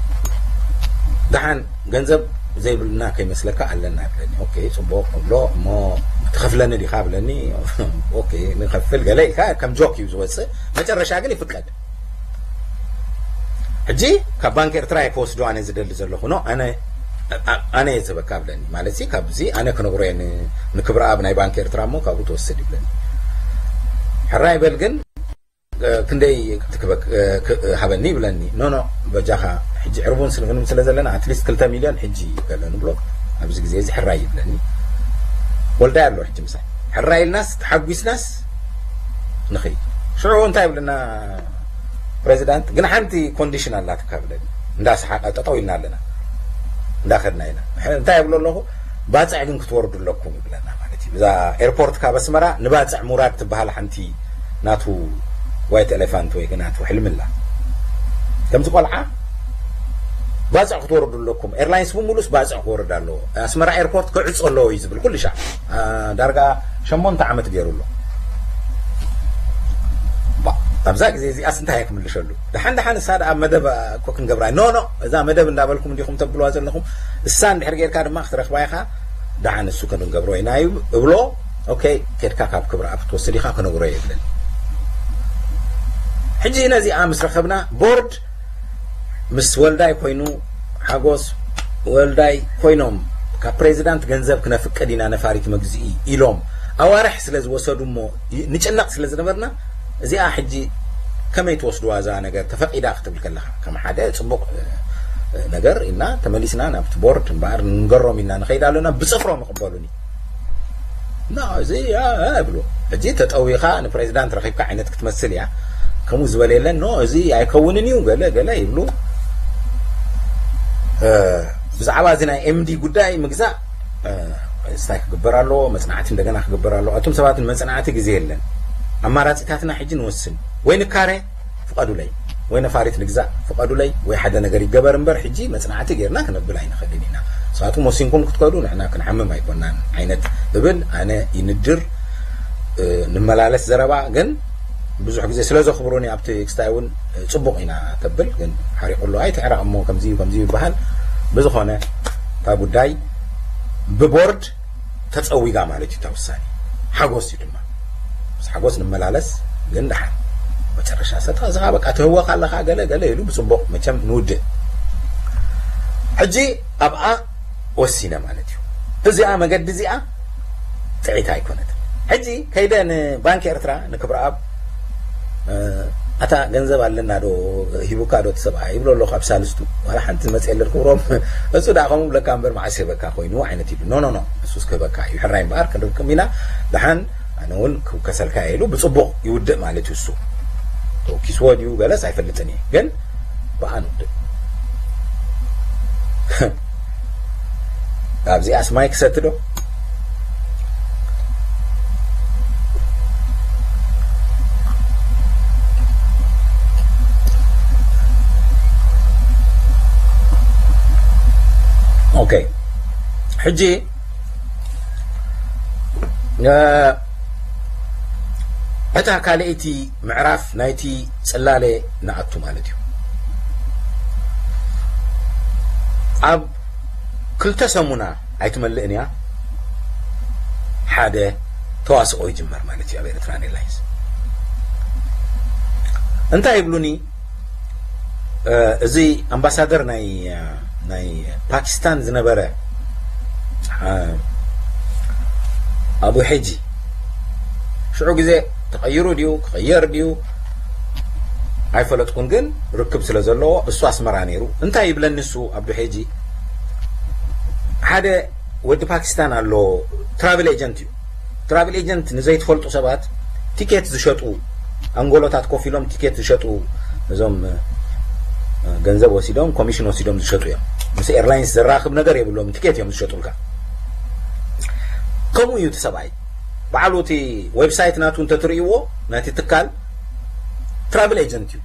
ደሓን ገንዘብ ዘይብልና ከይመስለካ ኣለና ይብለኒ። ኦኬ ፅቡቅ እብሎ እሞ ትኸፍለኒ ዲኻ ብለኒ። ኦኬ ንኸፍል ገለ ኢልካ ከም ጆክ እዩ ዝወፅእ መጨረሻ ግን ይፍቀድ። ሕጂ ካብ ባንክ ኤርትራ እየ ክወስዶ ኣነ ዝደሊ ዘለኹ ኖ ኣነ ኣነ እየ ዝህበካ ብለኒ ማለት ሲ ካብዚ ኣነ ክነግሮ እየ ንክብረኣብ ናይ ባንክ ኤርትራ እሞ ካብኡ ትወስድ ይብለኒ። ሕራይ በል ግን ክንደይ ትክበክ ሃበኒ ይብለኒ። ኖ ኖ በጃኻ ሕጂ ዕርቡን ስንግንም ስለ ዘለና ኣትሊስት ክልተ ሚልዮን ሕጂ በለ ንብሎ ኣብዚ ግዜ እዚ ሕራይ ይብለኒ። ወልዳይ ኣሎ ሕጂ ምሳይ ሕራይ ኢልናስ ተሓጒስናስ ንኸይድ። ሽዑ እንታይ ይብለና ፕሬዚዳንት ግን ሓንቲ ኮንዲሽን ኣላትካ ብለኒ። እንዳሰሓቀ ጠጠው ኢልና ኣለና እንዳኸድና ኢና። እንታይ ይብሎ ኣለኹ ባፅዕ ግን ክትወርዱ ኣለኩም ይብለና ማለት እዩ። እዛ ኤርፖርት ካብ ኣስመራ ንባፅዕ ምውራድ ትበሃል ሓንቲ ናቱ ዋይት ኤሌፋንት ወይ ናቱ ሕልምላ ከምዚ ቆልዓ ባፅዕ ክትወርዱ ኣለኩም። ኤርላይንስ ብምሉስ ባፅዕ ክወርድ ኣለዎ። ኣስመራ ኤርፖርት ክዕፆ ኣለዎ እዩ ዝብል ኩሉ ሻዕ ዳርጋ ሸሞንተ ዓመት ገይሩ ኣሎ። ኣብዛ ግዜ እዚኣስ እንታይ ክምልሸሉ? ደሓን ደሓን እሳ ደኣ መደብ እኮ ክንገብራ ኖ ኖ እዛ መደብ እንዳበልኩም እንዲኹም ተብልዋ ዘለኹም እሳ እንድሕር ጌርካ ድማ ክትረኽባ ኢኻ። ደሓን እሱ ክንገብሮ ኢና እብሎ። ኦኬ ኬድካ ካብ ክብረ ኣብ ክትወስድ ኢኻ ክነግሮ የብለን። ሕጂ ነዚኣ ምስ ረኸብና ቦርድ ምስ ወልዳይ ኮይኑ ሓጎስ ወልዳይ ኮይኖም ካብ ፕሬዚዳንት ገንዘብ ክነፍቅድ ኢና ነፋሪት መግዝኢ ኢሎም ኣዋርሕ ስለ ዝወሰዱ እሞ ንጭነቕ ስለ ዝነበርና እዚኣ ሕጂ ከመይ ትወስድዋ እዛ ነገር ተፈቂዳ ክትብል ከለኻ ከም ሓደ ፅቡቕ ነገር ኢልና ተመሊስና ናብቲ ቦርድ እምበኣር ንንገሮም ኢልና ንኸይድ ኣለና ብፅፍሮም ይቕበሉኒ። ኖ እዚ ይብሉ ሕጂ ተጠዊኻ ንፕሬዚዳንት ረኺብካ ዓይነት ክትመስል እያ። ከምኡ ዝበለ የለን ኖ እዚ ኣይከውንን እዩ ገለ ገለ ይብሉ። ብዛዕባ እዚ ናይ ኤምዲ ጉዳይ ምግዛእ እንታይ ክግበር ኣለዎ? መፅናዕቲ እንደገና ክግበር ኣለዎ። እቶም ሰባት ንመፅናዕቲ ግዜ የለን። ኣማራፂታትና ሕጂ ንወስን ወይ ንካረ ፍቀዱለይ ወይ ነፋሪት ንግዛእ ፍቀዱለይ ወይ ሓደ ነገር ይገበር እምበር ሕጂ መፅናዕቲ ጌርና ክነብል ኣይንኽእልን ኢና። ንስኻትኩም ወሲንኩም ክትከዱ ንሕና ክንሓምም ኣይኮናን ዓይነት እብል ኣነ ይንድር። ንመላለስ ዘረባ ግን ብዙሕ ግዜ ስለ ዘኽብሩኒ ኣብቲ ክስታይ እውን ጽቡቕ ኢና ተብል፣ ግን ሓሪቑ ኣሎ ኣይትዕረቕ እሞ ከምዚ እዩ ከምዚ እዩ ይበሃል። ብዝኾነ እታ ጉዳይ ብቦርድ ተጸዊጋ ማለት እዩ እታ ውሳኔ። ሓጎስ እዩ ድማ፣ ምስ ሓጎስ ንመላለስ። ግን ደሓን መጨረሻ ሰታ እዛ በቃ ትህወኽ ኣለኻ ገለ ገለ ኢሉ ብጽቡቕ መቸም ንውድእ። ሕጂ ኣብኣ ወሲነ ማለት እዩ። እዚኣ መገዲ እዚኣ ጥዒት ኣይኮነትን። ሕጂ ከይደ ንባንክ ኤርትራ ንክብረኣብ ኣታ ገንዘብ ኣለና ዶ ሂቡካ ዶ እቲ ሰብኣይ ይብሎ ኣለኹ ኣብ ሳልስቱ። ዋላ ሓንቲ መፅእ የለን ክብሮም። እሱ ደኣ ከምኡ ብለካ እምበር መዓስ ሂበካ ኮይኑ ዓይነት ኢሉ። ኖ ኖ ኖ፣ እሱስ ክህበካ እዩ። ሕራይ እምበኣር ክንርክም ኢና። ደሓን ኣነ እውን ክውከሰልካ ኢሉ ብፅቡቕ ይውድእ ማለት እዩ። እሱ ተወኪስዎ ድዩ ገለስ ኣይፈልጥን እየ፣ ግን ብኣ ንውድእ። ኣብዚኣስ ማይ ክሰቲ ዶ? ኦኬ፣ ሕጂ እ፣ እታ ካልኣይቲ ምዕራፍ ናይቲ ጽላለ ንኣቱ ማለት እዩ። ኣብ ክልተ ሰሙና ኣይትመልእን እያ፣ ሓደ ተዋስኦ ይጅመር ማለት እዩ ኣብ ኤርትራን ኤርላይንስ። እንታይ ይብሉኒ? እ፣ እዚ ኣምባሳደር ናይ፣ እ፣ ናይ ፓኪስታን ዝነበረ፣ እ፣ ኣቡ ሐጂ ሽዑ ግዜ ተቐይሩ ድዩ ክቕየር ድዩ ኣይፈለጥኩን፣ ግን ርክብ ስለ ዘለዎ እሱ ኣስመራ ነይሩ። እንታይ ይብለኒ እሱ ኣብዱ ሐጂ፣ ሓደ ወዲ ፓኪስታን ኣሎ፣ ትራቭል ኤጀንት እዩ። ትራቭል ኤጀንት ንዘይትፈልጡ ሰባት ቲኬት ዝሸጡ፣ ኣንጎሎታት ኮፍ ኢሎም ቲኬት ዝሸጡ፣ እዞም፣ እ፣ ገንዘብ ወሲዶም ኮሚሽን ወሲዶም ዝሸጡ እዮም። ምስ ኤርላይንስ ዘራኽብ ነገር የብሎም፣ ቲኬት እዮም ዝሸጡልካ። ከምኡ እዩ እቲ ሰብኣይ። ባዕሉ እቲ ዌብሳይት ናቱ እንተትርእይዎ፣ ናቲ ትካል ትራቭል ኤጀንት እዩ።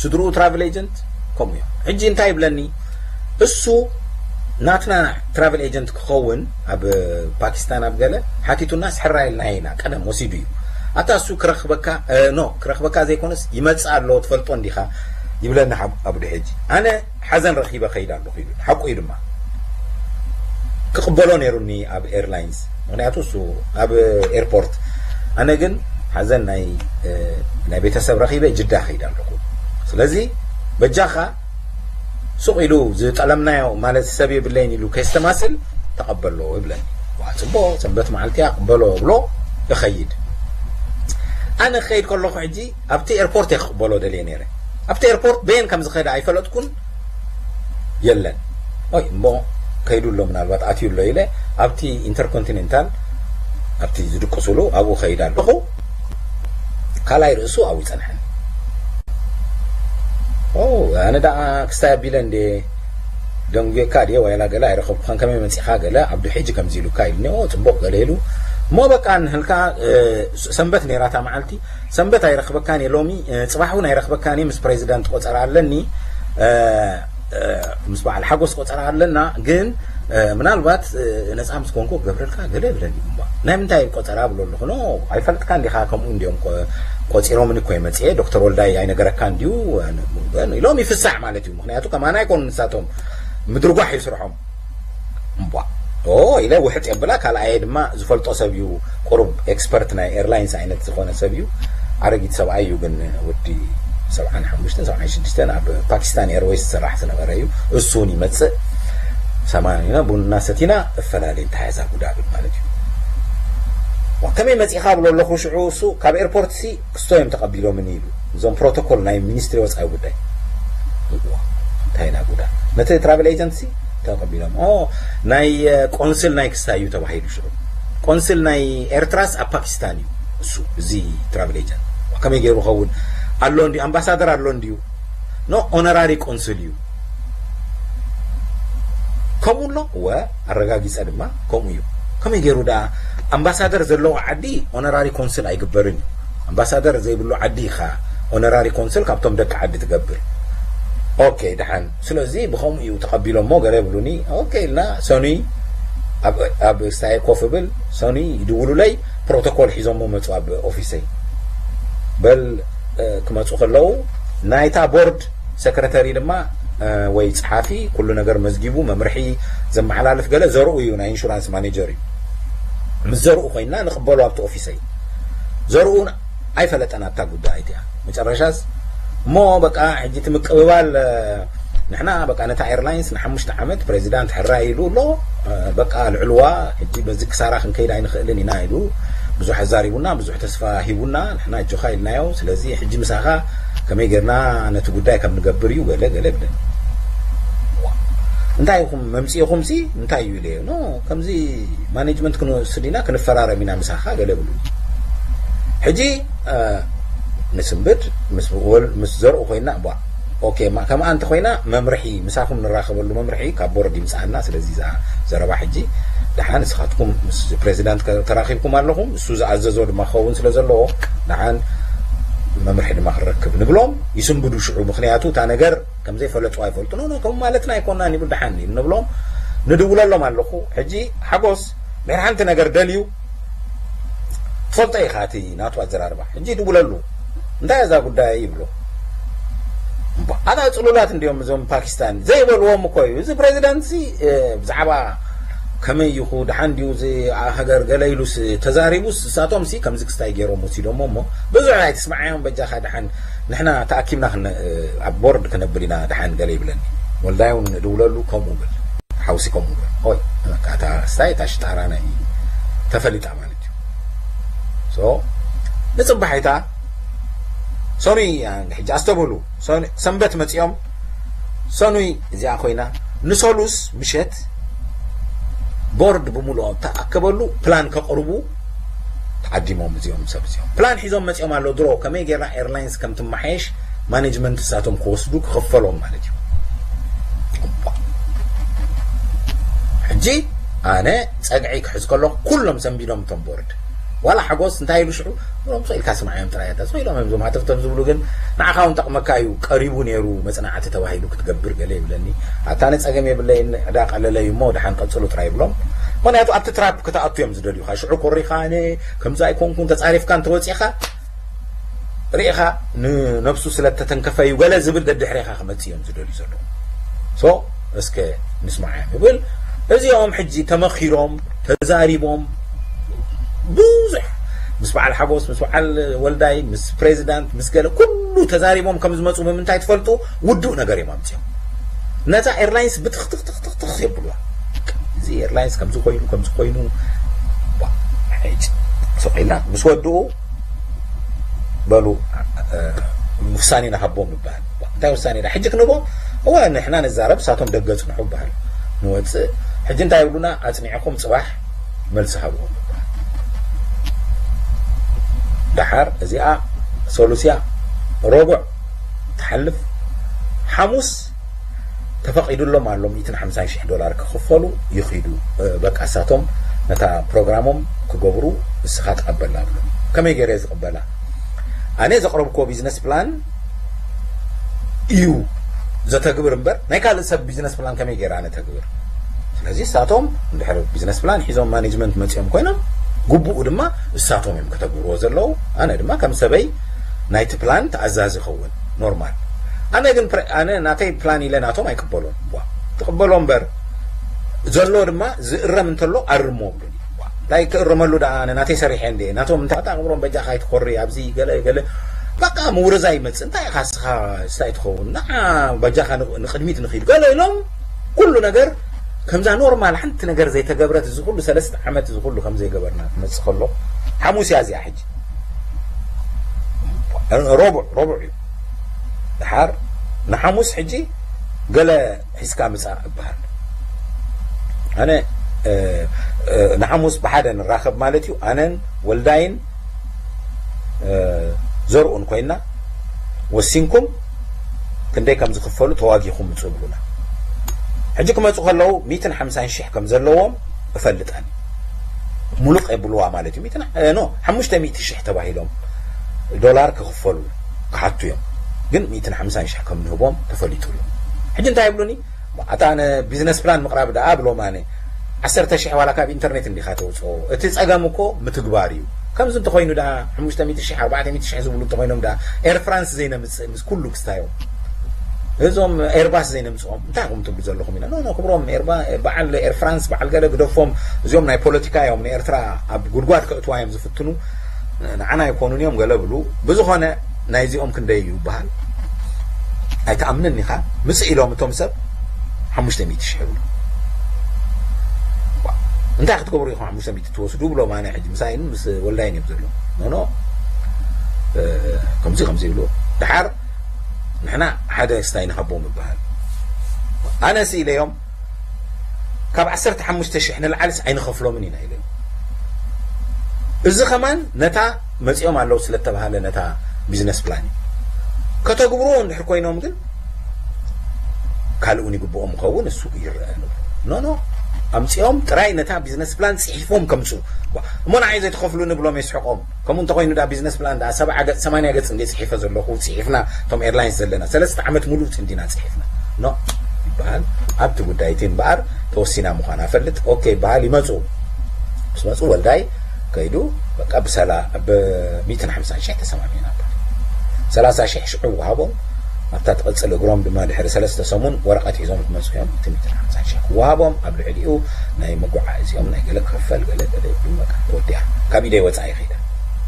ስድርኡ ትራቭል ኤጀንት ከምኡ እዮም። ሕጂ እንታይ ይብለኒ? እሱ ናትና ትራቭል ኤጀንት ክኸውን ኣብ ፓኪስታን ኣብ ገለ ሓቲቱና፣ ስሕራ ኢልና ኢና፣ ቀደም ወሲዱ እዩ። ኣታ እሱ ክረኽበካ፣ እ፣ ኖ፣ ክረኽበካ ዘይኮነስ ይመጽእ ኣሎ፣ ትፈልጦ እንዲኻ ይብለኒ ሓብ-፣ ኣብዱ ሕጂ። ኣነ ሓዘን ረኺበ ከይድ ኣለኹ ኢሉ። ሓቁ እዩ ድማ። ክቕበሎ ነይሩኒ ኣብ ኤርላይንስ፣ ምኽንያቱ እሱ ኣብ ኤርፖርት። ኣነ ግን ሓዘን ናይ፣ እ፣ ናይ ቤተሰብ ረኺበ ጅዳ ከይድ ኣለኹ። ስለዚ በጃኻ ሱቕ ኢሉ ዝጠለምናዮ ማለት ሰብ የብለይን ኢሉ ከይስተማስል ተቐበሎ ይብለኒ። ዋ፣ ጽቡቕ፣ ሰንበት መዓልቲ እያ፣ ቅበሎ ብሎ እኸይድ። ኣነ ክኸይድ ከለኹ ሕጂ ኣብቲ ኤርፖርት እየ ክቕበሎ ደልየ ነይረ። ኣብቲ ኤርፖርት በየን ከም ዝኸደ ኣይፈለጥኩን። የለን። ኦይ፣ እሞ ከይዱ ኣሎ፣ ምናልባት ኣትዩ ኣሎ ኢለ ኣብቲ ኢንተርኮንቲኔንታል፣ ኣብቲ ዝድቅሱሉ ኣብኡ ከይድ ኣለኹ። ካልኣይ ርእሱ ኣብኡ ይጸንሐኒ። ኦ፣ ኣነ ደኣ ክስታይ ኣቢለ እንዴ ደንጉየካ ድየ ዋይላ ገለ ኣይረኸብኩኻን፣ ከመይ መጺኻ ገለ፣ ኣብዱ ሕጂ ከምዚ ኢሉካ ኢሉኒ። ኦ፣ ጽቡቕ ገለ ኢሉ። እሞ በቃ ንህልካ፣ እ፣ ሰንበት ነይራ እታ መዓልቲ። ሰንበት ኣይረኽበካን እየ ሎሚ፣ እ፣ ጽባሕ እውን ኣይረኽበካን እየ። ምስ ፕሬዚዳንት ቆጸራ ኣለኒ፣ እ፣ እ፣ ምስ በዓል ሓጎስ ቆጸራ ኣለና። ግን፣ እ፣ ምናልባት፣ እ፣ ነጻ ምስ ኮንኩ ክገብረልካ ገለ ይብለኒ እምባ። ናይ ምንታይ ቆጸራ ብሎ ኣለኹ? ኖ፣ ኣይፈልጥካን ዲኻ? ከምኡ እንዲዮም ቆ-፣ ቆጺሮምኒ እኮ እየ መጽኤ። ዶክተር ወልዳይ ኣይነገረካን ድዩ? ኢሎም ይፍሳዕ ማለት እዩ። ምኽንያቱ ከማና ኣይኮኑ ንሳቶም፣ ምድርጓሕ እዩ ስርሖም። እምቧ። ኦ፣ ኢለ ውሕጥ የብላ። ካልኣየ ድማ ዝፈልጦ ሰብ እዩ፣ ቁሩብ ኤክስፐርት ናይ ኤርላይንስ ዓይነት ዝኾነ ሰብ እዩ። ኣረጊት ሰብኣይ እዩ፣ ግን ወዲ ሰብዓን ሓሙሽተን፣ ሰብዓን ሽዱሽተን ኣብ ፓኪስታን ኤርዌይስ ዝሰራሕ ዝነበረ እዩ። እሱ እውን ይመጽእ። ሰማኒና ቡና ሰቲና እፈላለ፣ እንታይ እዛ ጉዳ ብል ማለት እዩ። ዋ፣ ከመይ መጺኻ ብሎ ኣለኹ። ሽዑ እሱ ካብ ኤርፖርት ሲ ክስቶ እዮም ተቐቢሎምኒ ኢሉ። እዞም ፕሮቶኮል ናይ ሚኒስትሪ ወጻኢ ጉዳይ። እዋ፣ እንታይ ኢና ጉዳ። ነቲ ትራቨል ኤጀንሲ ተቐቢሎም። ኦ፣ ናይ፣ እ፣ ቆንስል ናይ ክስታይ እዩ ተባሂሉ ሽዑ። ቆንስል ናይ ኤርትራስ ኣብ ፓኪስታን እዩ እሱ፣ እዚ ትራቨል ኤጀንት። ከመይ ገይሩ ኸውን? ኣሎ እንድዩ፣ ኣምባሳደር ኣሎ እንድዩ። ኖ፣ ኦነራሪ ቆንስል እዩ። ከምኡ ኣሎ? እወ፣ ኣረጋጊጸ ድማ ከምኡ እዩ። ከመይ ገይሩ ደኣ ኣምባሳደር ዘለዎ ዓዲ ኦነራሪ ኮንስል ኣይግበርን እዩ። ኣምባሳደር ዘይብሉ ዓዲ ኢኻ ኦነራሪ ኮንስል ካብቶም ደቂ ዓዲ ትገብር። ኦኬ፣ ደሓን። ስለዚ ብኸምኡ እዩ ተቐቢሎሞ ገለ ይብሉኒ። ኦኬ ኢልና ሰኑይ ኣብ፣ ኣብ ስታየ ኮፍ እብል፣ ሰኑይ ይድውሉለይ፣ ፕሮቶኮል ሒዞሞ መጹ ኣብ ኦፊሰይ። በል ክመፁ ከለዉ ናይታ ቦርድ ሰክረተሪ ድማ ወይ ፀሓፊ ኩሉ ነገር መዝጊቡ መምርሒ ዘመሓላልፍ ገለ ዘርኡ እዩ፣ ናይ ኢንሹራንስ ማኔጀር እዩ። ምስ ዘርኡ ኮይና ንቕበሉ ኣብቲ ኦፊሰይ። ዘርኡ ኣይፈለጠን ኣብታ ጉዳይ እቲኣ። መጨረሻስ እሞ በቃ ሕጂ እቲ ምቅብባል ንሕና በቃ ነታ ኤርላይንስ ንሓሙሽተ ዓመት ፕሬዚዳንት ሕራይ ኢሉ ኣሎ። በቃ ልዕልዋ ሕጂ በዚ ክሳራ ክንከይድ ኣይንኽእልን ኢና ኢሉ ብዙሕ ኣዛሪቡና፣ ብዙሕ ተስፋ ሂቡና። ንሕና ኣጆኻ ኢልናዮ። ስለዚ ሕጂ ምሳኻ ከመይ ጌርና ነቲ ጉዳይ ከም ንገብር እዩ ገለ ገለ ይብለኒ። እንታይ ኢኹም መምፂእኹም ሲ እንታይ እዩ ኢለዮ። ኖ ከምዚ ማኔጅመንት ክንወስድ ኢና ክንፈራረም ኢና ምሳኻ ገለ ብሉ። ሕጂ ንስንብድ ምስ ዘርኡ ኮይና ባ ኦኬ ከምኣ እንተ ኮይና መምርሒ ምሳኹም ንራኸበሉ መምርሒ ካብ ቦርድ ይምፅኣና። ስለዚ እዛ ዘረባ ሕጂ ደሓን ንስኻትኩም ምስ ፕሬዚዳንት ተራኺብኩም ኣለኹም፣ እሱ ዝኣዘዞ ድማ ክኸውን ስለ ዘለዎ ደሓን መምርሒ ድማ ክንረክብ ንብሎም። ይስንብዱ ሽዑ፣ ምክንያቱ እታ ነገር ከም ዘይፈለጡ ኣይፈልጡ። ኖ ኖ ከም ማለትና ኣይኮናን ይብል ደሓን ንብሎም። ንድውለሎም ኣለኹ። ሕጂ ሓጎስ ድሕሪ ሓንቲ ነገር ደልዩ ትፈልጦ ኢኻ እቲ ናቱ ኣዘራርባ። ሕጂ ድውለሉ እንታይ እዛ ጉዳይ ይብሎ። ኣታ ፅሉላት እንዲዮም እዞም ፓኪስታን ዘይበልዎም እኮ እዩ። እዚ ፕሬዚዳንት ሲ ብዛዕባ ከመይ ይኹ ደሓን ድዩ እዚ ሃገር ገለ ኢሉስ ተዛሪቡስ እሳቶም ሲ ከምዚ ክስታይ ገይሮም ወሲዶሞ እሞ ብዙሕ ኣይትስምዓዮም በጃኻ ደሓን ንሕና ተኣኪብና ኣብ ቦርድ ክነብል ኢና ደሓን ገለ ይብለኒ። ወልዳይ እውን ድውለሉ ከምኡ ብል ሓውሲ ከምኡ ብል ኦይ እታ ስታይ እታ ሽጣራ ናይ ተፈሊጣ ማለት እዩ። ንፅባሒታ ሰኑይ ሕጂ ኣስተብህሉ። ሰንበት መፂኦም ሰኑይ እዚኣ ኮይና ንሰሉስ ምሸት ቦርድ ብምልኦ ተኣከበሉ ፕላን ከቕርቡ ተዓዲሞም እዚኦም ሰብ እዚኦም ፕላን ሒዞም መፂኦም ኣሎ። ድሮ ከመይ ጌርና ኤርላይንስ ከም ትመሓየሽ ማኔጅመንት እሳቶም ክወስዱ ክኽፈሎም ማለት እዩ። ሕጂ ኣነ ፀግዒ ክሕዝ ከሎ ኩሎም ሰንቢዶም እቶም ቦርድ ዋላ ሓጎስ እንታይ ኢሉ ሽዑ ሎም ኢልካ ስምዓዮም ጥራይ እታ ኢሎም እዮም ዞም ሃተፍተፍ ዝብሉ ግን ንዓኻ እውን ጠቕመካ እዩ ቀሪቡ ነይሩ መፅናዕቲ ተባሂሉ ክትገብር ገለ ይብለኒ። ኣታ ኣነ ፀገም የብለይን ዕዳ ቀለለይ እሞ ደሓን ቀፅሉ ጥራይ ይብሎም። ምክንያቱ ኣብቲ ትራፕ ክትኣቱ እዮም ዝደልዩካ። ሽዑ ኮሪኻ ኣነ ከምዚ ኣይኮንኩን ተፃሪፍካ እንተወፂእኻ ርኢኻ ንነብሱ ስለ ተተንከፈ እዩ ገለ ዝብል ደድሕሬኻ ክመፅእ እዮም ዝደልዩ ዘለዉ። ሶ እስከ ንስማዓዮም ይብል። እዚኦም ሕጂ ተመኺሮም ተዛሪቦም ብዙሕ ምስ በዓል ሓጎስ ምስ በዓል ወልዳይ ምስ ፕሬዚዳንት ምስ ገለ ኩሉ ተዛሪቦም ከም ዝመፁ ብምንታይ ትፈልጡ? ውዱእ ነገር እዮም ኣምፅኦም። ነዛ ኤርላይንስ ብትኽትኽትኽትኽ የብሉዋ። እዚ ኤርላይንስ ከምዚ ኮይኑ ከምዚ ኮይኑ ሶቂልና ምስ ወድኡ በሉ ውሳኔ ንሃቦም ይበሃል። እንታይ ውሳኔ ዳ ሕጂ ክንቦ? እወ ንሕና ንዛረብ እሳቶም ደገ ጽንሑ ይበሃል። ንወፅእ ሕጂ እንታይ ይብሉና? ኣጽኒዕኹም ጽባሕ መልሲ ሃብዎም ይበሃል። ደሓር እዚኣ ሰሉስያ ረቡዕ ትሓልፍ ሓሙስ ተፈቒዱሎም ኣሎ ሚእትን ሓምሳን ሽሕ ዶላር ክኽፈሉ ይኺዱ። በቃ እሳቶም ነታ ፕሮግራሞም ክገብሩ እስኻ ትቐበላ ብሎ። ከመይ ገይረ ዝቕበላ? ኣነ ዘቕረብክዎ ቢዝነስ ፕላን እዩ ዘተግብር እምበር ናይ ካልእ ሰብ ቢዝነስ ፕላን ከመይ ገይረ ኣነ ተግብር? ስለዚ እሳቶም እንድሕር ቢዝነስ ፕላን ሒዞም ማኔጅመንት መፂኦም ኮይኖም ግቡኡ ድማ እሳቶም እዮም ከተግብርዎ ዘለዉ። ኣነ ድማ ከም ሰበይ ናይቲ ፕላን ተኣዛዚ ኸውን ኖርማል። ኣነ ግን ኣነ ናተይ ፕላን ኢለ ናቶም ኣይቅበሎን። ትቕበሎ እምበር ዘሎ ድማ ዝእረም እንተሎ ኣርሞ ብሉኒ። እንታይ ክእረመሉ ደኣ ኣነ ናተይ ሰሪሐ እንደ ናቶም እንታይ ኣቕብሮም በጃ ካይትኮሪ ኣብዚ ገለ ገለ በቃ ምውረዛ ይመጽእ። እንታይ ኢኻ ስኻ ስታይ ትኸውን ንዓ በጃኻ ንቕድሚት ንኺድ ገለ ኢሎም ኩሉ ነገር ከምዛ ኖርማል ሓንቲ ነገር ዘይተገብረት እዚ ኩሉ ሰለስተ ዓመት እዚ ኩሉ ከም ዘይገበርና ክመጽእ ከሎ ሓሙስ እያ እዚኣ ሕጂ ረቡዕ ረቡዕ እዩ። ድሓር ንሓሙስ ሕጂ ገለ ሒዝካ ምጻእ እበሃል። ኣነ ንሓሙስ ብሓደ ንራኸብ ማለት እዩ። ኣነን ወልዳይን ዘርኡን ኮይና ወሲንኩም ክንደይ ከም ዝኽፈሉ ተዋጊኹም ምጹ ብሉና። ሕጂ ክመጹ ከለዉ ሚእትን ሓምሳን ሽሕ ከም ዘለዎም እፈልጠን። ሙሉቕ የብልዋ ማለት እዩ። ሚእትን ኖ ሓሙሽተ ሚእቲ ሽሕ ተባሂሎም ዶላር ክኽፈሉ ክሓቱ እዮም። ግን ሚእትን ሓምሳን ሽሕ ከም ንህቦም ተፈሊጡ ኣሎ። ሕጂ እንታይ ይብሉኒ? ኣታ ኣነ ቢዝነስ ፕላን ምቕራብ ደኣ ብሎም ኣነ ዓሰርተ ሽሕ ዋላ ካብ ኢንተርኔት እንዲኻ ተውፅኦ። እቲ ፀገም እኮ ምትግባር እዩ። ከምዚ እንተኾይኑ ደኣ ሓሙሽተ ሚእቲ ሺሕ ኣርባዕተ ሚእቲ ሺሕ ዝብሉ እንተኾይኖም ደኣ ኤር ፍራንስ ዘይነምጽእ ምስ ኩሉ ክስታዮም እዞም ኤርባስ ዘይነምጽኦም እንታይ ኢኹም ትብሉ ዘለኹም? ኢና ኖ ኖ ክብሮም ኤርባ በዓል ኤር ፍራንስ በዓል ገለ ግደፎም እዚኦም ናይ ፖለቲካ እዮም ንኤርትራ ኣብ ጉድጓድ ከእትዋ እዮም ዝፍትኑ ንዓና ኣይኮኑን እዮም ገለ ብሉ ብዝኾነ ናይዚኦም ክንደይ እዩ ይበሃል ኣይትኣምንን ኢኻ ምጽእ ኢሎም እቶም ሰብ ሓሙሽተ ሚእቲ ሺሕ ይብሉ እንታይ ክትገብሩ ኢኹም ሓሙሽተ ሚእቲ ትወስዱ ብሎም ኣነ ሕጂ ምሳይን ምስ ወልዳይን እዮም ዘለዉ ኖ ኖ ከምዚ ከምዚ ይብሉ ድሓር ንሕና ሓደ ስታይ ንሃቦም ይበሃል ኣነ ሲ ኢለዮም ካብ ዓሰርተ ሓሙሽተ ሽሕ ንላዕልስ ኣይንኸፍሎምን ኢና ኢለዮም እዚ ከማን ነታ መጺኦም ኣለዉ ስለተባሃለ ነታ ቢዝነስ ፕላን ከተግብርዎ እንድሕር ኮይኖም ግን ካልእ እውን ይግብኦም ይኸውን እሱ ይረአ ኖ ኖ ኣምጺኦም ጥራይ ነታ ቢዝነስ ፕላን ጽሒፎም ከምጽኡ እሞ ንዓይ ዘይትኸፍሉኒ ብሎም የስሕቆም ከምኡ እንተኾይኑ ዳ ቢዝነስ ፕላን ዳ ሰብዓ ገጽ ሰማንያ ገጽ እንደ ጽሒፈ ዘለኹ ጽሒፍና እቶም ኤርላይንስ ዘለና ሰለስተ ዓመት ሙሉእ እንዲና ጽሒፍና ኖ ይበሃል ኣብቲ ጉዳይ እቲ እምበኣር ተወሲና ምዃና ፈልጥ ኦኬ ይበሃል ይመፁ ምስ መፁ ወልዳይ ከይዱ በቃ ብሰላ ብ ሚእትን ሓምሳን ሽሕ ተሰማሚዕና ሰላሳ ሽሕ ሽዑ ወሃቦም ኣብታ ትቐፅል እግሮም ድማ ድሕሪ ሰለስተ ሰሙን ወረቐት ሒዞም ክመፁ እዮም እቲ ሚእትን ሓምሳን ሽሕ ክወሃቦም ኣብ ልዕሊኡ ናይ መጓዓእዚኦም ናይ ገለ ክኽፈል ገለ ገለ ይብሉ በቃ ተወዲኣ ካብ ኢደይ ወፃኢ ከይዳ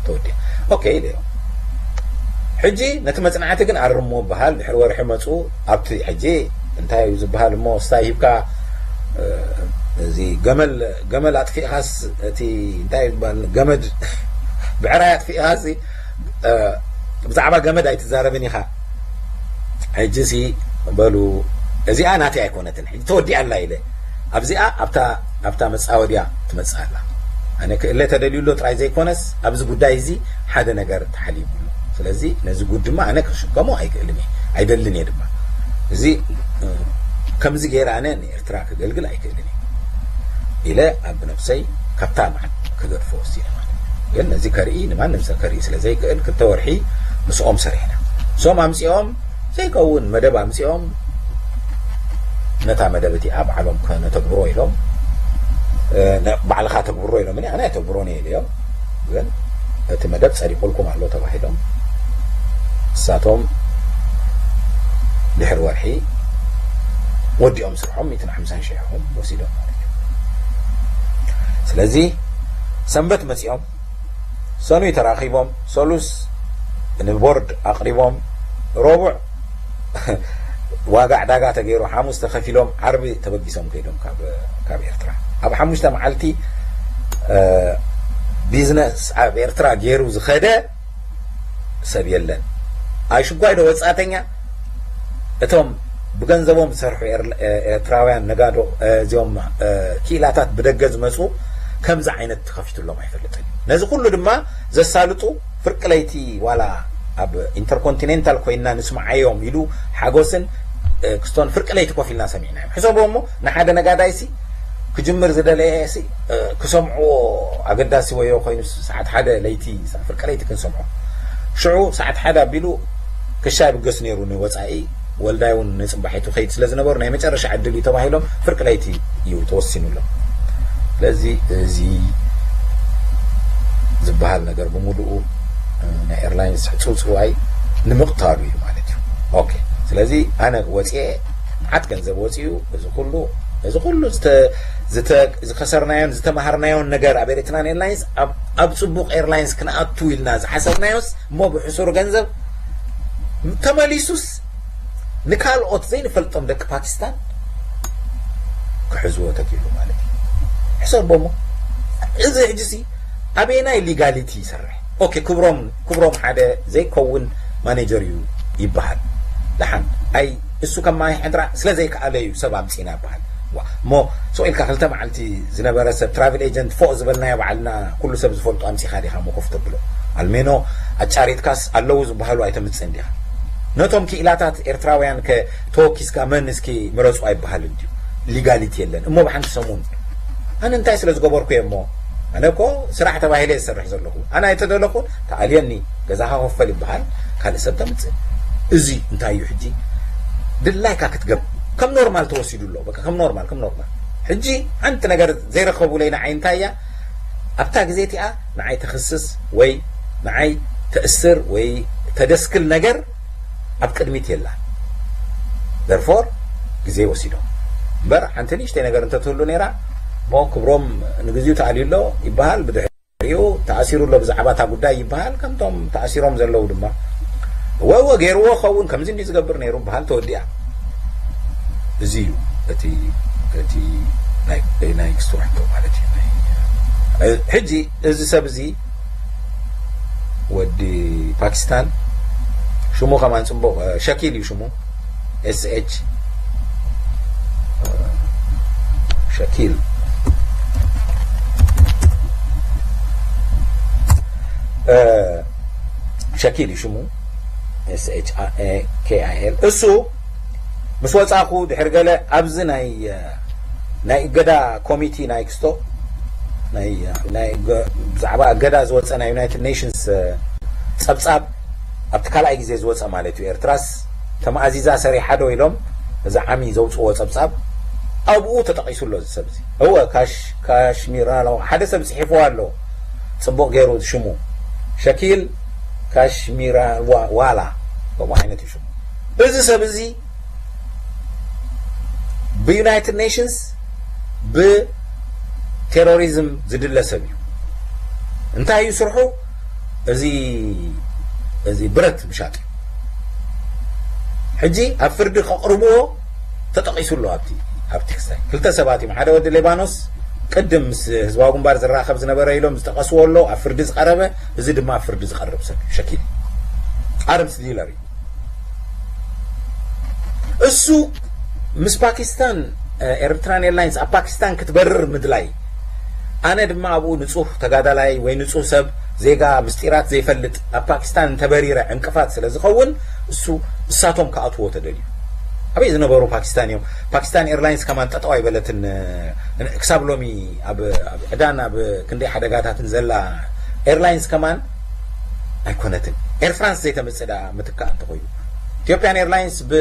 ተወዲኣ ኦኬ ኢለ እዮም ሕጂ ነቲ መፅናዕቲ ግን ኣርሞ በሃል ድሕሪ ወርሒ መፁ ኣብቲ ሕጂ እንታይ እዩ ዝበሃል እሞ ስታይ ሂብካ እዚ ገመል ገመል ኣጥፊእኻስ እቲ እንታይ ዝበሃል ገመድ ብዕራይ ኣጥፊእኻስ ብዛዕባ ገመድ ኣይትዛረብን ኢኻ ሕጂ ሲ በሉ እዚኣ ናተይ ኣይኮነትን ሕጂ ተወዲኣ ኣላ ኢለ ኣብዚኣ ኣብታ ኣብታ መጻወድያ ትመጽእ ኣላ ኣነ ክእለ ተደልዩ ኣሎ ጥራይ ዘይኮነስ ኣብዚ ጉዳይ እዚ ሓደ ነገር ተሓሊሙ ኣሎ ስለዚ ነዚ ጉድ ድማ ኣነ ክሽከሞ ኣይክእልን እየ ኣይደልን እየ ድማ እዚ ከምዚ ገይረ ኣነ ንኤርትራ ክገልግል ኣይክእልን እየ ኢለ ኣብ ነብሰይ ካብታ መዓት ክገድፎ ወሲነ ማለት ግን ነዚ ከርኢ ንማንም ሰብ ከርኢ ስለ ዘይክእል ክልተ ወርሒ ምስኦም ሰሪሕና እሶም ኣምፂኦም ዘይከውን መደብ ኣምፂኦም ነታ መደብ እቲኣ ባዕሎም ከነተግብሮ ኢሎም ባዕልኻ ተግብሮ ኢሎምኒ ኣነ ኣይተግብሮን እየ ኢለዮም ግን እቲ መደብ ጸዲቁልኩም ኣሎ ተባሂሎም እሳቶም ድሕሪ ወርሒ ወዲኦም ስርሖም ሚእትን ሓምሳን ሺሕ ይኹም ወሲዶም ማለት እዩ ስለዚ ሰንበት መጺኦም ሰኑይ ተራኺቦም ሰሉስ ንቦርድ ኣቕሪቦም ረቡዕ ዋጋ ዕዳጋ ተገይሩ ሓሙስ ተኸፊሎም ዓርቢ ተበጊሶም ከይዶም ካብ ኤርትራ ኣብ ሓሙሽተ መዓልቲ ቢዝነስ ኣብ ኤርትራ ገይሩ ዝኸደ ሰብ የለን ኣሽጓይ ዶ ወፃተኛ እቶም ብገንዘቦም ዝሰርሑ ኤርትራውያን ነጋዶ እዚኦም ክኢላታት ብደገ ዝመፁ ከምዚ ዓይነት ተኸፊትሎም ኣይፈልጥን ነዚ ኩሉ ድማ ዘሳልጡ ፍርቂ ለይቲ ዋላ ኣብ ኢንተርኮንቲኔንታል ኮይና ንስምዓዮም ኢሉ ሓጎስን ክስቶን ፍርቂ ለይቲ ኮፍ ኢልና ሰሚዕናዮም ሕሰቦ እሞ ንሓደ ነጋዳይሲ ክጅምር ዝደለየ ክሰምዕዎ ኣገዳሲ ወዮ ኮይኑ ሰዓት ሓደ ለይቲ ፍርቂ ለይቲ ክንሰምዖ ሽዑ ሰዓት ሓደ ኣቢሉ ክሻ ይብገስ ነይሩ ንወፃኢ ወልዳይ እውን ንፅባሒቱ ከይድ ስለ ዝነበሩ ናይ መጨረሻ ዕድል እዩ ተባሂሎም ፍርቂ ለይቲ እዩ ተወሲኑሎም ስለዚ እዚ ዝበሃል ነገር ብምሉኡ ናይ ኤርላይንስ ሕፅውፅዋይ ንምቕታሉ እዩ ማለት እዩ ኦኬ ስለዚ ኣነ ወፅኤ መዓት ገንዘብ ወፂኡ እዚ ኩሉ እዚ ኩሉ ዝከሰርናዮን ዝተማሃርናዮን ነገር ኣብ ኤርትራን ኤርላይንስ ኣብ ፅቡቅ ኤርላይንስ ክንኣቱ ኢልና ዝሓሰብናዮስ እሞ ብሕሱር ገንዘብ ተመሊሱስ ንካልኦት ዘይንፈልጦም ደቂ ፓኪስታን ክሕዝዎ ተኪሉ ማለት እዩ ሕሰቦሞ እዚ ሕጂሲ ኣበየናይ ሊጋሊቲ ይሰርሕ ኦኬ ክብሮም ክብሮም ሓደ ዘይከውን ማኔጀር እዩ ይበሃል ደሓን ኣይ እሱ ከማይ ሕድራ ስለ ዘይከኣለ እዩ ሰብ ኣምፂና ይበሃል እሞ ስቕ ኢልካ ክልተ መዓልቲ ዝነበረ ሰብ ትራቭል ኤጀንት ፎቕ ዝበልናዮ ባዕልና ኩሉ ሰብ ዝፈልጦ ኣምፂኻ ዲኻ ሞ ኮፍ ተብሎ ኣልሜኖ ኣጫሪትካስ ኣለዉ ዝበሃሉ ኣይተምፅእን ዲኻ ነቶም ክኢላታት ኤርትራውያን ከ ተወኪስካ መን እስኪ ምረፁ ኣይበሃልን ድዩ ሊጋሊቲ የለን እሞ ብሓንቲ ሰሙን ኣነ እንታይ ስለ ዝገበርኩ እየ እሞ ኣነ እኮ ስራሕ ተባሂለ ዝሰርሕ ዘለኹ ኣነ ኣይተደለኹን ተኣልየኒ ገዛኻ ክፈል ይበሃል ካልእ ሰብ ተምፅእ እዚ እንታይ እዩ ሕጂ ድላይካ ክትገብ ከም ኖርማል ተወሲዱ ኣሎ በቃ ከም ኖርማል ከም ኖርማል ሕጂ ሓንቲ ነገር ዘይረኸቡለይ ንዓይ እንታይ እያ ኣብታ ግዜ እቲኣ ንዓይ ተኽስስ ወይ ንዓይ ተእስር ወይ ተደስክል ነገር ኣብ ቅድሚት የላ። Therefore ግዜ ወሲዶም እምበር ሓንቲ ንእሽተይ ነገር እንተትህሉ ነይራ፣ እሞ ክብሮም ንግዚኡ ተኣልዩ ኣሎ ይበሃል። ብድሕሪኡ ተኣሲሩ ኣሎ ብዛዕባ እታ ጉዳይ ይበሃል። ከምቶም ተኣሲሮም ዘለዉ ድማ እወ እወ ገይርዎ ኸውን ከምዚ እንዲ ዝገብር ነይሩ በሃል። ተወዲኣ። እዚ እዩ እቲ እቲ ናይ ናይ ክስቶ ሕቶ ማለት እዩ። ናይ እ፣ ሕጂ እዚ ሰብ እዚ ወዲ ፓኪስታን ሽሙ ከማን ጽቡቕ እ፣ ሸኪል እዩ ሽሙ። S H ሸኪል እ፣ ሸኪል እዩ ሽሙ። S H A K I L እሱ ምስ ወጻኹ ድሕሪ ገለ ኣብዚ ናይ ናይ እገዳ ኮሚቲ ናይ ክስቶ ናይ ናይ እገ- ብዛዕባ እገዳ ዝወጸ ናይ ዩናይትድ ኔሽንስ እ፣ ጸብጻብ ኣብቲ ካልኣይ ግዜ ዝወጸ ማለት እዩ። ኤርትራስ ተማእዚዛ ሰሪሓ ዶ ኢሎም እዚ ዓሚ ዘውጽዎ ጸብጻብ ኣብኡ ተጠቒሱ ኣሎ። እዚ ሰብ እዚ እወ ካሽ ካሽሚራ ኣለዎ ሓደ ሰብ ጽሒፍዎ ኣሎ ጽቡቕ ገይሩ ሽሙ ሸኪል ካሽሚራ ዋ- ዋላ ከምኡ ዓይነት እዩ ሽሙ። እዚ ሰብ እዚ ብዩናይትድ ኔሽንስ ብቴሮሪዝም ዝድለ ሰብ እዩ። እንታይ እዩ ስርሑ? እዚ እዚ ብረት ምሻጥ እዩ። ሕጂ ኣብ ፍርዲ ከቕርብዎ ተጠቒሱ ኣሎ። ኣብቲ ኣብቲ ክስታይ ክልተ ሰባት እዮም። ሓደ ወዲ ሌባኖስ ቅድም ምስ ህዝባዊ ግንባር ዝራኸብ ዝነበረ ኢሎም ዝጠቐስዎ ኣሎ ኣብ ፍርዲ ዝቐረበ፣ እዚ ድማ ኣብ ፍርዲ ዝቐርብ ሰብ እዩ። ሸኪል ኣርምስ ዲለር እዩ። እሱ ምስ ፓኪስታን ኤርትራን ኤርላይንስ ኣብ ፓኪስታን ክትበርር ምድላይ ኣነ ድማ ኣብኡ ንጹህ ተጋዳላይ ወይ ንጹህ ሰብ ዜጋ ምስጢራት ዘይፈልጥ ኣብ ፓኪስታን እንተበሪረ ዕንቅፋት ስለ ዝኸውን እሱ እሳቶም ክኣትዎ ተደልዩ። ኣበይ ዝነበሩ ፓኪስታን እዮም? ፓኪስታን ኤርላይንስ ከማን ጠጠው ኣይበለትን። ክሳብ ሎሚ ኣብ ዕዳን ኣብ ክንደይ ሓደጋታትን ዘላ ኤርላይንስ ከማን ኣይኮነትን። ኤር ፍራንስ ዘይተምጽእ ደኣ ምትካእ እንተኾይኑ ኢትዮጵያን ኤርላይንስ ብ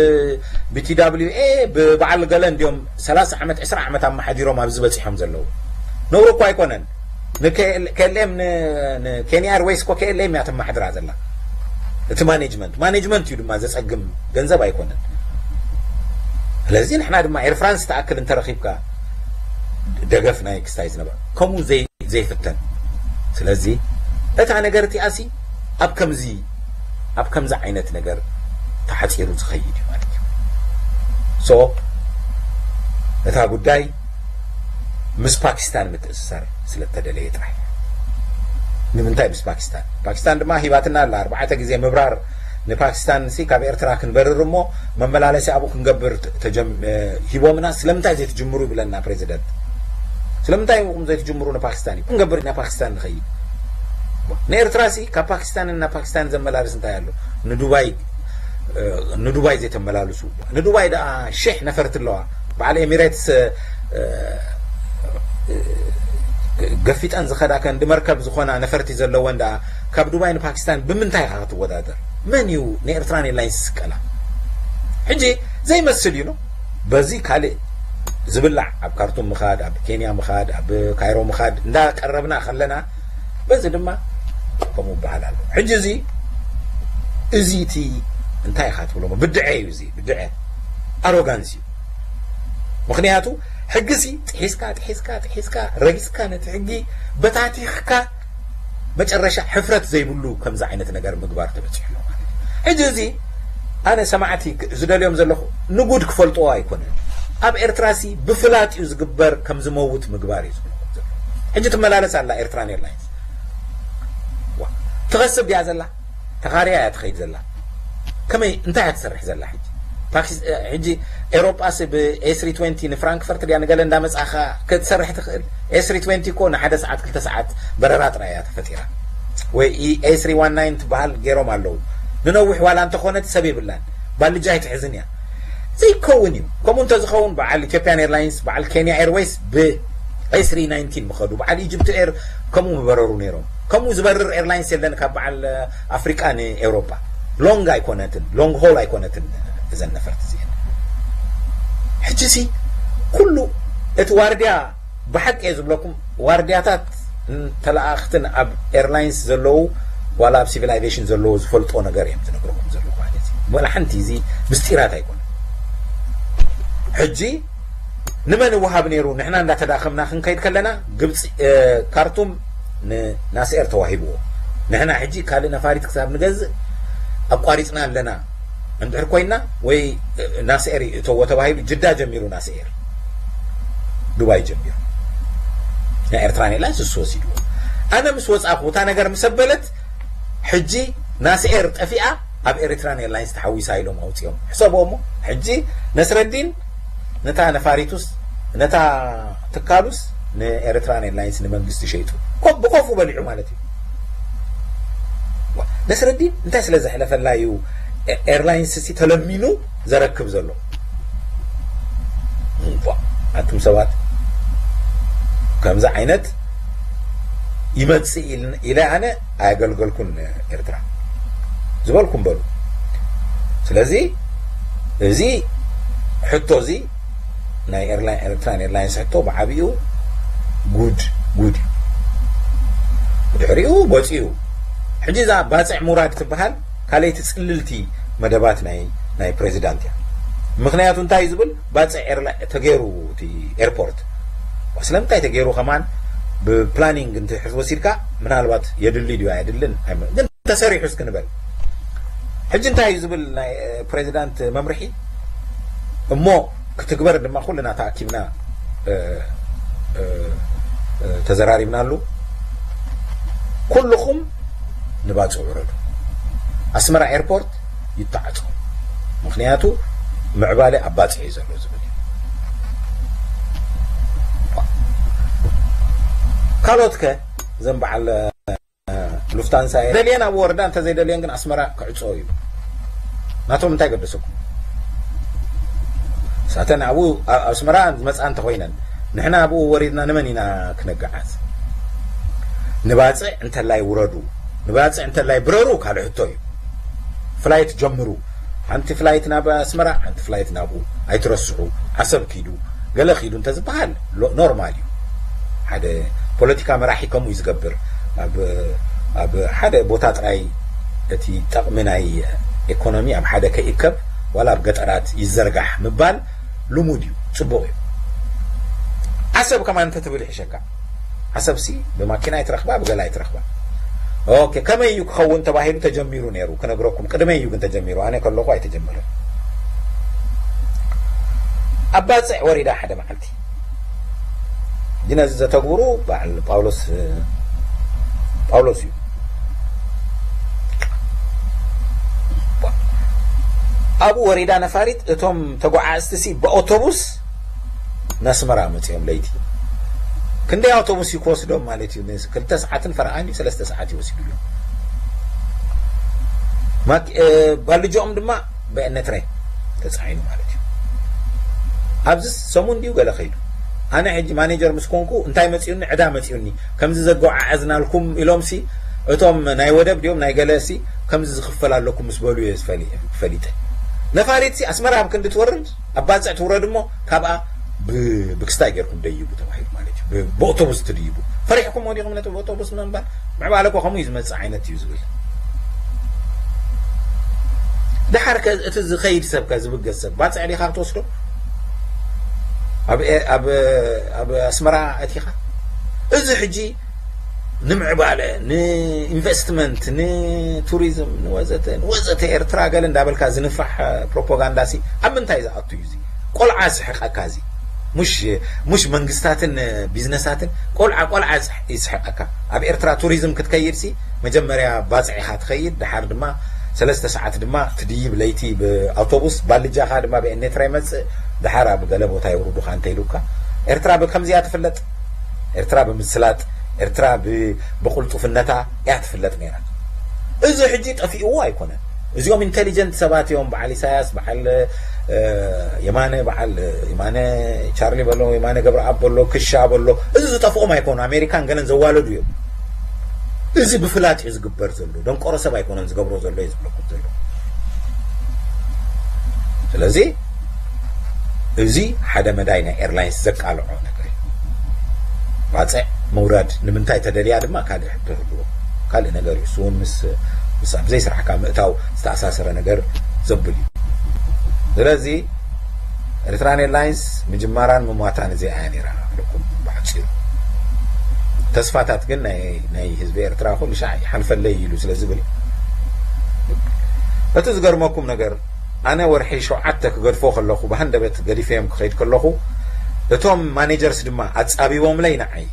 T W A ብበዓል ገለ እንዲዮም ሰላሳ ዓመት ዕስራ ዓመት ኣመሓዲሮም ኣብዚ በጺሖም ዘለዉ። ነውሪ እኮ ኣይኮነን። ንKLM ንኬንያ ኤርዌይስ እኮ K L M እያ ተማሕድራ ዘላ። እቲ ማኔጅመንት ማኔጅመንት እዩ ድማ ዘጸግም ገንዘብ ኣይኮነን። ስለዚ ንሕና ድማ ኤር ፍራንስ ተኣክል እንተረኺብካ ደገፍ ናይ ክስታይ ዝነበረ ከምኡ ዘይ ዘይፍተን። ስለዚ እታ ነገር እቲኣሲ ኣብ ከምዚ ኣብ ከምዚ ዓይነት ነገር ተሓፂሩ ዝኸይድ እዩ ማለት እዩ። So እታ ጉዳይ ምስ ፓኪስታን ምትእስሳር ስለ እተደለየ ጥራሕ። ንምንታይ ምስ ፓኪስታን? ፓኪስታን ድማ ሂባትና ኣላ ኣርባዕተ ግዜ ምብራር ንፓኪስታን ሲ ካብ ኤርትራ ክንበርር እሞ መመላለሲ ኣብኡ ክንገብር ሂቦምና ስለምንታይ ዘይትጅምሩ ይብለና ፕሬዚደንት። ስለምንታይ ም ዘይትጅምሩ ንፓኪስታን እዩ ክንገብር ኢና ፓኪስታን ንኸይድ። ንኤርትራ ሲ ካብ ፓኪስታን እና ፓኪስታን ዘመላልስ እንታይ ኣሎ? ንዱባይ ንዱባይ ዘይተመላልሱ? ንዱባይ ደኣ ሽሕ ነፈርቲ ኣለዋ። በዓል ኤሚሬትስ ገፊጠን ዝኸዳ ከንዲ መርከብ ዝኾና ነፈርቲ ዘለወን ደኣ ካብ ዱባይ ንፓኪስታን ብምንታይ ኢኻ ክትወዳደር? መን እዩ ንኤርትራን ኤርላይንስ ዝስቀላ? ሕጂ ዘይመስል እዩ ነው። በዚ ካልእ ዝብላዕ ኣብ ካርቱም ምኻድ ኣብ ኬንያ ምኻድ ኣብ ካይሮ ምኻድ እንዳቀረብና ከለና በዚ ድማ ከምኡ ይበሃል ኣሎ። ሕጂ እዚ እዚ እቲ እንታይ ኢኻ ትብሎ ብድዐ እዩ። እዚ ብድዐ ኣሮጋንስ እዩ። ምኽንያቱ ሕጊ ሲ ጥሒስካ ጥሒስካ ጥሒስካ ረጊፅካ ነቲ ሕጊ በታቲኽካ መጨረሻ ሕፍረት ዘይብሉ ከምዚ ዓይነት ነገር ምግባር ተበፂሑ ኣሎ ማለት እዩ። ሕጂ እዚ ኣነ ሰማዕቲ ዝደልዮም ዘለኹ ንጉድ ክፈልጥዎ ኣይኮነን። ኣብ ኤርትራ ሲ ብፍላጥ እዩ ዝግበር ከም ዝመውት ምግባር እዩ ዝብሎ። ሕጂ ትመላለስ ኣላ ኤርትራን ኤርላይንስ ትኸስብ ድያ ዘላ? ተኻርያ እያ ትኸይድ ዘላ። ከመይ እንታይ እያ ትሰርሕ ዘላ ሕጂ? ሕጂ ኤሮጳስ ብ A three twenty ንፍራንክፈርት ድያ ንገለ እንዳመጻኻ ክትሰርሕ ትኽእል? A three twenty እኮ ንሓደ ሰዓት ክልተ ሰዓት በረራ ጥራይ እያ ተፈጢራ። ወይ A three one nine ትበሃል ገይሮም ኣለዉ። ንነዊሕ ዋላ እንተኾነት ሰብ የብላን። ባልጃ ኣይትሕዝን እያ። ዘይከውን እዩ። ከምኡ እንተዝኸውን በዓል ኢትዮጵያን ኤርላይንስ በዓል ኬንያ ኤርዌይስ ብ A three nineteen ምኸዱ በዓል ኢጅፕት ኤር ከምኡ ምበረሩ ነይሮም። ከምኡ ዝበርር ኤርላይንስ የለን ካብ በዓል ኣፍሪቃ ንኤውሮጳ። ሎንግ ኣይኮነትን ሎንግ ሆል ኣይኮነትን እዘን ነፈርቲ እዚአን። ሕጂ ሲ ኩሉ እቲ ዋርድያ ብሓቂ እየ ዝብለኩም ዋርድያታት ተለኣኽትን ኣብ ኤርላይንስ ዘለዉ ዋላ ኣብ ሲቪላይዜሽን ዘለዉ ዝፈልጦ ነገር እዮም ዝነግርኩም ዘለዉ ማለት እዩ። ወላ ሓንቲ እዚ ምስጢራት ኣይኮነ። ሕጂ ንመን ይወሃብ ነይሩ? ንሕና እንዳተዳኸምና ክንከይድ ከለና ግብፂ፣ እ፣ ካርቱም ንናስኤር ተዋሂብዎ። ንሕና ሕጂ ካልእ ነፋሪት ክሳብ ንገዝእ ኣቋሪፅና ኣለና እንድሕር ኮይና ወይ፣ እ፣ ናስኤር ይእተዎ ተባሂሉ ጅዳ ጀሚሩ ናስኤር ዱባይ ጀሚሩ ናይ ኤርትራን ኤርላይንስ እሱ ወሲድዎ። ኣነ ምስ ወፃኹ እታ ነገር ምስ ኣበለት ሕጂ ናስኤር ጠፊኣ ኣብ ኤሪትራን ኤርላይንስ ተሓዊሳ ኢሎም ኣውፂኦም። ሕሰቦ እሞ ሕጂ ነስረዲን ነታ ነፋሪቱስ ነታ ትካሉስ ንኤሪትራን ኤርላይንስ ንመንግስቲ ሸይጡ ኮ-፣ ብኮፉ በሊዑ ማለት እዩ። ነስረዲን እንታይ ስለ ዘሕለፈላ እዩ ኤ-፣ ኤርላይንስ ሲ ተለሚኑ ዘረክብ ዘሎ? እምቧ፣ ኣቱም ሰባት ከምዚ ዓይነት ይመጽእ ኢል-፣ ኢለ ኣነ ኣየገልገልኩን ኤርትራ ዝበልኩም በሉ። ስለዚ እዚ ሕቶ እዚ ናይ ኤርላይን፣ ኤርትራን ኤርላይንስ ሕቶ ብዓቢኡ ጉድ፣ ጉድ እዩ። ብድሕሪኡ ወፂኡ። ሕጂ እዛ ባፅዕ ሙራድ ትበሃል ካልኣይቲ ፅልልቲ መደባት ናይ፣ ናይ ፕሬዚዳንት እያ። ምኽንያቱ እንታይ እዩ ዝብል፣ ባፅዕ ኤርላ-፣ ተገይሩ እቲ ኤርፖርት። ስለምንታይ ተገይሩ ከማን ብፕላኒንግ እንተ ሕዝ ወሲድካ ምናልባት የድሊ ድዩ ኣየድልን ኣይመ-፣ ግን ተሰሪሑ እስኪ ንበል። ሕጂ እንታይ እዩ ዝብል ናይ፣ እ፣ ፕሬዚዳንት መምርሒ እሞ ክትግበር ድማ ኩልና ተኣኪብና፣ እ፣ እ፣ እ፣ ተዘራሪብናሉ። ኩልኹም ንባፅዕ ውረዱ። ኣስመራ ኤርፖርት ይተዓጾ። ምኽንያቱ ምዕባለ ኣብ ባፅዕ እዩ ዘሎ ዝብል እዩ። ካልኦት ከ እዘን በዓል ሉፍታንሳ እየ። ደልየን ኣብ ወረዳ እንተዘይደልየን ግን ኣስመራ ክዕጾ እዩ። ናቶም እንታይ ገደሰኩም? ሳተን ኣብኡ፣ ኣብ ኣስመራ ዝመጽኣ እንተኾይነን፣ ንሕና ኣብኡ ወሪድና ንመን ኢና ክነገዓዝ? ንባጽዕ እንተላይ ውረዱ፣ ንባጽዕ እንተላይ ብረሩ ካልእ ሕቶ እዩ። ፍላይት ጀምሩ። ሓንቲ ፍላይት ናብ ኣስመራ፣ ሓንቲ ፍላይት ናብኡ። ኣይትረስዑ። ዓሰብ ኪዱ፣ ገለ ኪዱ እንተዝበሃል ሎ-፣ ኖርማል እዩ። ሓደ ፖለቲካ መራሒ ከምኡ እዩ ዝገብር። ኣብ፣ ኣብ ሓደ ቦታ ጥራይ እቲ ጠቕሚ ናይ ኢኮኖሚ ኣብ ሓደ ከይእከብ፣ ዋላ ኣብ ገጠራት ይዘርጋሕ ምባል ልሙድ እዩ፣ ጽቡቕ እዩ። ዓሰብ ከማን እንተትብል ይሕሸካ። ዓሰብሲ ብማኪና ኣይትረኽባ፣ ብገለ ኣይትረኽባ። ኦኬ፣ ከመይ እዩ ክኸውን ተባሂሉ ተጀሚሩ ነይሩ፣ ክነግረኩም። ቅድመይ እዩ ግን ተጀሚሩ፣ ኣነ ከለኹ ኣይተጀመረን። ኣብ ባጽዕ ወሪዳ ሓደ መዓልቲ። ግን ነዚ ዘተግብሩ በዓል ጳውሎስ፣ ጳውሎስ እዩ። ኣብኡ ወሪዳ ነፋሪት፣ እቶም ተጓዓዝቲ ሲ ብኣውቶቡስ ናስመራ መጺኦም ለይቲ። ክንደይ ኣውቶቡስ እዩ ክወስዶም ማለት እዩ? ንስ-፣ ክልተ ሰዓትን ፈረቓን እዩ፣ ሰለስተ ሰዓት እዩ ወሲዱሎም። ማክ-፣ እ፣ ባልጆኦም ድማ ብኤነትሬ ተጻዒኑ ማለት እዩ። ኣብዚ ሰሙን ድዩ ገለ ከይዱ? ኣነ ሕጂ ማኔጀር ምስ ኮንኩ እንታይ መጺኡኒ? ዕዳ መጺኡኒ። ከምዚ ዘጓዓዓዝናልኩም ኢሎም ሲ፣ እቶም ናይ ወደብ ድዮም ናይ ገለ ሲ፣ ከምዚ ዝኽፈል ኣለኩም ምስ በሉ እየ ዝፈሊ-፣ ፈሊጠ። ነፋሪት ሲ ኣስመራ ኣብ ክንዲ ትወርድ፣ ኣብ ባጽዕ ትውረድ እሞ ካብኣ ብ-፣ ብክስታይ ጌርኩም ደይቡ ተባሂሉ ማለት እዩ። ብ-፣ ብኣውቶቡስ ትድይቡ። ፈሪሕኩሞ ዲኹም ነቲ ብኣውቶቡስ ምንባር? ምዕባለ እኮ ከምኡ እዩ ዝመጽእ ዓይነት እዩ ዝብል። ደሓር ከ እቲ ዝኸይድ ሰብ ከ ዝብገስ ሰብ ባጽዕ ዲኻ ክትወስዶ? ኣብ ኤ-፣ ኣብ፣ ኣብ ኣስመራ ኣቲኻ? እዚ ሕጂ ንምዕባለ፣ ንኢንቨስትመንት፣ ንቱሪዝም፣ ንወዘተ፣ ንወዘተ ኤርትራ ገለ እንዳበልካ ዝንፋሕ ፕሮፓጋንዳ ሲ ኣብ ምንታይ ዝኣቱ እዩ እዚ? ቆልዓ ስሕቀካ እዚ። ሙሽ፣ ሙሽ መንግስታትን ቢዝነሳትን፣ ቆልዓ፣ ቆልዓ ይስሕ-፣ ይስሕቀካ። ኣብ ኤርትራ ቱሪዝም ክትከይድ ሲ መጀመርያ ባጽዕ ኢኻ ትኸይድ፣ ድሓር ድማ ሰለስተ ሰዓት ድማ ትድይብ ለይቲ ብኣውቶቡስ፣ ባልጃኻ ድማ ብኤኔትራ ይመጽእ፣ ድሓር ኣብ ገለ ቦታ የውርዱኻ እንተኢሉካ። ኤርትራ ብከምዚኣ ትፍለጥ። ኤርትራ ብምስላጥ፣ ኤርትራ ብ-፣ ብቕልጡፍነታ እያ ትፍለጥ ነይራ። እዚ ሕጂ ጠፊእዎ ኣይኮነን። እዚኦም ኢንቴሊጀንት ሰባት እዮም። በዓል ኢሳያስ፣ በዓል፣ እ፣ የማነ፣ በዓል የማነ ቻርሊ በሎ፣ የማነ ገብረኣብ በሎ፣ ክሻ በሎ፣ እዚ ዝጠፍኦም ኣይኮኑ። ኣሜሪካን ገለን ዘዋለዱ እዮም። እዚ ብፍላጥ እዩ ዝግበር ዘሎ። ደንቆሮ ሰብ ኣይኮነን ዝገብሮ ዘሎ እዩ ዝብለኩም ዘሎ። ስለዚ እዚ ሓደ መዳይ ናይ ኤርላይንስ ዘቃልዖ ነገር እዩ። ባጽዕ ምውራድ ንምንታይ ተደልያ ድማ ካልእ ሕቶ ይህልዎ። ካልእ ነገር እዩ። እሱ እውን ምስ ምስ ኣብ ዘይስራሕካ ምእታው ዝተኣሳሰረ ነገር ዘብል እዩ። ስለዚ ኤርትራን ኤርላይንስ ምጅማራን ምሟታን እዚኣ እያ ነይራ። ብሓጺሩ ተስፋታት ግን ናይ ናይ ህዝቢ ኤርትራ ኩሉ ሻዕ ይሓልፈለይ ኢሉ ስለ ዝብል እቲ ዝገርመኩም ነገር ኣነ ወርሒ ሸውዓተ ክገድፎ ከለኹ ብሃንደበት ገዲፈዮም ክኸይድ ከለኹ እቶም ማኔጀርስ ድማ ኣጻቢቦምለይ ንዓይ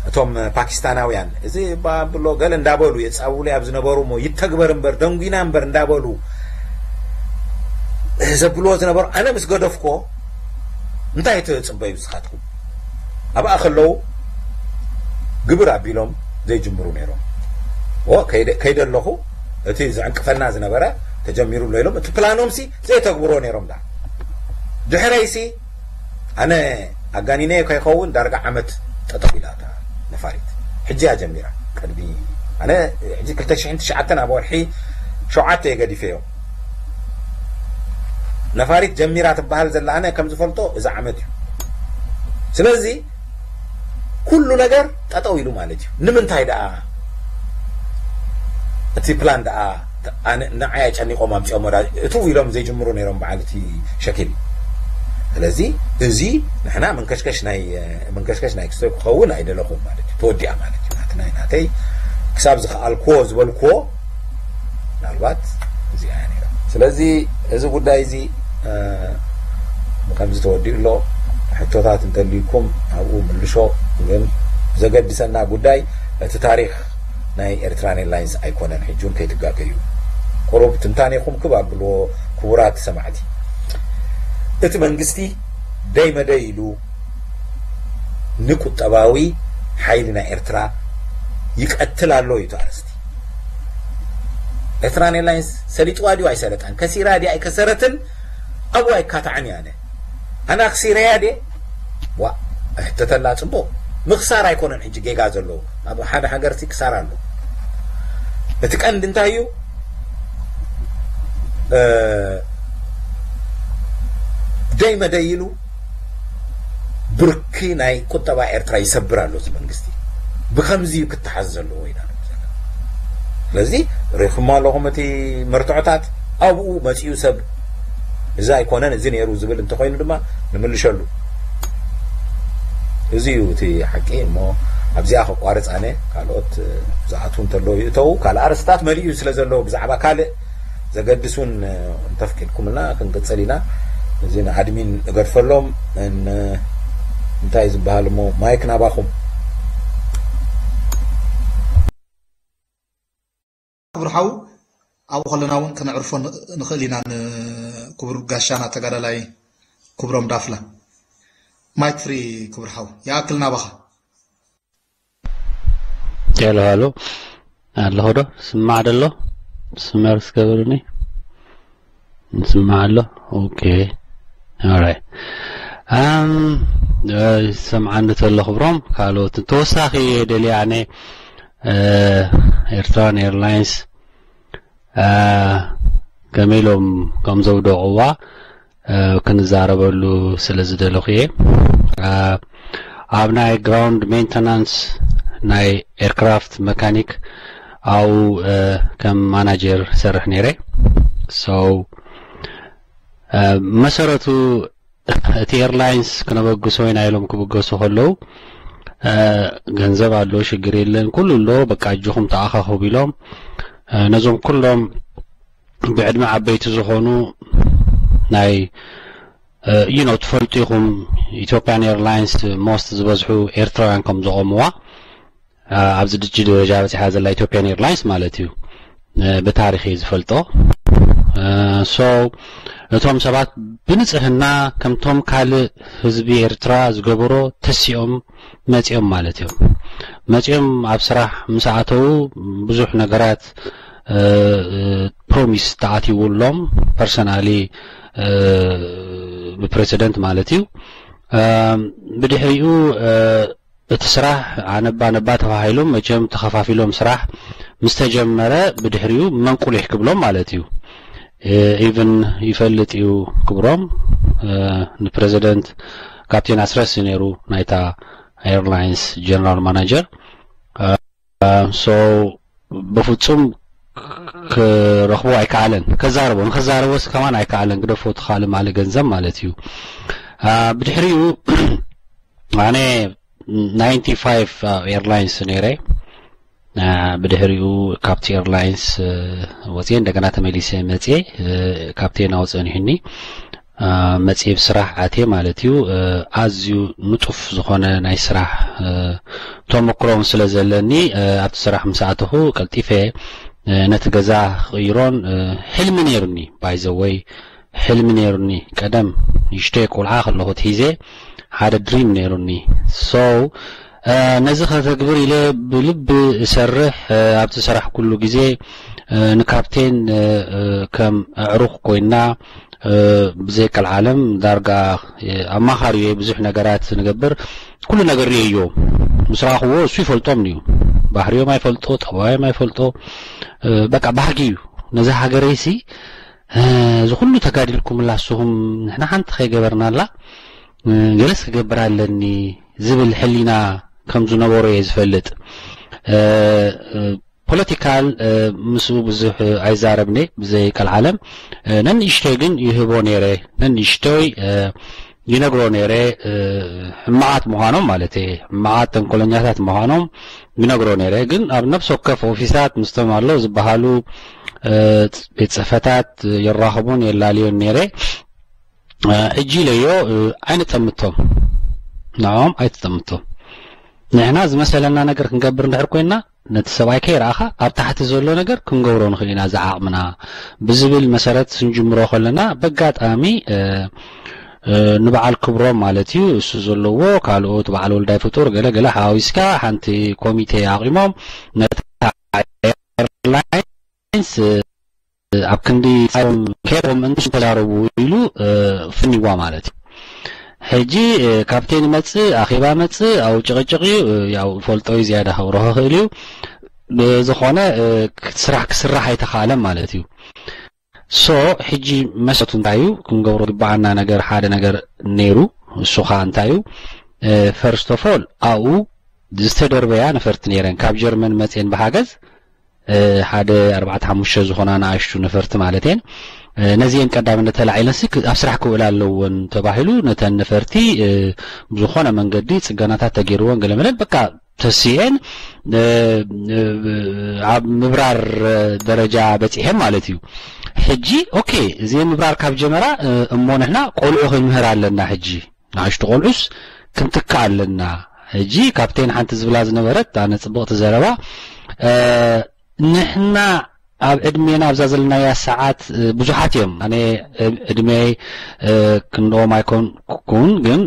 እቶም ፓኪስታናውያን እዚ ባብሎ ገለ እንዳበሉ የጻብቡለይ ኣብ ዝነበሩ እሞ ይተግበር እምበር ደንጉና እምበር እንዳበሉ ዘብልዎ ዝነበሩ ኣነ ምስ ገደፍኮ እንታይ ትጽበዩ ንስኻትኩም ኣብኣ ከለዉ ግብር ኣቢሎም ዘይጅምሩ ነይሮም። ኦ ከይደ ከይደ ኣለኹ እቲ ዝዕንቅፈና ዝነበረ ተጀሚሩ ኣሎ ኢሎም እቲ ፕላኖምሲ ዘይተግብሮ ነይሮም ዳ ድሕረይሲ ኣነ ኣጋኒነ ከይኸውን ዳርጋ ዓመት ጠጠው ኢላ እታ ነፋሪት ሕጂ እያ ጀሚራ ቅድሚ ኣነ ሕጂ ክልተ ሽሕን ትሽዓተን ኣብ ወርሒ ሸውዓተ እየ ገዲፈዮ ነፋሪት ጀሚራ ትበሃል ዘላ ኣነ ከም ዝፈልጦ እዚ ዓመት እዩ ስለዚ ኩሉ ነገር ጠጠው ኢሉ ማለት እዩ ንምንታይ ደኣ እቲ ፕላን ደኣ ንዓይ ኣጨኒቆም ኣምፅኦም ወዳ እትው ኢሎም ዘይጅምሩ ነይሮም በዓል እቲ ሸኪል ስለዚ እዚ ንሕና መንከሽከሽ ናይ መንከሽከሽ ናይ ክስቶ ክኸውን ኣይደለኹም ማለት እዩ ተወዲኣ ማለት እዩ ናትናይ ናተይ ክሳብ ዝኸኣልክዎ ዝበልክዎ ምናልባት እዚኣ እያ ነይራ ስለዚ እዚ ጉዳይ እዚ ከምዚ ተወዲኡ ኣሎ ሕቶታት እንተልዩኩም ኣብኡ ምልሾ ግን ዘገድሰና ጉዳይ እቲ ታሪክ ናይ ኤርትራን ኤርላይንስ ኣይኮነን ሕጂ እውን ከይትጋገዩ ቁሩብ ትንታኔኹም ክብ ኣብልዎ ክቡራት ሰማዕቲ እቲ መንግስቲ ደይ መደይ ኢሉ ንቁጠባዊ ሓይሊ ናይ ኤርትራ ይቀትል ኣሎ እዩ ኣርእስቲ ኤርትራን ኤርላይንስ ሰሊጥዋ ድዩ ኣይሰለጣን ከሲራ ድዩ ኣይከሰረትን ኣብኡ ኣይካታዕን እየ ኣነ ኣነ ኣክሲረያ ድየ ዋ ሕተተላ ፅቡቅ ምክሳር ኣይኮነን ሕጂ ጌጋ ዘለዎ ኣብ ሓደ ሃገር ሲ ክሳር ኣሎ እቲ ቀንዲ እንታይ እዩ ደይ መደይ ኢሉ ብርኪ ናይ ቁጠባ ኤርትራ ይሰብር ኣሎ እዚ መንግስቲ ብከምዚ እዩ ክተሓዝ ዘለዎ ኢና ንብል ዘለና ስለዚ ሪኢኹሞ ኣለኹም እቲ መርትዖታት ኣብኡ መፂኡ ሰብ እዚ ኣይኮነን እዚ ነይሩ ዝብል እንተኮይኑ ድማ ንምልሸሉ እዚ እዩ እቲ ሓቂ እሞ ኣብዚኣ ከቋርፅ ኣነ ካልኦት ዝኣትዉ እንተለዉ ይእተዉ ካልእ ኣርስታት መሊኡ ስለ ዘለዎ ብዛዕባ ካልእ ዘገድስ እውን እንተፍቂድኩምልና ክንቅፅል ኢና እዚ ንኣድሚን እገድፈሎም እንታይ ዝበሃል እሞ ማይክ ናባኹም ክቡር ሓው ኣብኡ ከለና እውን ከነዕርፎ ንኽእል ኢና ንክቡር ጋሻና ተጋዳላይ ክብሮም ዳፍላ ማይክ ፍሪ ክቡር ሓው ይኣክል ናባኻ ሄሎ ሃሎ ኣለኹ ዶ ስማዕ ደሎ ስመር ስገብርኒ ንስማዕ ኣሎ ኦኬ ኦራይ ኣም ሰምዓኒ ተሎ ክብሮም ካልኦት ተወሳኺ ደልያ ኣነ ኤርትራን ኤርላይንስ ከመይ ኢሎም ከም ዘውደቕዋ ክንዛረበሉ ስለ ዝደለኹ እየ ኣብ ናይ ግራውንድ ሜንተናንስ ናይ ኤርክራፍት መካኒክ ኣብኡ ከም ማናጀር ሰርሕ ነይረ so መሰረቱ እቲ ኤርላይንስ ክነበግሶ ኢና ኢሎም ክብገሱ ከለዉ ገንዘብ ኣሎ ሽግር የለን ኩሉ ኣሎ በቃ እጅኹም ተኣኻኸቡ ኢሎም ነዞም ኩሎም ብዕድመ ዓበይቲ ዝኾኑ ናይ you know ትፈልጡ ኢኹም ኢትዮጵያን ኤርላይንስ most ዝበዝሑ ኤርትራውያን ከም ዘቆምዋ ኣብዚ ድጂ ደረጃ በፂሓ ዘላ ኢትዮጵያን ኤርላይንስ ማለት እዩ ብታሪክ እየ ዝፈልጦ so እቶም ሰባት ብንፅህና ከምቶም ካልእ ህዝቢ ኤርትራ ዝገበሮ ተሲኦም መፂኦም ማለት እዮም መፂኦም ኣብ ስራሕ ምስ ኣተዉ ብዙሕ ነገራት ፕሮሚስ ተኣትይውሎም personally ብፕረሲደንት ማለት እዩ ብድሕሪኡ እቲ ስራሕ ኣነባ ነባ ተባሂሎም መቸም ተኸፋፊሎም ስራሕ ምስ ተጀመረ ብድሕሪኡ መንቁሊሕ ክብሎም ማለት እዩ even ይፈልጥ እዩ ክብሮም ንፕረዚደንት ካፕቴን ኣስረስ ነይሩ ናይታ ኤርላይንስ ጀነራል ማናጀር። ሶ በፍጹም ክረኽቦ ኣይከኣለን። ከዛረቦ ንኸዛረቦስ ከማን ኣይከኣለን። ግደፎ፣ እቲ ካልእ ማለ ገንዘብ ማለት እዩ። ብድሕሪኡ ኣነ ናይንቲ ፋይቭ ኤርላይንስ ነይረ። ብድሕሪኡ ካብቲ ኤርላይንስ ወፅየ፣ እንደገና ተመሊሰ መፅየ። ካፕቴን ኣውፅእን ይህኒ መፅየ ብስራሕ ኣትየ ማለት እዩ። ኣዝዩ ንጡፍ ዝኾነ ናይ ስራሕ ተመክሮን ስለ ዘለኒ፣ ኣብቲ ስራሕ ምስ ኣተኹ ቀልጢፈ ነቲ ገዛ ክቕይሮን ሕልሚ ነይሩኒ። ባይዘወይ ሕልሚ ነይሩኒ። ቀደም ንእሽተይ ቆልዓ ከለኹ ሒዘ ሓደ ድሪም ነይሩኒ። ሶ ነዚ ከተግብር ኢለ ብልቢ እሰርሕ። ኣብቲ ስራሕ ኩሉ ግዜ ንካፕቴን ከም ኣዕሩኽ ኮይና ብዘይ ቀልዓለም ዳርጋ ኣማኻሪ እየ። ብዙሕ ነገራት ንገብር፣ ኩሉ ነገር ርእየዮ። ምስ ረኣኽዎ እሱ ይፈልጦም እዩ። ባህሪዮም ኣይፈልጦ፣ ጠባዮም ኣይፈልጦ። በቃ ባህጊ እዩ። ነዚ ሃገረይሲ እዚ ኩሉ ተጋዲልኩምላ ንስኹም ንሕና ሓንቲ ከይገበርናላ ገለስ ክገብር ኣለኒ ዝብል ሕሊና ከም ዝነበሮ እየ ዝፈልጥ። ፖለቲካል ምስኡ ብዙሕ ኣይዛረብን እየ ብዘይ ቀልዓለም። ነንእሽተይ ግን ይህቦ ነይረ። ነንእሽተይ ይነግሮ ነይረ። ሕማቓት ምዃኖም ማለት እየ፣ ሕማቓት ተንኮለኛታት ምዃኖም ይነግሮ ነይረ። ግን ኣብ ነፍሲ ወከፍ ኦፊሳት ምስቶም ኣለዉ ዝበሃሉ ቤት ጽሕፈታት የራኽቡን የላልዮን ነይረ። ሕጂ ኢለዮ ኣይንጠምቶም፣ ንዕኦም ኣይትጠምቶም። ንሕና ዝመሰለና ነገር ክንገብር እንድሕር ኮይና ነቲ ሰብኣይ ከይረኣኻ ኣብ ታሕቲ ዘሎ ነገር ክንገብሮ ንኽእል ኢና ዝዓቕምና ብዝብል መሰረት ስንጅምሮ ከለና በጋጣሚ ንበዓል ክብሮም ማለት እዩ እሱ ዘለዎ ካልኦት በዓል ወልዳይ ፍጡር ገለ ገለ ሓዋዊስካ ሓንቲ ኮሚቴ ኣቂሞም ነታ ኤርላይንስ ኣብ ክንዲ ጻዮም ከይሮም እንተዛረቡ ኢሉ ፍኒዋ ማለት እዩ። ሕጂ ካፕቴን መጽእ ኣኼባ መጽእ ኣብ ጭቕጭቕ እዩ። ያው ፈልጦ እዩ ዝያዳ ከብርሆ ክእል እዩ። ብዝኾነ ስራሕ ክስራሕ ኣይተኻእለን ማለት እዩ። ሶ ሕጂ መሰቱ እንታይ እዩ? ክንገብሮ ግባዓና ነገር ሓደ ነገር ነይሩ። እሱ ኸዓ እንታይ እዩ? ፈርስት ኦፍ ኦል ኣብኡ ዝተደርበያ ነፈርቲ ነይረን ካብ ጀርመን መፅየን ብሓገዝ ሓደ ኣርባዕተ ሓሙሽተ ዝኾና ንኣሽቱ ነፈርቲ ማለት እየን። ነዚአን ቀዳምነት ተላዒለንሲ ኣብ ስራሕ ክውዕላ ኣለወን ተባሂሉ ነተን ነፈርቲ ብዝኾነ መንገዲ ፅገናታት ተገይርወን ገለመለን በቃ ተሲኤን ኣብ ምብራር ደረጃ በፂሐን ማለት እዩ። ሕጂ ኦኬ እዚአን ምብራር ካብ ጀመራ እሞ ንሕና ቆልዑ ክንምህር ኣለና። ሕጂ ንኣሽቱ ቆልዑስ ክንትካ ኣለና። ሕጂ ካፕቴን ሓንቲ ዝብላ ዝነበረት ኣነ ፅብቕቲ ዘረባ ንሕና ኣብ ዕድሜና ኣብዛ ዘለናያ ሰዓት ብዙሓት እዮም። ኣነ ዕድሜይ ክንድኦም ኣይኮንኩን ግን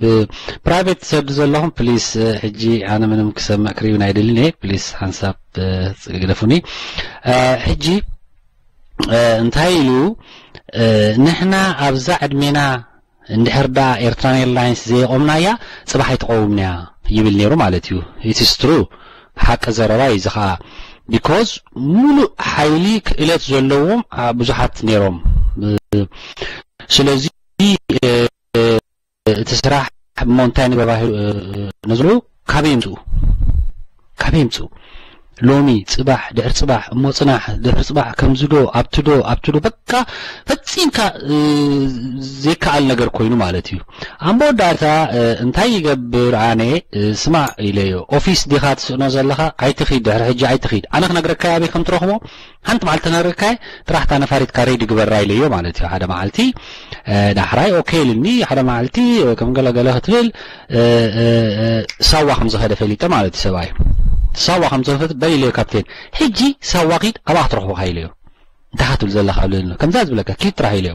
ብፕራይቬት ትሰዱ ዘለኹም ፕሊስ ሕጂ ኣነ ምንም ክሰምዕ ክሪብን ኣይደልን እየ። ፕሊስ ሓንሳብ ግደፉኒ። ሕጂ እንታይ ኢሉ ንሕና ኣብዛ ዕድሜና እንድሕር ደኣ ኤርትራን ኤርላይንስ ዘየቆምናያ ጽባሕ ኣይትቀውምንያ ይብል ነይሩ ማለት እዩ። ኢትስ ትሩ ሓቂ ዘረባ እዩ እዚ ከዓ because ሙሉእ ሓይሊ ክእለት ዘለዎም ብዙሓት ነይሮም። ስለዚ እቲ ስራሕ እሞ እንታይ ንገባሂ ነዝሉ ካበይ ይምፅኡ ካበይ ይምፅኡ ሎሚ ፅባሕ ድሕር ፅባሕ እሞ ፅናሕ ድሕር ፅባሕ ከምዚ ዶ ኣብቲ ዶ ኣብቲ ዶ በቃ ፈፂምካ ዘይከኣል ነገር ኮይኑ ማለት እዩ። ኣብ መወዳእታ እንታይ ይገብር ኣነ ስማዕ ኢለዮ ኦፊስ ዲኻ ትስእኖ ዘለኻ ኣይትኺድ ድሕሪ ሕጂ ኣይትኺድ ኣነ ክነግረካ ኣበይ ከም ትረኽቦ ሓንቲ መዓልቲ ተነግረካ ጥራሕ እታ ነፋሪትካ ሬዲ ግበራ ኢለዮ ማለት እዩ። ሓደ መዓልቲ ዳሕራይ ኦኬ ኢልኒ ሓደ መዓልቲ ከም ገለገለ ክትብል ሳዋ ከም ዝኸደ ፈሊጠ ማለት እዩ። ሰብኣይ ሳዋ ከም ዝኸደ በል ኢለዮ ካፕቴን ሕጂ ሳዋ ኪድ ኣብኣ ክትረኽቦካ ኢለዮ እንታይ ክትብል ዘለካ ብለኒ ከምዛ ዝብለካ ኪድ ጥራሕ ኢለዮ።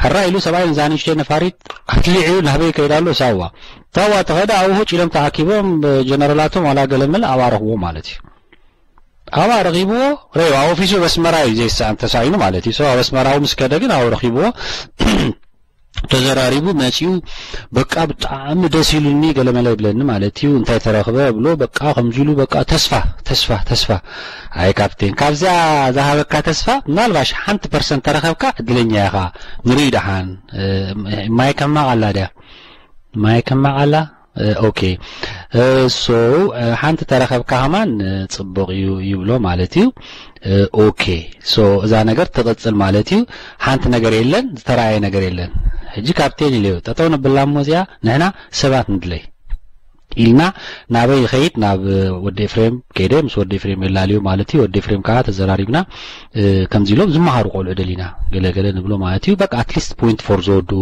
ሕራ ኢሉ ሰብኣይ ነዛ ንእሽተይ ነፋሪት ኣትሊዑ ናበይ ከይዳ ኣሎ ሳዋ ሳዋ ተኸደ ኣብኡ ጭሎም ተኣኪቦም ጀነራላቶም ዋላ ገለመለ ኣብኣ ረኽቦ ማለት እዩ። ኣብኣ ረኺብዎ ረዩ ኣብ ኦፊሱ በስመራ እዩ ዘይሰኣን ተሳኢኑ ማለት እዩ። ኣብ ኣስመራዊ ምስ ከደ ግን ኣብኡ ረኺብዎ ተዘራሪቡ መፂኡ በቃ ብጣዕሚ ደስ ኢሉኒ ገለመለ ይብለኒ ማለት እዩ። እንታይ ተረኽበ ብሎ በቃ ከምዚ ኢሉ በቃ ተስፋ ተስፋ ተስፋ ኣይ ካፕቴን ካብዚኣ ዝሃበካ ተስፋ ምናልባሽ ሓንቲ ፐርሰንት ተረኸብካ እድለኛ ኢኻ። ንርኢ ደሓን ማይ ከማቕ ኣላ ድያ ማይ ከማቕ ኣላ ኦኬ። ሶ ሓንቲ ተረኸብካ ከማን ጽቡቕ እዩ ይብሎ ማለት እዩ። ኦኬ። ሶ እዛ ነገር ትቕጽል ማለት እዩ። ሓንቲ ነገር የለን፣ ዝተረኣየ ነገር የለን። ሕጂ ካፕቴን ኢለዮ ጠጠው ነብላ እሞ እዚኣ ንሕና ሰባት ንድለይ ኢልና ናበይ ይኸይድ? ናብ ወዲ ኤፍሬም ከይደ ምስ ወዲ ኤፍሬም የላልዩ ማለት እዩ። ወዲ ኤፍሬም ከዓ ተዘራሪብና ከምዚ ኢሎም ዝመሃሩ ቆልዑ ደሊና ገለ ገለ ንብሎ ማለት እዩ። በቃ ኣትሊስት ፖይንት ፎር ዝወዱ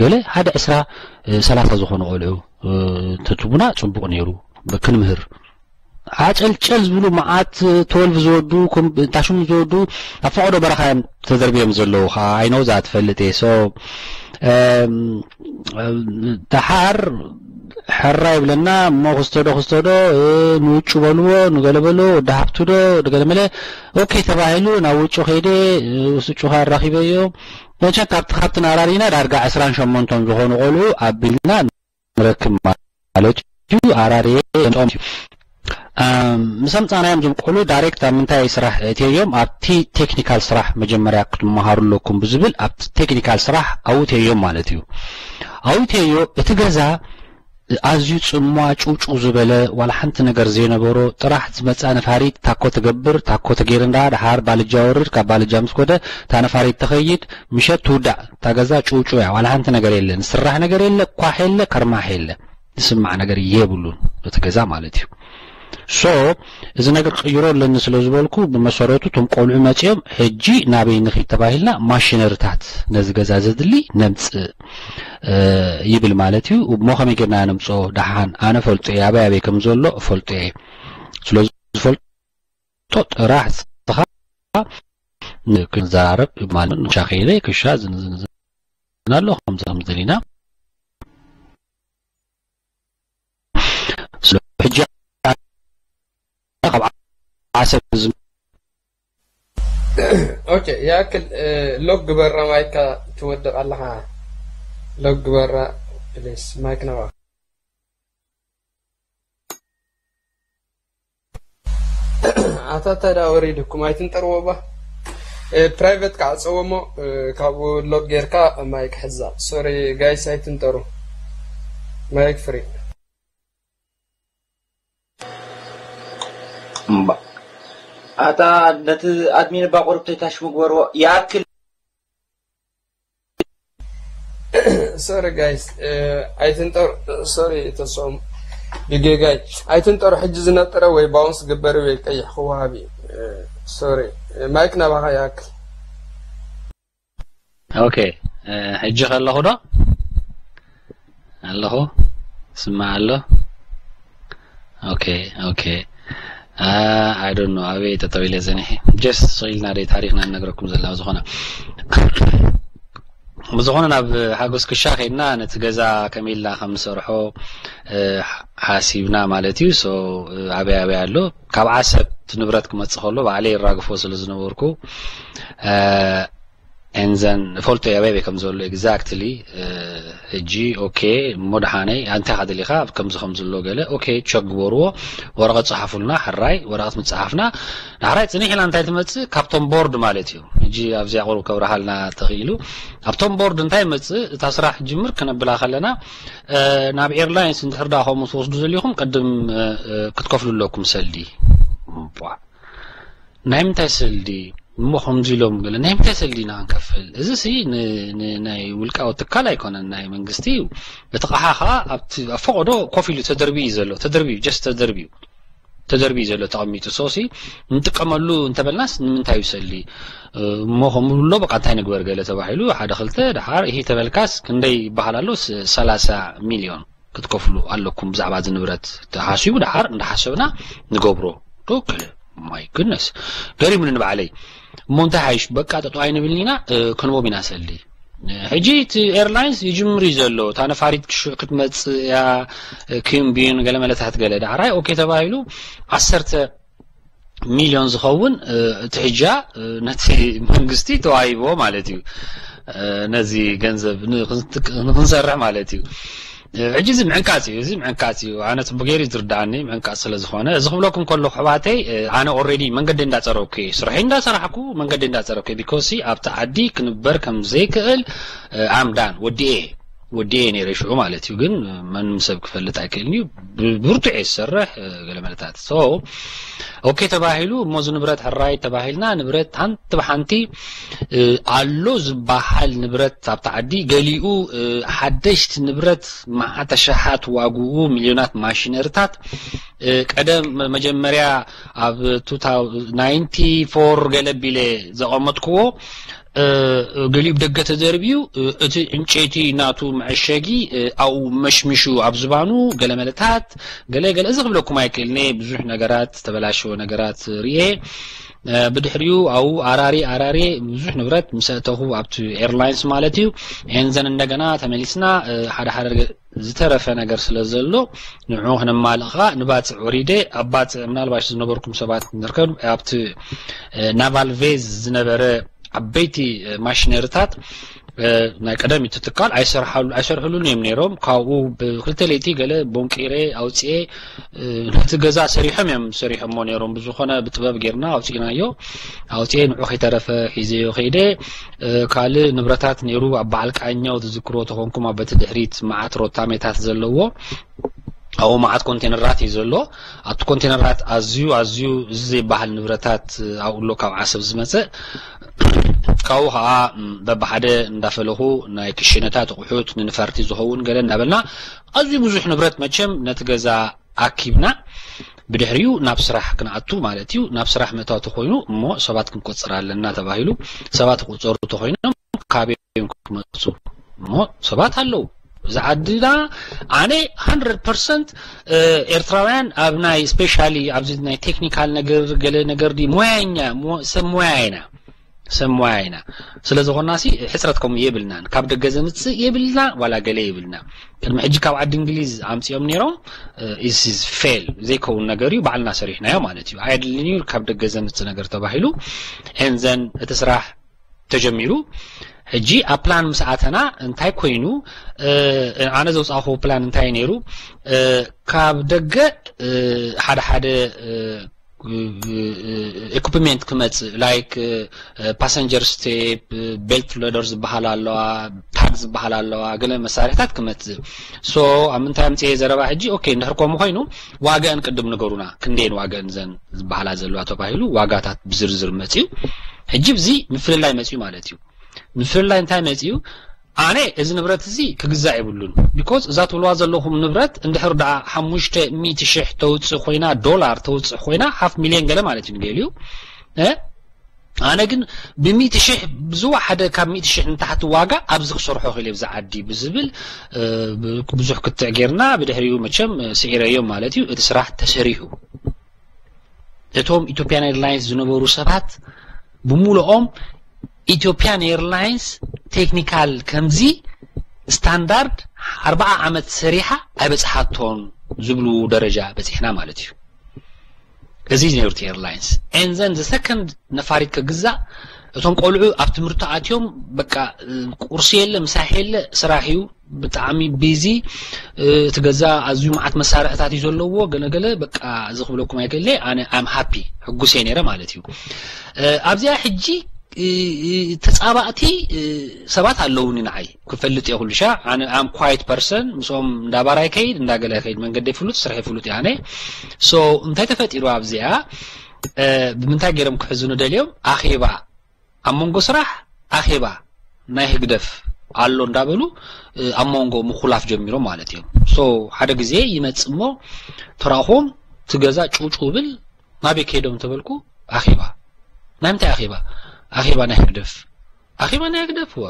ገለ ሓደ ዕስራ ሰላሳ ዝኾኑ ቆልዑ ተትቡና ጽቡቕ ነይሩ። ክንምህር ዓጨልጨል ዝብሉ መዓት ትወልቭ ዝወዱ ታሽሙ ዝወዱ ኣብ ፈቐዶ በረኻ እዮም ተዘርቢዮም ዘለዉ። ከዓ ኣይነው ዛ ትፈልጥ እየ። ሶ ደሓር ሕራ ይብለና እሞ ክስተዶ ክስተዶ ንውጩ በልዎ ንገለ በልዎ ወዲ ሃብቱ ዶ ገለ መለ ኦኬ ተባሂሉ ናብ ውጩ ከይደ ውስጩ ከ ኣራኺበዮ መቸም ካብቲ ካብቲ ናራሪና ዳርጋ ዕስራን ሸሞንቶን ዝኾኑ ቆልዑ ኣቢልና ንረክብ ማለት እዩ። ኣራርየ ጦም ምስ ኣምፃናዮም ዝም ቆልዑ ዳይሬክት ኣብ ምንታይ ስራሕ እትዮም ኣብቲ ቴክኒካል ስራሕ መጀመርያ ክትመሃሩ ኣለኩም ብዝብል ኣብቲ ቴክኒካል ስራሕ ኣውተዮም ማለት እዩ። ኣውተዮ እቲ ገዛ ኣዝዩ ጽምዋ ጭውጭው ዝበለ ዋላ ሓንቲ ነገር ዘይነበሮ ጥራሕ ዝመጽኣ ነፋሪት ታኮ ትገብር ታኮ ተገይር እንዳ ድሓር ባልጃ ወርድ ካብ ባልጃ ምስ ኮደ እታ ነፋሪት ትኸይድ ምሸት ትውዳእ እታ ገዛ ጭውጭው እያ ዋላ ሓንቲ ነገር የለ ንስራሕ ነገር የለ ኳሕ የለ ከርማሕ የለ ዝስማዕ ነገር የብሉን እቲ ገዛ ማለት እዩ። ሶ እዚ ነገር ክቕይሮ ኣለኒ ስለ ዝበልኩ ብመሰረቱ እቶም ቆልዑ መፅኦም ሕጂ ናበይ ንኺድ ተባሂልና ማሽነሪታት ነዚ ገዛ ዘድሊ ነምፅእ ይብል ማለት እዩ። እሞ ከመይ ጌርና ነምፅኦ ደሓን ኣነ ፈልጦ እየ ኣበይ ኣበይ ከም ዘሎ እፈልጦ እየ። ስለዚ ዝፈልጦ ጥራሕ ስኻ ክንዘራረብ ማለት ክሻ ከይደ ክሻ ዝንዝንዝን ኣሎ ከምዚ ከምዚ ደሊና ሕጂ ካብ ዓሰብ ኦኬ፣ ያክል ሎግ ግበራ ማይካ ትወድቕ ኣለኻ። ሎግ ግበራ ፕሊስ ማይክ ነባ ኣታ እንታይ ደኣ ወሪድኩም ኣይትንጠርዎ ባ ፕራይቨት ክዓፀዎ እሞ ካብኡ ሎግ ጌርካ ማይክ ሕዛ ሶሪ ጋይስ ኣይትንጠሩ ማይክ ፍሪ እምባ ኣታ ነቲ ኣድሚን እባ ቁሩብ ተይታሽ ምግበርዎ ይኣክል ሶሪ ጋይስ ኣይትንጠሩ ሶሪ ተስኦም ብጌጋይ ኣይትንጠሩ ሕጂ ዝነጠረ ወይ ባውንስ ግበሪ ወይ ቀይሕ ክወሃብ እዩ ሶሪ ማይክ ናባኻ ይኣክል ኦኬ ሕጂ ከለኹ ዶ ኣለኹ ስማዕ ኣሎ ኦኬ ኦኬ I don't know ኣበይ ጠጠው ኢለ ዘኒሐ just ስቕ ኢልና ደይ ታሪኽና ንነግረኩም ዘለና ዝኾነ ብዝኾነ ናብ ሓጎስ ክሻ ከይድና ነቲ ገዛ ከመይ ኢልና ከም ንሰርሖ ሓሲብና ማለት እዩ so ኣበይ ኣበይ ኣሎ ካብ ዓሰብ እቲ ንብረት ክመፅእ ከሎ ባዕለይ ይራግፎ ስለ ዝነበርኩ and then እፈልጦ እየ ኣበይ ኣበይ ከም ዘሎ exactly ሕጂ okay እሞ ደሓነይ እንታይ ኢኻ ደሊኻ ከምዚ ከምዚ ኣሎ ገለ okay check ግበርዎ ወረቐት ፀሓፉልና ሕራይ ወረቐት ምፅሓፍና ዳሕራይ ፅንሕ ኢላ እንታይ ትመፅእ ካብቶም board ማለት እዩ ሕጂ ኣብዚኣ ቁሩብ ከብርሃልና ተኽኢሉ ኣብቶም board እንታይ ይመፅእ እታ ስራሕ ትጅምር ክነብላ ከለና ናብ airlines እንድሕር ደኣ ከምኡ ትወስዱ ዘሊኹም ቅድም ክትከፍሉ ኣለኩም ሰልዲ ናይ ምንታይ ሰልዲ እሞ ከምዚ ኢሎም ገለ ናይ ምንታይ ሰልዲ ኢና ክንከፍል እዚ ሲ ናይ ውልቃዊ ትካል ኣይኮነን ናይ መንግስቲ እዩ እቲ ቃሓ ከዓ ኣብቲ ኣብ ፈቐዶ ኮፍ ኢሉ ተደርቢ እዩ ዘሎ ተደርቢ just ተደርቢ እዩ ተደርቢ ዘሎ ተቐሚጡ ሶሲ ንጥቀመሉ እንተበልናስ ንምንታይ ይሰሊ እሞ ከምብሎ በቃ እንታይ ንግበር ገለ ተባሂሉ ሓደ ክልተ ድሓር ይሄ ተበልካስ ክንደይ ይበሃል ኣሎ ሰላሳ ሚልዮን ክትከፍሉ ኣለኩም ብዛዕባ እዚ ንብረት ተሓሲቡ ድሓር እንዳሓሰብና ንገብሮ ዶክለ ማይ ግነስ ገሪሙኒ ንባዕለይ እሞ እንታይ ሓይሽ በቃ ጠጠው ኣይንብልን ኢና ክንቦም ኢና ሰሊ ሕጂ እቲ ኤርላይንስ ይጅምር እዩ ዘሎ እታ ነፋሪት ክሽዕ ክትመፅእ እያ ኪምቢን ገለ መለታት ገለ ዳዕራይ ኦኬ ተባሂሉ ዓሰርተ ሚልዮን ዝኸውን እቲ ሕጃ ነቲ መንግስቲ ተዋሂብዎ ማለት እዩ ነዚ ገንዘብ ንክንሰርሕ ማለት እዩ ሕጂ እዚ ምዕንቃፅ እዩ እዚ ምዕንቃፅ እዩ ኣነ ፅቡቅ ገይሩ ዝርዳኣኒ ምዕንቃፅ ስለ ዝኾነ እዚ ክብለኩም ከለኩ ኣሕዋተይ ኣነ already መንገዲ እንዳፀረኩ እየ ስርሐይ እንዳሰራሕኩ መንገዲ እንዳፀረኩ እየ because ኣብቲ ዓዲ ክንበር ከም ዘይክእል I'm done ወዲኤ ወዲኤ ነይረ ሽዑ ማለት እዩ። ግን ማንም ሰብ ክፈልጥ ኣይክእልን እዩ። ብርቱዕ እየ ዝሰርሕ ገለ መለታት። So okay ተባሂሉ፣ እሞ እዚ ንብረት ሕራይ ተባሂልና፣ ንብረት ሓንቲ ብሓንቲ ኣሎ ዝበሃል ንብረት ኣብቲ ዓዲ፣ ገሊኡ ሓደሽቲ ንብረት፣ መዓት ኣሽሓት ዋግኡ፣ ሚልዮናት ማሽነሪታት፣ ቀደም መጀመርያ ኣብ ናይንቲ ፎር ገለ ቢለ ዘቐመጥክዎ፣ ገሊኡ ብደገ ተደርብዩ፣ እቲ ዕንጨይቲ ናቱ መዐሸጊ ኣብኡ መሽሚሹ ኣብ ዝባኑ ገለ መለታት፣ ገለ ገለ፣ እዚ ክብለኩም ኣይክእልኔ። ብዙሕ ነገራት፣ ዝተበላሸወ ነገራት ርኤ። ብድሕሪኡ ኣብኡ ኣራሪ ኣራሪ ብዙሕ ንብረት ምስ ኣእተኹ፣ ኣብቲ ኤርላይንስ ማለት እዩ። ኤንዘን እንደገና ተመሊስና ሓደ ሓደ ዝተረፈ ነገር ስለ ዘሎ ንዑ ክነማልእ ኸዓ ንባፅዕ ወሪደ። ኣብ ባፅዕ ምናልባሽ ዝነበርኩም ሰባት ንርከብ ኣብቲ ናቫል ቬዝ ዝነበረ ዓበይቲ ማሽነሪታት ናይ ቀደም እቲ ትካል ኣይሰርሓሉ ኣይሰርሕሉን እዮም ነይሮም። ካብኡ ብክልተ ለይቲ ገለ ቦንቂረ ኣውፅኤ ነቲ ገዛ ሰሪሖም እዮም ሰሪሖሞ ነይሮም። ብዝኾነ ብጥበብ ጌርና ኣውፂእናዮ። ኣውፅኤ ንዑ ከይተረፈ ሒዘዮ ከይደ። ካልእ ንብረታት ነይሩ ኣብ በዓል ቃኛው ትዝክሮ ተኾንኩም ኣብ በቲ ድሕሪት መዓት ሮታሜታት ዘለዎ ኣብኡ መዓት ኮንቴነራት እዩ ዘሎ። ኣብቲ ኮንቴነራት ኣዝዩ ኣዝዩ እዚ ዘይበሃል ንብረታት ኣብኡ ኣሎ ካብ ዓሰብ ዝመፅእ። ካብኡ ከዓ በብሓደ እንዳፈለኹ ናይ ክሽነታት ኣቑሑት ንንፈርቲ ዝኸውን ገለ እንዳበልና ኣዝዩ ብዙሕ ንብረት መቸም ነቲ ገዛ ኣኪብና ብድሕሪኡ ናብ ስራሕ ክንኣቱ ማለት እዩ። ናብ ስራሕ ምእታው ተኾይኑ እሞ ሰባት ክንቆፅር ኣለና ተባሂሉ ሰባት ክቁፀሩ ተኾይኖም ካበይ እዮም ክመፁ? እሞ ሰባት ኣለዉ። እዚ ዓድና ኣነ ሃንድረድ ፐርሰንት ኤርትራውያን ኣብ ናይ ስፔሻሊ ኣብዚ ናይ ቴክኒካል ነገር ገለ ነገር ዲ ሞያኛ ሰብ ሞያ ኢና ሰብ ሞያ ኢና። ስለ ዝኾናሲ ሕፅረት ከምኡ የብልናን። ካብ ደገ ዘምፅእ የብልና ዋላ ገለ የብልና። ቅድሚ ሕጂ ካብ ዓዲ እንግሊዝ ኣምፅኦም ነይሮም ኢስ ፌል ዘይከውን ነገር እዩ። ባዕልና ሰሪሕናዮ ማለት እዩ። ኣየድልን እዩ ካብ ደገ ዘምፅእ ነገር ተባሂሉ ኤንዘን እቲ ስራሕ ተጀሚሩ። ሕጂ ኣብ ፕላን ምስ ኣተና እንታይ ኮይኑ ኣነ ዘውፃእኹ ፕላን እንታይ ነይሩ? ካብ ደገ ሓደ ሓደ ኢኩፕመንት ክመፅእ ላይክ ፓሰንጀር ስቴፕ ቤልት ሎደር ዝበሃል ኣለዋ ታግ ዝበሃል ኣለዋ ገለ መሳርሕታት ክመፅእ ሶ ኣብ ምንታይ ኣምፅኤ ዘረባ ሕጂ ኦኬ እንድሕር ከምኡ ኮይኑ ዋጋን ቅድም ንገሩና ክንደየን ዋጋን ዘን ዝበሃላ ዘለዋ ተባሂሉ ዋጋታት ብዝርዝር መፅዩ ሕጂ ብዚ ምፍልላይ መፅዩ ማለት እዩ ምፍልላይ እንታይ መፅዩ ኣነ እዚ ንብረት እዚ ክግዛእ የብሉን because እዛ ትብልዋ ዘለኹም ንብረት እንድሕር ደኣ ሓሙሽተ ሚእቲ ሽሕ ተውፅእ ኮይና ዶላር ተውፅእ ኮይና ሓፍ ሚልዮን ገለ ማለት እዩ ንገሊኡ ኣነ ግን ብሚእቲ ሽሕ ብዝወሓደ ካብ ሚእቲ ሽሕ ንታሕቲ ዋጋ ኣብዚ ክሰርሖ ክእል ኣብዚ ዓዲ ብዝብል ብዙሕ ክትዕ ጌርና ብድሕሪኡ መቸም ስዒረዮም ማለት እዩ እቲ ስራሕ ተሰሪሑ እቶም ኢትዮጵያን ኤርላይንስ ዝነበሩ ሰባት ብሙሉኦም ኢትዮጵያን ኤርላይንስ ቴክኒካል ከምዚ ስታንዳርድ ኣርባዓ ዓመት ሰሪሓ ኣይበፅሓቶን ዝብሉ ደረጃ በፂሕና ማለት እዩ እዚ ነይሩ እቲ ኤርላይንስ and then the second ነፋሪት ክግዛእ እቶም ቆልዑ ኣብ ትምህርቲ ኣትዮም በቃ ቁርሲ የለ ምሳሕ የለ ስራሕ እዩ ብጣዕሚ ቢዚ እቲ ገዛ ኣዝዩ መዓት መሳርሕታት እዩ ዘለዎ ገለገለ በቃ እዚ ክብለኩም ኣይክእለ ኣነ ኣም ሃፒ ሕጉስ እየ ነይረ ማለት እዩ ኣብዚኣ ሕጂ ተጻባእቲ ሰባት ኣለውኒ ንዓይ ክፈልጥ እየ ኩሉ ሻ ኣነ ኣም ኳይት ፐርሰን ምስኦም እንዳባራይ ከይድ እንዳገለ ከይድ መንገዲ ፍሉጥ ስራሕ ፍሉጥ እየ ኣነ ሶ እንታይ ተፈጢሩ ኣብዚኣ ብምንታይ ገይሮም ክሕዝኑ ደልዮም ኣኼባ ኣብ መንጎ ስራሕ ኣኼባ ናይ ህግደፍ ኣሎ እንዳበሉ ኣብ መንጎ ምኹላፍ ጀሚሮም ማለት እዮም ሶ ሓደ ግዜ ይመጽ እሞ ተራእኹም ትገዛ ጭውጭው ብል ናበይ ከይዶም ተበልኩ ኣኼባ ናይ ምንታይ ኣኼባ ኣኼባ ናይ ህግደፍ ኣኼባ ናይ ህግደፍ ወ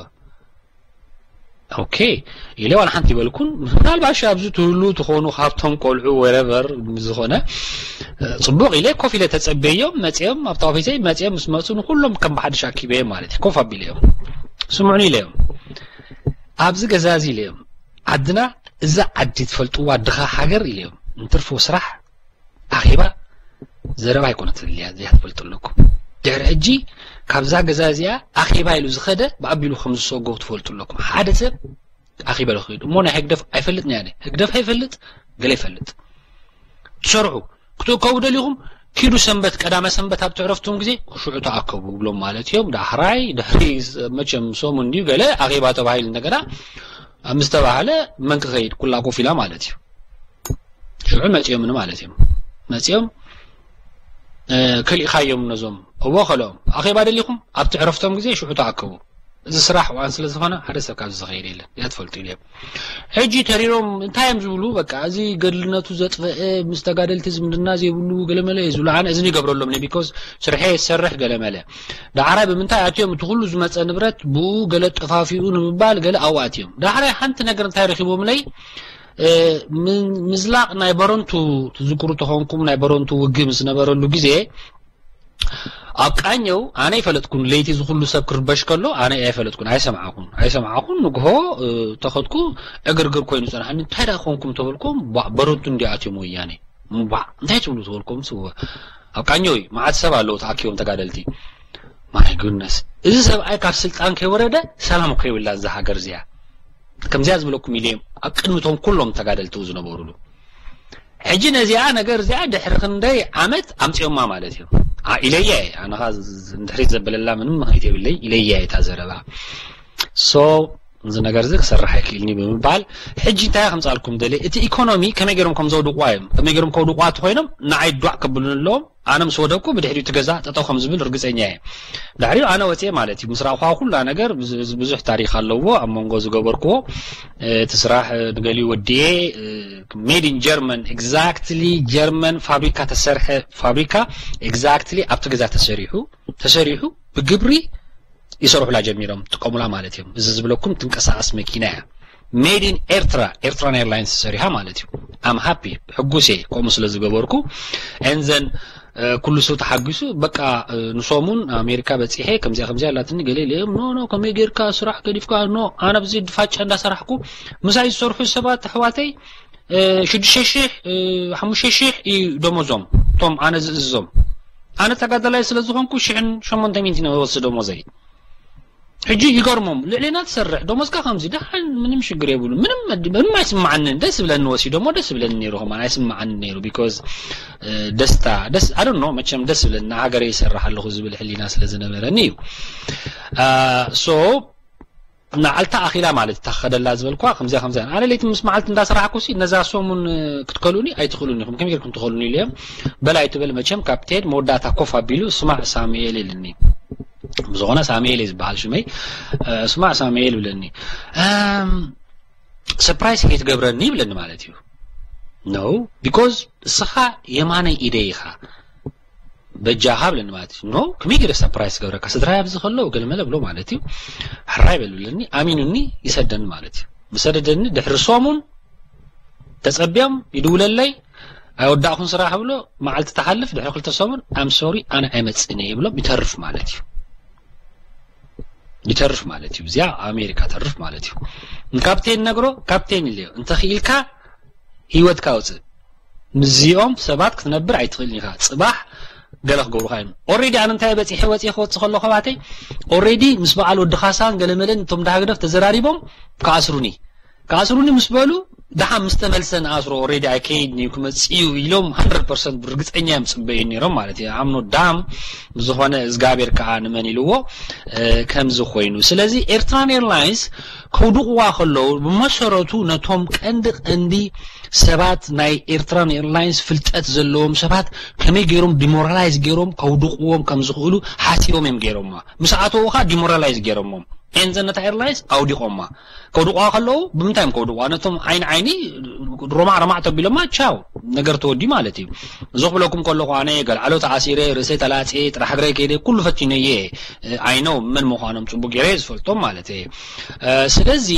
ኦኬ ኢለ ዋላ ሓንቲ ይበልኩን ምናልባሽ ኣብዚ ትህሉ ትኾኑ ካብቶም ቆልዑ ወረቨር ዝኾነ ፅቡቕ ኢለ ኮፍ ኢለ ተፀበዮም መፅኦም ኣብታ ኦፊሰይ መፅኦም ምስ መፁ ንኩሎም ከም ብሓድሽ ኣኪበዮም ማለት እዩ ኮፍ ኣቢለዮም ስምዑኒ ኢለዮም ኣብዚ ገዛ እዚ ኢለዮም ዓድና እዛ ዓዲ ትፈልጥዋ ድኻ ሃገር ኢለዮም እንትርፎ ስራሕ ኣኼባ ዘረባ ኣይኮነትን እያ እዚኣ ትፈልጡ ኣለኩም ድሕሪ ሕጂ ካብዛ ገዛ እዚኣ ኣኼባ ኢሉ ዝኸደ ብኣቢሉ ከም ዝሰጎ ትፈልጡ ኣለኩም ሓደ ሰብ ኣኼባ ኢሉ ክኸይድ እሞ ናይ ህግደፍ ኣይፈልጥን እያ ህግደፍ ኣይፈልጥ ገለ ይፈልጥ ትሰርሑ ክትእከቡ ደሊኹም ኪዱ ሰንበት ቀዳመ ሰንበት ኣብ ትዕረፍቱም ግዜ ሽዑ ተኣከቡ ብሎም ማለት እዮም ዳሕራይ ድሕሪ መቸም ሰሙን ድዩ ገለ ኣኼባ ተባሂሉ እንደገና ኣብ ምስ ተባህለ መን ክኸይድ? ኩላ ኮፍ ኢላ ማለት እዩ። ሽዑ መጺኦምኒ ማለት እዮም። መጺኦም ከሊእኻዮም ነዞም እዎ ከልኦም ኣኼባ ደሊኹም ኣብቲ ዕረፍቶም ግዜ ሽዑ ተኣከቡ። እዚ ስራሕ ዋን ስለ ዝኾነ ሓደ ሰብ ካብዚ ዝኸይድ የለን። እዚኣ ትፈልጡ ኢለ ሕጂ ተሪሮም እንታይ እዮም ዝብሉ? በቃ እዚ ገድልነቱ ዘጥፈአ ምስ ተጋደልቲ ዝምድና ዘይብሉ ገለመለ እዩ ዝብሉ። ኣነ እዝኒ ይገብረሎም ነ because ስርሐ የሰርሕ ገለመለ። ዳሕራይ ብምንታይ ኣትዮም እቲ ኩሉ ዝመፀ ንብረት ብኡ ገለ ጠፋፊኡ ንምባል ገለ ኣብኡ ኣትዮም። ዳሕራይ ሓንቲ ነገር እንታይ ረኪቦምለይ? ምዝላቕ ናይ በረንቱ ትዝክሩ ተኾንኩም ናይ በረንቱ ውግእ ምስ ነበረሉ ግዜ ኣብ ቃኘው ኣነ ይፈለጥኩን ለይቲ ዝኩሉ ሰብ ክርበሽ ከሎ ኣነ ኣይፈለጥኩን ኣይሰምዓኩን ኣይሰምዓኩን ንግሆ ተኸድኩ ዕግርግር ኮይኑ ጸናሕኒ እንታይ ዳ ኮንኩም ተበልኩም በረንቱ እንዲኣትዮም ወያኔ እምባዕ እንታይ ትብሉ ተበልኩም ስወ ኣብ ቃኘው እዩ መዓት ሰብ ኣለዉ ተኣኪቦም ተጋደልቲ my goodness እዚ ሰብኣይ ካብ ስልጣን ከይወረደ ሰላም ከይብላ እዛ ሃገር እዚኣ ከምዚኣ ዝበለኩም ኢለ ኣብ ቅድሚቶም ኩሎም ተጋደልቲ ዝነበሩሉ ሕጂ ነዚኣ ነገር እዚኣ ድሕሪ ክንደይ ዓመት ኣምፅኦማ ማለት እዩ ኢለያ ኣነኻ ንድሕሪት ዘበለላ ምንም ምክኒት የብለይ ኢለያ እታ ዘረባ so እዚ ነገር እዚ ክሰርሕ ኣይክእልኒ ብምባል ሕጂ እንታይ ከምፃልኩም ደለ እቲ ኢኮኖሚ ከመይ ገይሮም ከም ዘውድቁዋ እዮም ከመይ ገይሮም ከውድቁዋ እቲ ኮይኖም ንዓይ ዷዕ ከብሉን ኣለዎም ኣነ ምስ ወደቅኩ ብድሕሪኡ እቲ ገዛ ጠጠው ከም ዝብል ርግፀኛ እየ። ድሕሪኡ ኣነ ወፅየ ማለት እዩ። ምስ ረኣኹዋ ኩላ ነገር ብዙሕ ታሪክ ኣለዎ ኣብ መንጎ ዝገበርክዎ እቲ ስራሕ ንገሊኡ ወዲኤ made in German exactly German ፋብሪካ ተሰርሐ ፋብሪካ exactly ኣብቲ ገዛ ተሰሪሑ ተሰሪሑ ብግብሪ ይሰርሑላ ጀሚሮም ጥቀሙላ ማለት እዮም። እዚ ዝብለኩም ትንቀሳቀስ መኪና እያ። made in ኤርትራ ኤርትራን ኤርላይንስ ሰሪሓ ማለት እዩ። I'm happy ሕጉስ እየ ከምኡ ስለ ዝገበርኩ and then ኩሉ ሰብ ተሓጒሱ በቃ ንሶሙን ኣሜሪካ በፂሐ ከምዚኣ ከምዚኣ ኣላትኒ ገለ ኢለዮም no no ከመይ ጌርካ ስራሕ ገዲፍካ no ኣነ ብዚ ድፋጫ እንዳሰራሕኩ ምሳይ ዝሰርሑ ሰባት ኣሕዋተይ ሽዱሽተ ሽሕ ሓሙሽተ ሽሕ እዩ ደሞዞም እቶም ኣነ ዝእዝዞም ኣነ ተጋዳላይ ስለ ዝኾንኩ ሽሕን ሸሞንተ ሚእትን ወስድ ደሞዘይ ሕጂ ይገርሞም ልዕሌና ትሰርሕ ደሞዝካ ከምዚ ደሓን ምንም ሽግር የብሉ ምንም ምንም ኣይስማዓንን ደስ ብለኒ ወሲዶሞ ደስ ብለኒ ነይሩ ከማን ኣይስማዓኒ ነይሩ because ደስታ ደስ I don't know መቸም ደስ ብለኒ ሃገረ ይሰርሕ ኣለኹ ዝብል ሕሊና ስለ ዝነበረኒ እዩ so ንዓልታ ኣኺላ ማለት እታ ክኸደላ ዝበልኳ ከምዚኣ ከምዚኣ ኣነ ለይቲ ምስ መዓልቲ እንዳሰራሕኩ ሲ ነዛ ሰሙን ክትከሉኒ ኣይትኽእሉን ኢኹም ከመይ ጌርኩም ትኸሉኒ ኢለዮም በል ኣይትበል መቸም ካፕቴን መወዳእታ ኮፍ ኣቢሉ ስማዕ ሳሙኤል ኢልኒ ብዝኾነ ሳሙኤል እዩ ዝበሃል ሽመይ ስማዕ ሳሙኤል ይብለኒ surprise ከይትገብረኒ ይብለኒ ማለት እዩ no because እስኻ የማነይ ኢደይ ኢኻ በጃኻ ብለኒ ማለት እዩ no ከመይ ገይረ surprise ገብረካ ስድራይ ኣብዚ ከለዉ ገለመለ ብሎ ማለት እዩ ሕራይ በል ብለኒ ኣሚኑኒ ይሰደኒ ማለት እዩ ዝሰደደኒ ድሕሪ ሰሙን ተፀብዮም ይድውለለይ ኣይወዳእኩን ስራሕ ብሎ መዓልቲ ተሓልፍ ድሕሪ ክልተ ሰሙን I'm sorry ኣነ ኣይመፅእን እየ ይብሎም ይተርፍ ማለት እዩ ይተርፍ ማለት እዩ እዚኣ ኣሜሪካ ተርፍ ማለት እዩ ንካፕቴን ነግሮ ካፕቴን ኢለዮ እንተኽኢልካ ህይወትካ ውፅእ ምስዚኦም ሰባት ክትነብር ኣይትኽእልን ኢኻ ፅባሕ ገለ ክገብሩኻ እዮም already ኣነ እንታይ በፂሐ ወፂ ክወፅእ ከሎ ከባተይ already ምስ በዓል ወዲ ካሳን ገለመለን እቶም ዳህግደፍ ተዘራሪቦም ክኣስሩኒ ክኣስሩኒ ምስ በሉ ደሓን ምስ ተመልሰ ንኣስሮ already ኣይከይድን እዩ ክመፅእ እዩ ኢሎም hundred percent ብርግፀኛ እዮም ፅበዩ ነይሮም ማለት እዩ I'm not dumb ብዝኾነ እግዚኣብሔር ከዓ ንመን ኢልዎ ከምዚ ኮይኑ ስለዚ ኤርትራን ኤርላይንስ ከውድቕዋ ከለዉ ብመሰረቱ ነቶም ቀንዲ ቀንዲ ሰባት ናይ ኤርትራን ኤርላይንስ ፍልጠት ዘለዎም ሰባት ከመይ ገይሮም demoralize ገይሮም ከውድቕዎም ከም ዝኽእሉ ሓሲቦም እዮም ገይሮማ ምስ ኣተዉ ከዓ demoralize ገይሮሞም and then ነታ ኤርላይንስ ኣውዲቖማ ከውድቑዋ ከለዉ ብምንታይ እዮም ከውድቑዋ ነቶም ዓይኒ ዓይኒ ሮማዕ ሮማዕ ተቢሎማ ቻው ነገር ተወዲ ማለት እዩ እዚ ክብለኩም ከለኹ ኣነ ገልዓሎ ተኣሲረ ርእሰይ ተላፅየ ጥራሕ እግረይ ከይደ ኩሉ ፈቲነየ I know መን ምዃኖም ፅቡቅ ገይረ ዝፈልጦም ማለት እየ ስለዚ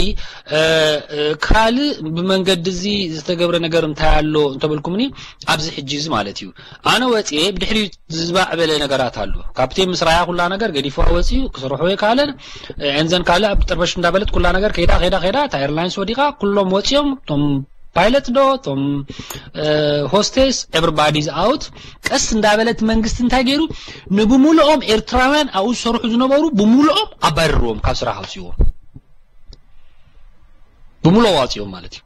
ካልእ ብመንገዲ እዚ ዝተገብረ ነገር እንታይ ኣሎ እንተበልኩምኒ ኣብዚ ሕጂ እዚ ማለት እዩ ኣነ ወፅየ ብድሕሪኡ ዝባዕበለ ነገራት ኣሎ ካፕቴን ምስ ራያ ኩላ ነገር ገዲፍዋ ወፂኡ ክሰርሖ የካለን and then ካልእ ኣብ ጥርበሽ እንዳበለት ኩላ ነገር ከይዳ ከይዳ ከይዳ እታ ኤርላይንስ ወዲቓ ኩሎም ወፂኦም እቶም pilot ዶ እቶም hostess everybody is out ቀስ እንዳበለት መንግስቲ እንታይ ገይሩ ንብሙሉኦም ኤርትራውያን ኣብኡ ዝሰርሑ ዝነበሩ ብሙሉኦም ኣባረርዎም ካብ ስራሕ ኣውፅዎም ብሙሉኦም ኣውፅዎም ማለት እዩ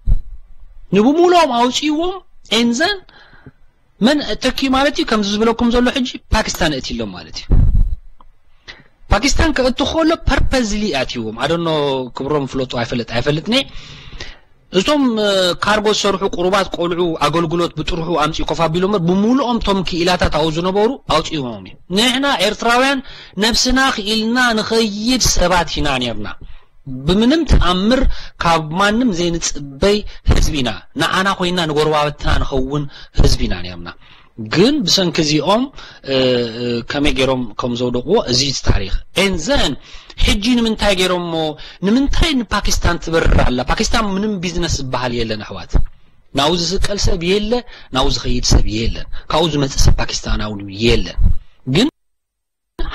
ንብሙሉኦም ኣውፅዎም and then መን ተኪ ማለት እዩ ከምዚ ዝብለኩም ዘሎ ሕጂ ፓኪስታን እትሎም ማለት እዩ ፓኪስታን ከእቱ ከሎ ፐርፐዝሊ ኣትይዎም ኣደኖ ክብሮም ፍለጡ ኣይፈልጥ ኣይፈልጥኒ እቶም ካርጎ ዝሰርሑ ቁሩባት ቆልዑ ኣገልግሎት ብጥርሑ ኣምፅኡ ኮፍ ኣቢሎም እምበር ብምሉኦም እቶም ክኢላታት ኣብኡ ዝነበሩ ኣውፅእዎም እዩ። ንሕና ኤርትራውያን ነብስና ክኢልና ንኸይድ ሰባት ኢና ነርና። ብምንም ተኣምር ካብ ማንም ዘይንፅበይ ህዝቢ ኢና። ንዓና ኮይና ንጎረባብትና ንኸውን ህዝቢ ኢና ነርና። ግን ብሰንኪ እዚኦም ከመይ ገይሮም ከም ዘውደቕዎ እዚ ታሪኽ and then ሕጂ ንምንታይ ገይሮሞ? ንምንታይ ንፓኪስታን ትበርር ኣላ? ፓኪስታን ምንም ቢዝነስ ዝበሃል የለን ኣሕዋት። ናብኡ ዝስቀል ሰብ የለ፣ ናብኡ ዝኸይድ ሰብ የለን። ካብኡ ዝመፅእ ሰብ ፓኪስታናዊ የለን። ግን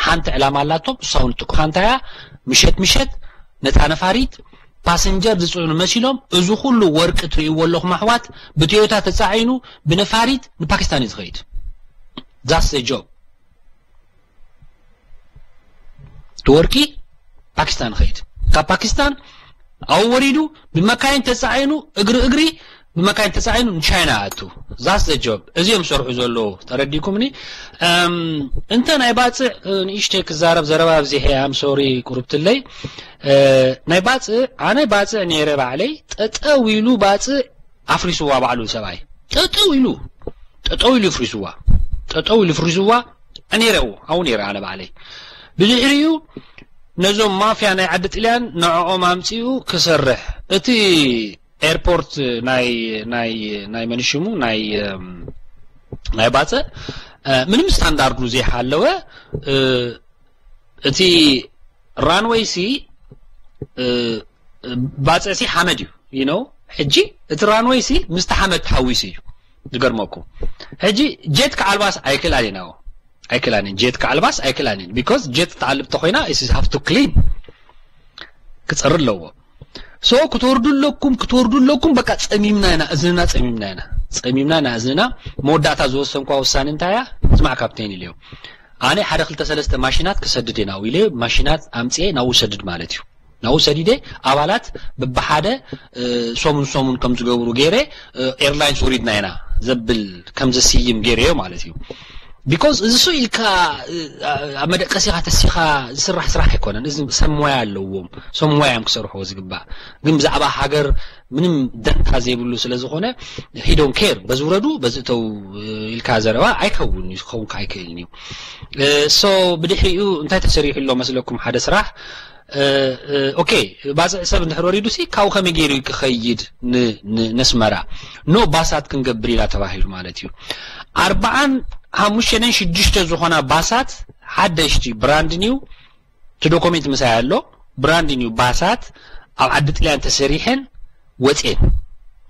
ሓንቲ ዕላማ ኣላቶም። እሳውን ጥቁሓ እንታያ ምሸት ምሸት ነታ ነፋሪት ፓሰንጀር ዝፅዕኑ መሲሎም እዚ ኩሉ ወርቂ ትርእይዎ ኣለኹም ኣሕዋት ብቶዮታ ተፃዒኑ ብነፋሪት ንፓኪስታን እዩ ዝኸይድ። That's the job። እቲ ወርቂ ፓኪስታን ይኸይድ። ካብ ፓኪስታን ኣብኡ ወሪዱ ብመካይን ተፃዒኑ እግሪ እግሪ ብመካይን ተፃዒኑ ንቻይና ኣቱ። That's the job። እዚኦም ሰርሑ ዘለዉ ተረዲኩምኒ። እንተ ናይ ባፅዕ ንእሽተይ ክዛረብ ዘረባ ኣብዚሐ ኣም ሶሪ ቁርብትለይ ናይ ባፅዕ ኣነ ባፅዕ ነይረ ባዕለይ ጠጠው ኢሉ ባፅዕ ኣፍሪስዋ ባዕሉ ሰብኣይ ጠጠው ኢሉ ጠጠው ኢሉ ፍሪስዋ ጠጠው ኢሉ ፍሪስዋ ነይረው ኣው ነይረ ኣነ ባዕለይ ብድሕሪኡ ነዞም ማፍያ ናይ ዓዲ ጥልያን ንዕኦም ኣምፂኡ ክሰርሕ እቲ ኤርፖርት ናይ ናይ ናይ መንሽሙ ናይ ናይ ባፅዕ ምንም ስታንዳርዱ ዘይሓለወ እቲ ራንወይ ሲ ባፅዕ ሲ ሓመድ እዩ you know ሕጂ እቲ ራንወይ ሲ ምስቲ ሓመድ ተሓዊሱ እዩ ዝገርመኩም ሕጂ ጀት ክዓልባስ ኣይክእላን ኢና ኣይክእላን ጀት ክዓልባስ ኣይክእላን because ጀት ትዓልብ ተኮይና is have to clean ክፀሪ ኣለዎ so ክትወርዱ ኣለኩም ክትወርዱ ኣለኩም በቃ ፀሚምና ኢና እዝንና ፀሚምና ኢና ፀሚምና ኢና እዝንና መወዳእታ ዝወሰንኳ ውሳኔ እንታይ እያ ስማዕ ካፕቴን ኢልዮ ኣነ ሓደ ክልተ ሰለስተ ማሽናት ክሰድድ እየ ናብኡ ኢለ ማሽናት ኣምፅኤ ናብኡ ሰድድ ማለት እዩ ናብኡ ሰዲደ ኣባላት በብሓደ ሰሙን ሰሙን ከም ዝገብሩ ገይረ ኤርላይንስ ወሪድና ኢና ዘብል ከም ዘስይም ገይረዮ ማለት እዩ because እዚ ሰው ኢልካ ኣብ መደቀሲኻ ተሲኻ ዝስራሕ ስራሕ ኣይኮነን እዚ ሰብ ሞያ ኣለዎም ሰብ ሞያ እዮም ክሰርሕዎ ዝግባእ ግን ብዛዕባ ሃገር ምንም ደንታ ዘይብሉ ስለ ዝኾነ he don't care በዚ ውረዱ በዚ እተው ኢልካ ዘረባ ኣይከውን እዩ ክኸውን ኣይክእልን እዩ so ብድሕሪኡ እንታይ ተሰሪሑ ኣሎ መስለኩም ሓደ ስራሕ okay ባፅዕ ሰብ እንድሕር ወሪዱ ሲ ካብኡ ከመይ ገይሩ ክኸይድ ነስመራ no ባሳት ክንገብር ኢና ተባሂሉ ማለት እዩ ኣርባዓን ሓሙሽተን ሽዱሽተ ዝኾና ባሳት ሓደሽቲ brand new እቲ ዶኮሜንት ምሳይ ኣሎ brand new ባሳት ኣብ ዓዲ ጥልያን ተሰሪሐን ወፅኤን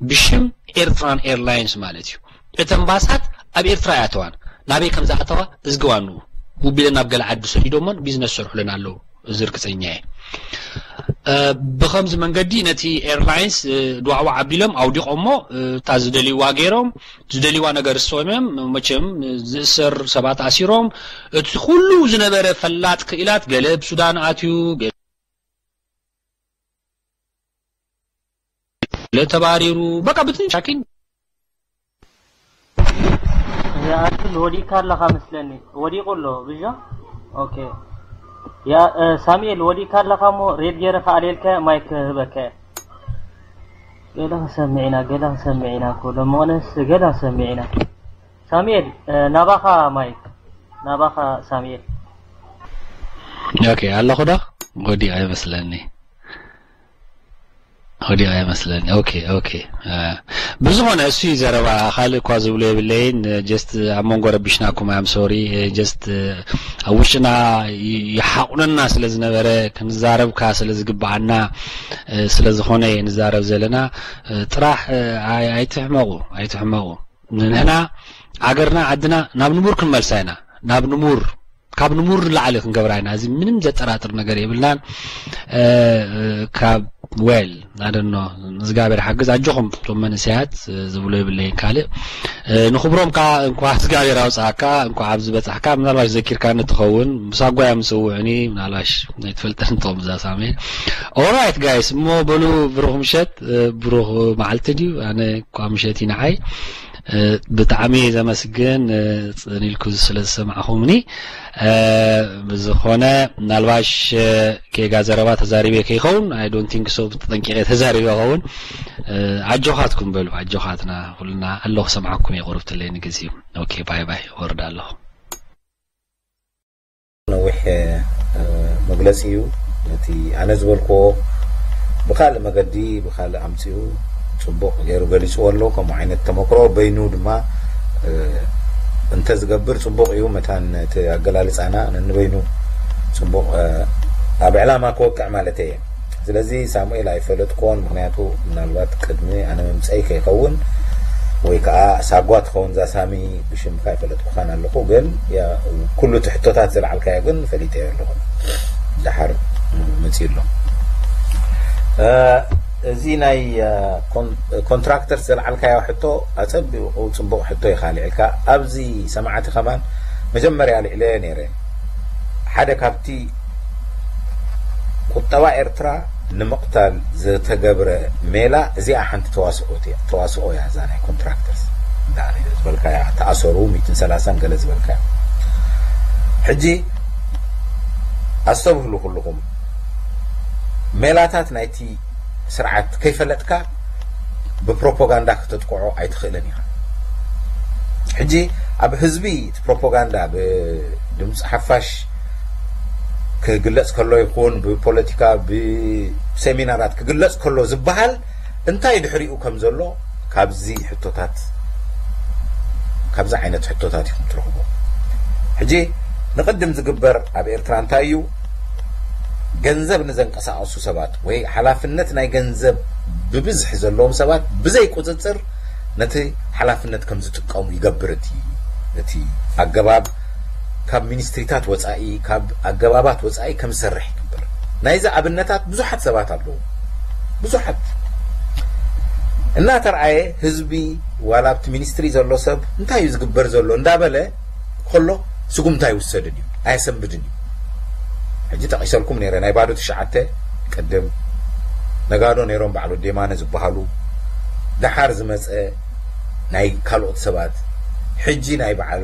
ብሽም ኤርትራን ኤርላይንስ ማለት እዩ እተን ባሳት ኣብ ኤርትራ ያተዋን ናበይ ከም ዝኣተዋ እዝግባኑ ውቢለን ናብ ገለ ዓዲ ሰዲዶሞን ቢዝነስ ሰርሑለን ኣለዉ እዚ ርግፀኛ እየ ብከምዚ መንገዲ ነቲ ኤርላይንስ ድዋዕዋዕ ኣቢሎም ኣውዲቆሞ እታ ዝደልይዋ ገይሮም ዝደልይዋ ነገር ዝሰምዮም መቸም ዝእሰር ሰባት ኣሲሮም እቲ ኩሉ ዝነበረ ፈላጥ ክኢላት ገለ ብሱዳን ኣትዩ ገለ ተባሪሩ በቃ ብትን ሻኪን ኣክል ወዲእካ ኣለኻ መስለኒ ወዲቑ ኣሎ ብጃ ኦኬ ያ ሳሙኤል ወዲእካ ኣለኻ እሞ ሬድ ገይረ ከኣልየልካ ማይክ ህበካ ገለ ክሰምዕ ኢና ገለ ክሰምዕ ኢና እኮ ደሞነስ ገለ ክሰምዕ ኢና ሳሙኤል ናባኻ ማይክ ናባኻ ሳሙኤል ኦኬ ኣለኹ ዶ ወዲቐ ይመስለኒ ወዲቐ ይመስለኒ ኦኬ ኦኬ ብዝኾነ እሱ ዘረባ ካልእ እኳ ዝብሎ የብለይን ጀስት ኣብ መንጎ ረቢሽናኩም ኣም ሶሪ ጀስት ኣብ ውሽጥና ይሓቑነና ስለ ዝነበረ ክንዛረብካ ስለ ዝግብኣና ስለ ዝኾነ ንዛረብ ዘለና ጥራሕ ኣይትሕመቑ ኣይትሕመቑ ንሕና ዓገርና ዓድና ናብ ንቡር ክንመልሳ ኢና ናብ ንቡር ካብ ንቡር ንላዕሊ ክንገብራ ኢና እዚ ምንም ዘጠራጥር ነገር የብልናን ካብ well ኣደኖ እግዚኣብሔር ሓግዝ ኣጆኹም ቶም መንእሰያት ዝብሎ የብለይን ካልእ ንክብሮም ከዓ እንኳ እግዚኣብሔር ኣውፅኣካ እንኳ ኣብዚ በፃሕካ ምናልባሽ ዘኪርካኒ ትኸውን ምሳጓያ ምፅውዕኒ ምናልባሽ ኣይትፈልጠን ትኹም እዛ ሳሜ alright guys እሞ በሉ ብሩኽ ምሸት ብሩኽ መዓልቲ ድዩ ኣነ እኳ ምሸት ይንዓይ ብጣዕሚ ዘመስግን ጽን ኢልኩ ስለ ዝሰማዕኹምኒ። ብዝኾነ ምናልባሽ ጌጋ ዘረባ ተዛሪበ ከይኸውን፣ I don't think so፣ ብተጠንቂቐ ተዛሪበ ኸውን። ኣጆኻትኩም በሉ፣ ኣጆኻትና ኩልና ኣለኹ፣ ሰምዓኩም እየ ቁርብ ትለይ ንግዜኡ። ኦኬ፣ ባይ ባይ፣ ወርድ ኣለኹ። ነዊሕ መግለፂ እዩ። ነቲ ኣነ ዝበልክዎ ብካልእ መገዲ ብካልእ ኣምፂኡ ፅቡቕ ገይሩ ገሊፅዎ ኣሎ። ከምኡ ዓይነት ተመክሮ በይኑ ድማ እንተዝገብር ፅቡቕ እዩ። መታን እቲ ኣገላልፃና ነንበይኑ ፅቡቕ ኣብ ዕላማ ክወቅዕ ማለት እየ። ስለዚ ሳሙኤል ኣይፈለጥክዎን፣ ምክንያቱ ምናልባት ቅድሚ ኣነ ምምፀይ ከይኸውን ወይ ከዓ ሳጓ ትኸውን እዛ ሳሚ ብሽምካ ኣይፈለጥኩኻን ኣለኹ፣ ግን ኩሉ እቲ ሕቶታት ዘልዓልካዮ ግን ፈሊጠዮ ኣለኹ። ደሓር መፂኡ ኣሎ። እዚ ናይ ኮንትራክተርስ ዘልዓልካዮ ሕቶ ኣፀቢቑ ፅቡቕ ሕቶ ኢኻ ኣልዒልካ። ኣብዚ ሰማዕቲ ከማን መጀመርያ ኣልዒለዮ ነይረ። ሓደ ካብቲ ቁጠባ ኤርትራ ንምቕታል ዝተገብረ ሜላ እዚኣ ሓንቲ ተዋስኦ እያ። ተዋስኦ እያ እዛ ናይ ኮንትራክተርስ። ዝበልካያ ተኣሰሩ ሚእትን ሰላሳን ገለ ዝበልካያ። ሕጂ ኣስተብህሉ ኩልኹም፣ ሜላታት ናይቲ ስርዓት ከይፈለጥካ ብፕሮፓጋንዳ ክተጥቅዖ ኣይትኽእልን ኢኻ። ሕጂ ኣብ ህዝቢ እቲ ፕሮፓጋንዳ ብድምፂ ሓፋሽ ክግለፅ ከሎ ይኹን ብፖለቲካ ብሴሚናራት ክግለፅ ከሎ ዝበሃል እንታይ ድሕሪኡ ከም ዘሎ ካብዚ ሕቶታት ካብዚ ዓይነት ሕቶታት ኢኹም ትረኽቦ። ሕጂ ንቕድም ዝግበር ኣብ ኤርትራ እንታይ እዩ? ገንዘብ ንዘንቀሳቐሱ ሰባት ወይ ሓላፍነት ናይ ገንዘብ ብብዝሒ ዘለዎም ሰባት ብዘይ ቁፅፅር ነቲ ሓላፍነት ከም ዝጥቀሙ ይገብር። እቲ እቲ ኣገባብ ካብ ሚኒስትሪታት ወፃኢ ካብ ኣገባባት ወፃኢ ከም ዝሰርሕ ይግበር። ናይዚ ኣብነታት ብዙሓት ሰባት ኣለዉ። ብዙሓት እናተርኣየ ህዝቢ ዋላ ኣብቲ ሚኒስትሪ ዘሎ ሰብ እንታይ እዩ ዝግበር ዘሎ እንዳበለ ከሎ ስጉምቲ ኣይውሰድን እዩ፣ ኣየሰንብድን እዩ። ሕጂ ጠቒሰልኩም ነይረ ናይ ባዶ ትሽዓተ ቅድም ነጋዶ ነይሮም በዓል ወዲ የማነ ዝበሃሉ፣ ደሓር ዝመፀ ናይ ካልኦት ሰባት፣ ሕጂ ናይ በዓል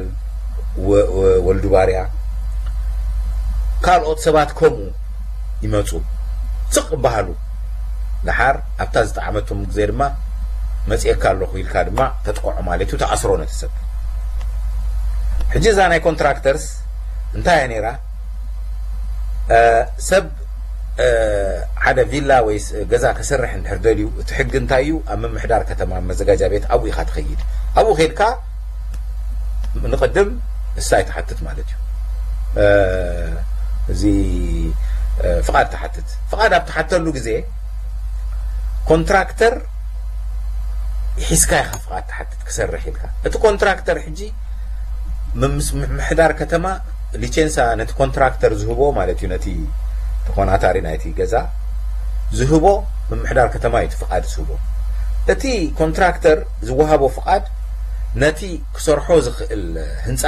ወልዱ ባርያ፣ ካልኦት ሰባት ከምኡ ይመፁ ስቕ ይበሃሉ። ደሓር ኣብታ ዝጠዓመቶም ግዜ ድማ መፅኤካ ኣለኹ ኢልካ ድማ ተጥቅዖ ማለት እዩ፣ ተኣስሮ ነቲ ሰብ። ሕጂ እዛ ናይ ኮንትራክተርስ እንታይ እያ ነይራ? ሰብ ሓደ ቪላ ወይ ገዛ ክሰርሕ እንድሕር ደልዩ እቲ ሕጊ እንታይ እዩ? ኣብ ምምሕዳር ከተማ መዘጋጃ ቤት ኣብኡ ኢኻ ትኸይድ። ኣብኡ ኸይድካ ንቕድም ንሳ ትሓትት ማለት እዩ። እዚ ፍቓድ ትሓትት። ፍቓድ ኣብ ትሓተሉ ግዜ ኮንትራክተር ሒዝካ ኢኻ ፍቓድ ትሓትት ክሰርሕ ኢልካ። እቲ ኮንትራክተር ሕጂ ምምስ- ምምሕዳር ከተማ ሊቼንሳ ነቲ ኮንትራክተር ዝህቦ ማለት እዩ፣ ነቲ ተኾናታሪ ናይቲ ገዛ ዝህቦ ምምሕዳር ከተማ እዩ እቲ ፍቓድ ዝህቦ። እቲ ኮንትራክተር ዝወሃቦ ፍቓድ ነቲ ክሰርሖ ዝኽእል ህንፃ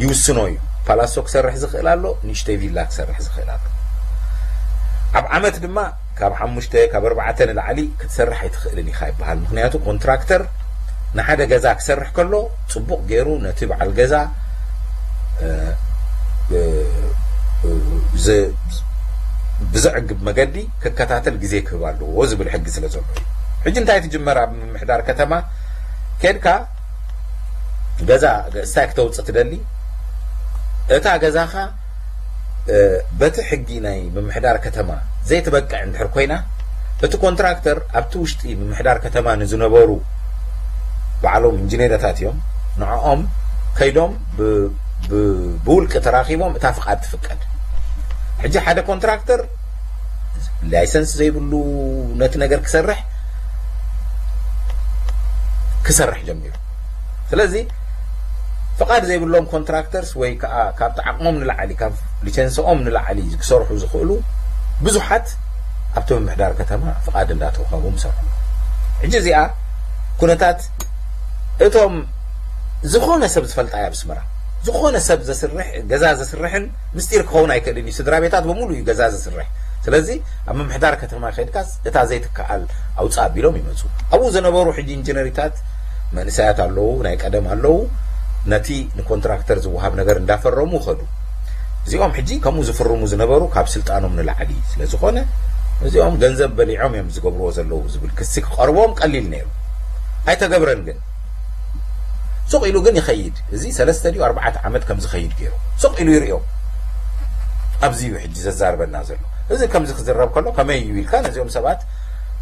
ይውስኖ እዩ። ፓላሶ ክሰርሕ ዝኽእል ኣሎ፣ ንእሽተይ ቪላ ክሰርሕ ዝኽእል ኣሎ። ኣብ ዓመት ድማ ካብ ሓሙሽተ ካብ ኣርባዕተ ንላዕሊ ክትሰርሕ ኣይትኽእልን ኢኻ ይበሃል። ምክንያቱ ኮንትራክተር ንሓደ ገዛ ክሰርሕ ከሎ ፅቡቕ ገይሩ ነቲ በዓል ገዛ ብዘዕግብ መገዲ ክከታተል ግዜ ክህብ ኣለዎ ዝብል ሕጊ ስለ ዘሎ እዩ። ሕጂ እንታይ ትጅመር ኣብ ምምሕዳር ከተማ ኬድካ ገዛ ስታይ ክተውፅእ ትደሊ እታ ገዛኻ በቲ ሕጊ ናይ ምምሕዳር ከተማ ዘይትበቅዕ እንድሕር ኮይና እቲ ኮንትራክተር ኣብቲ ውሽጢ ምምሕዳር ከተማ ንዝነበሩ ባዕሎም ኢንጂነረታት እዮም ንዕኦም ከይዶም ብውልቂ ተራኺቦም እታ ፍቓድ ትፍቀድ። ሕጂ ሓደ ኮንትራክተር ላይሰንስ ዘይብሉ ነቲ ነገር ክሰርሕ ክሰርሕ ጀሚሩ። ስለዚ ፍቓድ ዘይብሎም ኮንትራክተርስ ወይ ከዓ ካብቲ ዓቕሞም ንላዕሊ ካብ ሊቸንስኦም ንላዕሊ ክሰርሑ ዝኽእሉ ብዙሓት ኣብቲ ምምሕዳር ከተማ ፍቓድ እንዳተውሃቦም ይሰርሑ። ሕጂ እዚኣ ኩነታት እቶም ዝኾነ ሰብ ዝፈልጣ እያ ብስመራ ዝኾነ ሰብ ዘስርሕ ገዛ ዘስርሕን ምስጢር ክኸውን ኣይክእልን እዩ። ስድራ ቤታት በሙሉ እዩ ገዛ ዘስርሕ። ስለዚ ኣብ ምምሕዳር ከተማ ከድካስ እታ ዘይትከኣል ኣውፅእ ኣቢሎም ይመፁ። ኣብኡ ዝነበሩ ሕጂ ኢንጂነሪታት መንእሰያት ኣለዉ፣ ናይ ቀደም ኣለዉ። ነቲ ንኮንትራክተር ዝወሃብ ነገር እንዳፈረሙ ከዱ። እዚኦም ሕጂ ከምኡ ዝፍርሙ ዝነበሩ ካብ ስልጣኖም ንላዕሊ ስለ ዝኾነ፣ እዚኦም ገንዘብ በሊዖም እዮም ዝገብርዎ ዘለዉ ዝብል ክሲ ክቐርቦም ቀሊል ነይሩ። ኣይተገብረን ግን። ሱቕ ኢሉ ግን ይኸይድ። እዚ ሰለስተ ድዩ ኣርባዕተ ዓመት ከም ዝኸይድ ገይሩ። ሱቕ ኢሉ ይርእዮ። ኣብዚ እዩ ሕጂ ዘዛርበና ዘሎ። እዚ ከምዚ ክዝረብ ከሎ ከመይ እዩ ኢልካ ነዚኦም ሰባት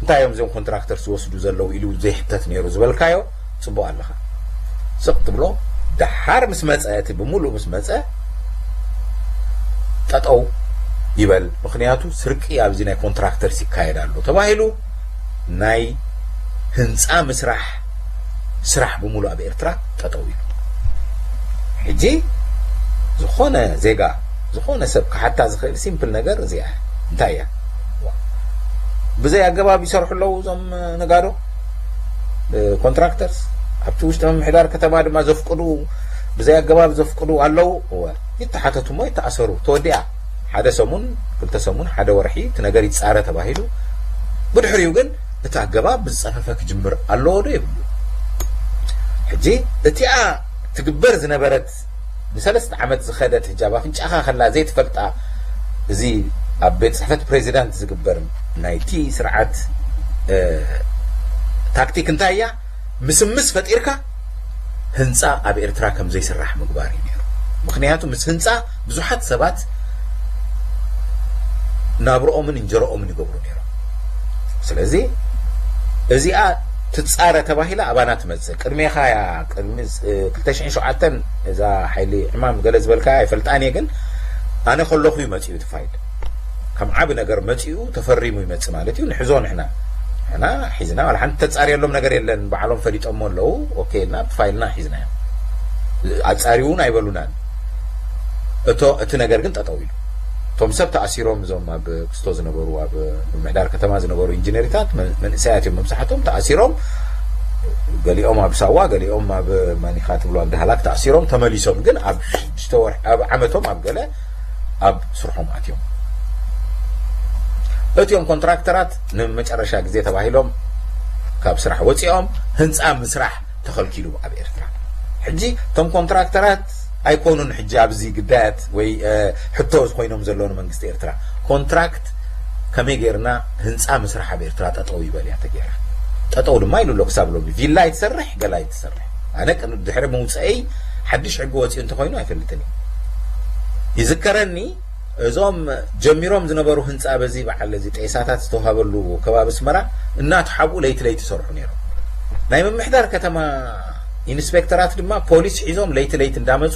እንታይ እዮም እዚኦም ኮንትራክተር ዝወስዱ ዘለዉ ኢሉ ዘይሕተት ነይሩ ዝበልካዮ ጽቡቕ ኣለኻ። ስቕ ትብሎ። ደሓር ምስ መጸ፣ እቲ ብምሉእ ምስ መጸ ጠጠው ይበል። ምኽንያቱ ስርቂ ኣብዚ ናይ ኮንትራክተርስ ይካየድ ኣሎ ተባሂሉ ናይ ህንጻ ምስራሕ ስራሕ ብምሉእ ኣብ ኤርትራ ጠጠው ኢሉ። ሕጂ ዝኾነ ዜጋ፣ ዝኾነ ሰብ ክሓታ ዝኽእል ሲምፕል ነገር እዚኣ እንታይ እያ? ብዘይ ኣገባብ ይሰርሑ ኣለዉ እዞም ነጋዶ፣ ኮንትራክተርስ። ኣብቲ ውሽጢ ምምሕዳር ከተማ ድማ ዘፍቅዱ፣ ብዘይ ኣገባብ ዘፍቅዱ ኣለዉ። እወ፣ ይተሓተቱ እሞ ይተኣሰሩ። ተወዲኣ። ሓደ ሰሙን፣ ክልተ ሰሙን፣ ሓደ ወርሒ እቲ ነገር ይጻረ ተባሂሉ። ብድሕሪኡ ግን እቲ ኣገባብ ብዝጸፈፈ ክጅምር ኣለዎ ዶ የብሉ? ሕጂ እቲኣ ትግበር ዝነበረት ንሰለስተ ዓመት ዝኸደት፣ ሕጂ ኣብ ኣፍንጫኻ ከላ ዘይትፈልጣ፣ እዚ ኣብ ቤት ጽሕፈት ፕሬዚዳንት ዝግበር ናይቲ ስርዓት፣ እ፣ ታክቲክ እንታይ እያ? ምስምስ ፈጢርካ ህንጻ ኣብ ኤርትራ ከም ዘይስራሕ ምግባር እዩ ነይሩ። ምኽንያቱ ምስ ህንጻ ብዙሓት ሰባት ናብርኦምን እንጀረኦምን ይገብሩ ነይሮም። ስለዚ እዚኣ ትጻረ ተባሂላ ኣባና ትመጽእ። ቅድሜኻ እያ፣ ቅድሚ፣ እ፣ ክልተ ሽሕን ሸውዓተን እዛ ሓይሊ ዕማም ገለ ዝበልካ ኣይፈልጣን እየ፣ ግን ኣነ ከለኹ እዩ መጺኡ እቲ ፋይል። ከም ዓቢ ነገር መጺኡ ተፈሪሙ ይመጽእ ማለት እዩ። ንሕዞ ንሕና። ንሕና ሒዝና፣ ዋላ ሓንቲ ተጻርየሎም ነገር የለን። ባዕሎም ፈሊጦሞ ኣለዉ። ኦኬ ኢልና ኣብቲ ፋይልና ሒዝናዮ። ኣጻርዩ እውን ኣይበሉናን። እቶ፣ እቲ ነገር ግን ጠጠው ኢሉ። እቶም ሰብ ተኣሲሮም፣ እዞም ኣብ ክስቶ ዝነበሩ፣ ኣብ ምምሕዳር ከተማ ዝነበሩ ኢንጂነሪታት መን-፣ መንእሰያት እዮም መብዛሕትኦም ተኣሲሮም። ገሊኦም ኣብ ሳዋ፣ ገሊኦም ኣብ ማኒኻ ትብሎ ኣብ ዳህላክ ተኣሲሮም ተመሊሶም። ግን ኣብ ሽዱሽተ ወርሒ፣ ኣብ ዓመቶም ኣብ ገለ ኣብ ስርሖም ኣትዮም። እቲኦም ኮንትራክተራት ንመጨረሻ ግዜ ተባሂሎም ካብ ስራሕ ወፂኦም ህንፃ ምስራሕ ተኸልኪሉ ኣብ ኤርትራ። ሕጂ እቶም ኮንትራክተራት ኣይኮኑን ሕጂ ኣብዚ ግዳያት ወይ፣ እ፣ ሕቶ ኮይኖም ዘለዉ ንመንግስቲ ኤርትራ። ኮንትራክት ከመይ ጌርና ህንፃ ምስራሕ ኣብ ኤርትራ ጠጠው ይበል እያ ተጌራ። ጠጠው ድማ ኢሉ ኣሎ ክሳብ ሎሚ። ቪላ ኣይትሰርሕ፣ ገላ ኣይትሰርሕ። ኣነ ቅድሚ ድሕሪ መውፅአይ ሓድሽ ሕጊ ወፂኡ እንተኾይኑ ኣይፈልጥን እየ። ይዝከረኒ እዞም ጀሚሮም ዝነበሩ ህንፃ በዚ በዓል እዚ ጤሳታት ዝተዋሃበሉ ከባቢ ኣስመራ እናተሓብኡ ለይቲ ለይቲ ይሰርሑ ነይሮም። ናይ ምምሕዳር ከተማ ኢንስፔክተራት ድማ ፖሊስ ሒዞም ለይቲ ለይቲ እንዳመፁ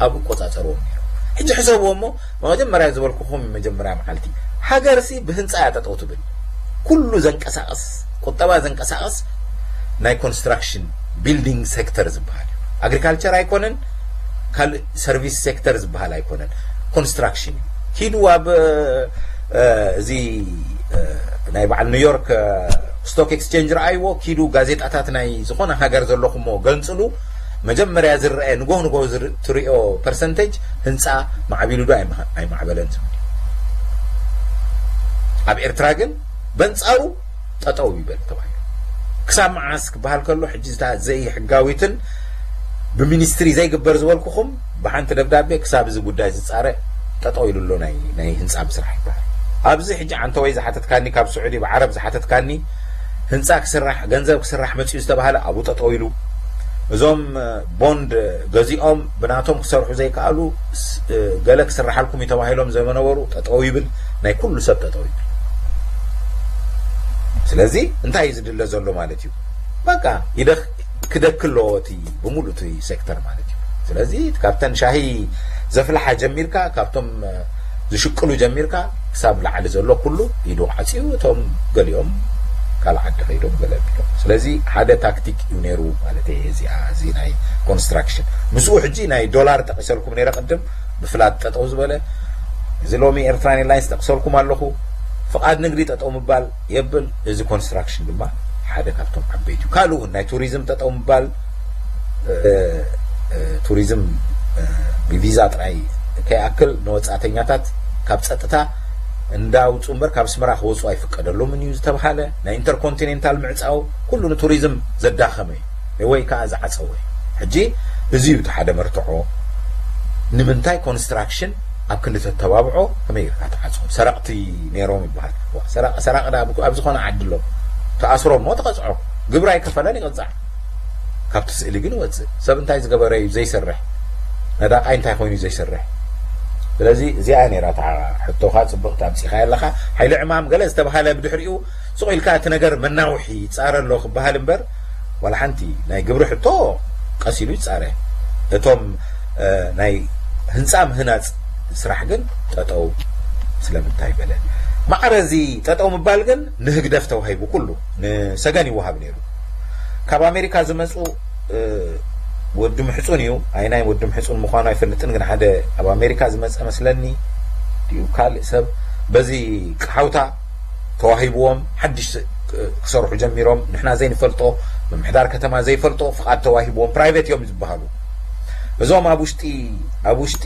ኣብ እቆፃፀርዎም ነይሮም። ሕጂ ሕሰብዎ እሞ መጀመርያ ዝበልኩኹም መጀመርያ መዓልቲ ሃገርሲ ብህንፃ እያ ጠጠው ትብል። ኩሉ ዘንቀሳቕስ ቁጠባ ዘንቀሳቕስ ናይ ኮንስትራክሽን ቢልዲንግ ሴክተር ዝበሃል እዩ። ኣግሪካልቸር ኣይኮነን፣ ካልእ ሰርቪስ ሴክተር ዝበሃል ኣይኮነን። ኮንስትራክሽን እዩ። ኪዱ ኣብ፣ እ፣ እዚ፣ እ፣ ናይ በዓል ኒውዮርክ፣ እ፣ ስቶክ ኤክስቼንጅ ረኣይዎ። ኪዱ ጋዜጣታት ናይ ዝኾነ ሃገር ዘለኹሞ ገንጽሉ። መጀመርያ ዝረአ ንጎህ ንጎህ ዝር-፣ ትሪኦ ፐርሰንቴጅ ህንፃ ማዕቢሉ ዶ ኣይማ-፣ ኣይማዕበለን ዝብል። ኣብ ኤርትራ ግን በንጻሩ ጠጠው ይበል ተባሂሉ። ክሳብ መዓስ ክበሃል ከሎ፣ ሕጂ እታ ዘይሕጋዊትን ብሚኒስትሪ ዘይግበር ዝበልኩኹም ብሓንቲ ደብዳቤ ክሳብ እዚ ጉዳይ ዝጻረ ጠጠው ኢሉ ኣሎ ናይ፣ ናይ ህንጻ ምስራሕ ይበሃል። ኣብዚ ሕጂ ዓንተወይ ዝሓተትካኒ፣ ካብ ስዑዲ ብዓረብ ዝሓተትካኒ፣ ህንጻ ክስራሕ፣ ገንዘብ ክስራሕ መጺኡ ዝተባሃለ ኣብኡ ጠጠው ኢሉ። እዞም፣ እ፣ ቦንድ ገዚኦም ብናቶም ክሰርሑ ዘይከኣሉ፣ ስ-፣ እ፣ ገለ ክስርሓልኩም እዩ ተባሂሎም ዝነበሩ ጠጠው ይብል። ናይ ኩሉ ሰብ ጠጠው ይብል። ስለዚ እንታይ እዩ ዝድለ ዘሎ ማለት እዩ? በቃ ይደክ-፣ ክደክ ኣለዎ እቲ ብምሉእ እቲ ሴክተር ማለት እዩ። ስለዚ ካብተን ሻሂ ዘፍልሓ ጀሚርካ፣ ካብቶም፣ እ፣ ዝሽቅሉ ጀሚርካ ክሳብ ላዕሊ ዘሎ ኩሉ ኢዱ ዓጽዩ፣ እቶም ገሊኦም ካልእ ዓዲ ከይዶም ገለ ኣቢሎም። ስለዚ ሓደ ታክቲክ እዩ ነይሩ ማለት እየ። እዚኣ፣ እዚ ናይ ኮንስትራክሽን ምስኡ ሕጂ ናይ ዶላር ጠቒሰልኩም ነይረ ቅድም፣ ብፍላት ጠጠው ዝበለ፣ እዚ ሎሚ ኤርትራን ኤርላይንስ ጠቕሰልኩም ኣለኹ። ፍቓድ ንግዲ ጠጠው ምባል የብል። እዚ ኮንስትራክሽን ድማ ሓደ ካብቶም ዓበይቲ እዩ። ካልእ እውን ናይ ቱሪዝም ጠጠው ምባል፣ እ፣ እ፣ ቱሪዝም፣ እ፣ ብቪዛ ጥራይ ከይኣክል ንወጻእተኛታት ካብ ጸጥታ እንዳውጹ እምበር ካብ ኣስመራ ክወጹ ኣይፍቀደሎምን እዩ ዝተባሃለ ናይ ኢንተርኮንቲኔንታል ምዕጻው ኩሉ ንቱሪዝም ዘዳኸመ እዩ። ወይ ከዓ ዝዓፀወ። ሕጂ እዚ እዩ እቲ ሓደ መርትዖ። ንምንታይ ኮንስትራክሽን ኣብ ክንዲ ተተባብዖ ከመይ ጌርካ ትዓፅዎ? ሰረቕቲ ነይሮም ይበሃል። ዋ፣ ሰራቂ፣ ሰራቂ ዳ ኣብ፣ ኣብ ዝኾነ ዓዲ ኣሎ። ተኣስሮ እሞ ተቐፅዖ። ግብሪ ኣይከፈለን ይቕፃዕ። ካብቲ ስእሊ ግን ይወፅእ። ሰብ እንታይ ዝገበረ እዩ ዘይሰርሕ? ነዳቓይ እንታይ ኮይኑ እዩ ዘይሰርሕ? ስለዚ እዚኣ ነይራ እታ ሕቶኻ፣ ፅብቕቲ ኣምፂኻያ ኣለኻ። ሓይሊ ዕማም ገለ ዝተባሃለ ብድሕሪኡ ስቕ ኢልካ እቲ ነገር መናውሒ ይፃረ ኣሎ ክበሃል እምበር፣ ዋላ ሓንቲ ናይ ግብሪ ሕቶ ቀስ ኢሉ ይፃረ። እቶም፣ እ፣ ናይ ህንፃ ምህናፅ ስራሕ ግን ጠጠው ስለምንታይ በለ? ማዕረ እዚ ጠጠው ምባል ግን ንህግደፍ ተዋሂቡ፣ ኩሉ ንሰገን ይወሃብ ነይሩ። ካብ ኣሜሪካ ዝመፁ፣ እ፣ ወዲ ምሕፁን እዩ። ኣይናይ ወዲ ምሕፁን ምዃኑ ኣይፈልጥን፣ ግን ሓደ ኣብ ኣሜሪካ ዝመፀ መስለኒ ድዩ ካልእ ሰብ በዚ ቃሓውታ ተዋሂብዎም ሓድሽ ክሰርሑ ጀሚሮም። ንሕና ዘይንፈልጦ፣ ምምሕዳር ከተማ ዘይፈልጦ ፍቓድ ተዋሂብዎም፣ ፕራይቬት እዮም ዝበሃሉ። እዞም ኣብ ውሽጢ፣ ኣብ ውሽጢ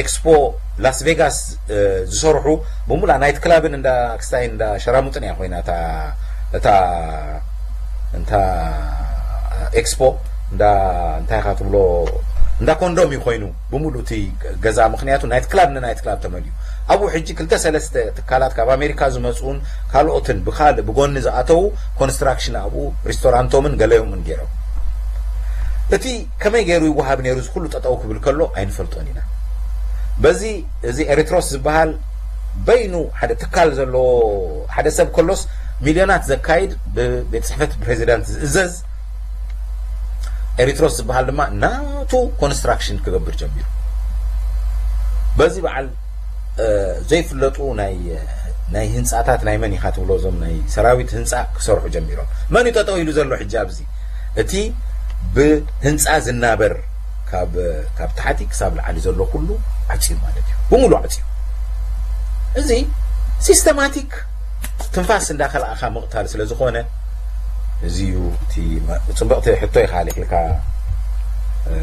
ኤክስፖ ላስ ቬጋስ፣ እ፣ ዝሰርሑ ብሙላ ናይት ክላብን እንዳ ክስታይ እንዳ ሸራሙጥን እያ ኮይና እታ፣ እታ፣ እንታ ኤክስፖ እንዳ፣ እንታይ ኢኻ ትብሎ፣ እንዳ ኮንዶም እዩ ኮይኑ ብሙሉ እቲ ገዛ፣ ምኽንያቱ ናይት ክላብ ንናይት ክላብ ተመልዩ። ኣብኡ ሕጂ ክልተ ሰለስተ ትካላት ካብ ኣሜሪካ ዝመፅኡን ካልኦትን ብካልእ ብጎኒ ዝኣተዉ ኮንስትራክሽን ኣብኡ ሪስቶራንቶምን ገለዮምን ገይሮም። እቲ ከመይ ገይሩ ይወሃብ ነይሩ እዚ ኩሉ ጠጠው ክብል ከሎ ኣይንፈልጦን ኢና። በዚ እዚ ኤሪትሮስ ዝበሃል በይኑ ሓደ ትካል ዘለዎ ሓደ ሰብ ከሎስ ሚልዮናት ዘካይድ ብቤት ጽሕፈት ፕሬዚዳንት ዝእዘዝ ኤሪትሮስ ዝበሃል ድማ ናቱ ኮንስትራክሽን ክገብር ጀሚሩ። በዚ በዓል፣ እ፣ ዘይፍለጡ ናይ፣ ናይ ህንጻታት ናይ መን ኢኻ ትብሎ፣ እዞም ናይ ሰራዊት ህንጻ ክሰርሑ ጀሚሮም። መን እዩ ጠጠው ኢሉ ዘሎ ሕጂ ኣብዚ? እቲ ብህንጻ ዝናበር ካብ፣ ካብ ታሕቲ ክሳብ ላዕሊ ዘሎ ኩሉ ዓጽዩ ማለት እዩ። ብምሉ ዓጽዩ። እዚ ሲስተማቲክ ትንፋስ እንዳኸልኣኻ ምቕታል ስለ ዝኾነ፣ እዚ እዩ እቲ መ-፣ ጽብቕቲ ሕቶ ኢኻ ኣልዒልካ፣ እ፣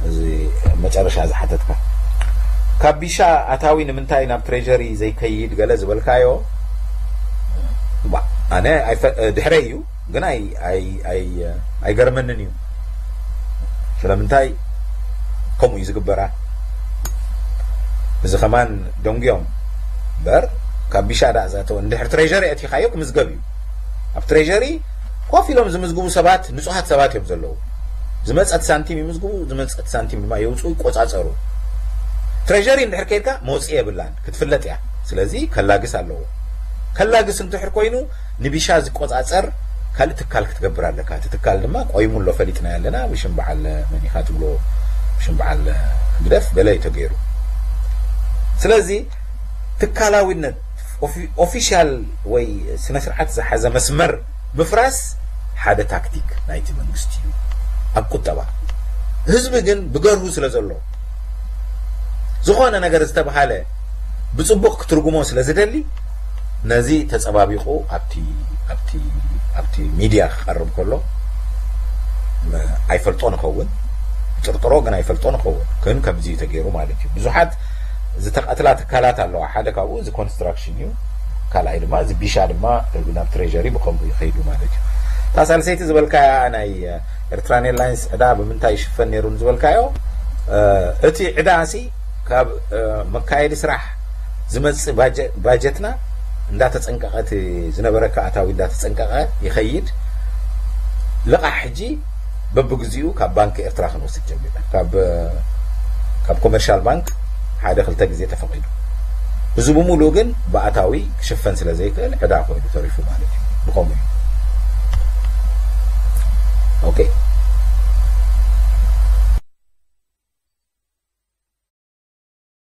እዚ መጨረሻ ዝሓተትካ። ካብ ቢሻ ኣታዊ ንምንታይ ናብ ትሬዠሪ ዘይከይድ ገለ ዝበልካዮ፣ ባ-፣ ኣነ ኣይፈ-፣ ድሕረይ እዩ፣ ግን ኣይ-፣ ኣይ-፣ ኣይ-፣ ኣይገርመንን እዩ። ስለምንታይ ከምኡ እዩ ዝግበራ? እዚ ከማን ደንጉዮም እምበር፣ ካብ ቢሻ ዳኣ ዝኣተወ፣ እንድሕር ትሬዠሪ ኣቲኻዮ ክምዝገብ እዩ። ኣብ ትሬዠሪ ኮፍ ኢሎም ዝምዝግቡ ሰባት ንጹሃት ሰባት እዮም ዘለዉ። ዝመጸት ሳንቲም ይምዝግቡ፣ ዝመጸት ሳንቲም ድማ የውጽኡ፣ ይቆጻጸሩ። ትሬዠሪ እንድሕር ከይድካ መውጽኢ የብላን፣ ክትፍለጥ እያ። ስለዚ ከላግስ ኣለዎ። ከላግስ እንድሕር ኮይኑ ንቢሻ ዝቆጻጸር ካልእ ትካል ክትገብር ኣለካ። እቲ ትካል ድማ ቆይሙ ኣሎ፣ ፈሊጥናዮ ኣለና፣ ብሽም በዓል መን ኢኻ ትብሎ፣ ብሽም በዓል ህግደፍ ገለ እዩ ተገይሩ። ስለዚ ትካላዊነት፣ ኦፊ-፣ ኦፊሻል ወይ ስነ ስርዓት ዝሓዘ መስመር ምፍራስ ሓደ ታክቲክ ናይቲ መንግስቲ እዩ ኣብ ቁጠባ። ህዝቢ ግን ብገርሁ ስለ ዘሎ፣ ዝኾነ ነገር ዝተባሃለ ብጽቡቕ ክትርጉሞ ስለ ዝደሊ፣ ነዚ ተጸባቢቑ ኣብቲ፣ ኣብቲ፣ ኣብቲ ሚድያ ክቐርብ ከሎ፣ መ-፣ ኣይፈልጦ ንኸውን፣ ጥርጥሮ ግን ኣይፈልጦ ንኸውን። ግን ከምዚ እዩ ተገይሩ ማለት እዩ። ብዙሓት ዝተቐትላ ትካላት ኣለዋ። ሓደ ካብኡ እዚ ኮንስትራክሽን እዩ። ካልኣይ ድማ እዚ ቢሻ ድማ ናብ ትሬዠሪ ብኸምኡ ይኸይዱ ማለት እዩ። እታ ሳልሰይቲ ዝበልካያ ናይ ኤርትራን ኤርላይንስ ዕዳ ብምንታይ ይሽፈን ነይሩ ዝበልካዮ፣ እ፣ እቲ ዕዳ ሲ ካብ፣ እ፣ መካየዲ ስራሕ ዝመጽእ ባጀ-፣ ባጀትና እንዳተጸንቀቐ፣ እቲ ዝነበረካ ኣታዊ እንዳተጸንቀቐ ይኸይድ። ልቓሕ ሕጂ በብግዚኡ ካብ ባንክ ኤርትራ ክንወስድ ጀሚርና። ካብ፣ ካብ ኮመርሻል ባንክ ሓደ ክልተ ግዜ ተፈቒዱ። እዚ ብምሉኡ ግን ብኣታዊ ክሽፈን ስለ ዘይክእል ዕዳ ኮይኑ ተሪፉ ማለት እዩ። ብኸምኡ እዩ። ኦኬ።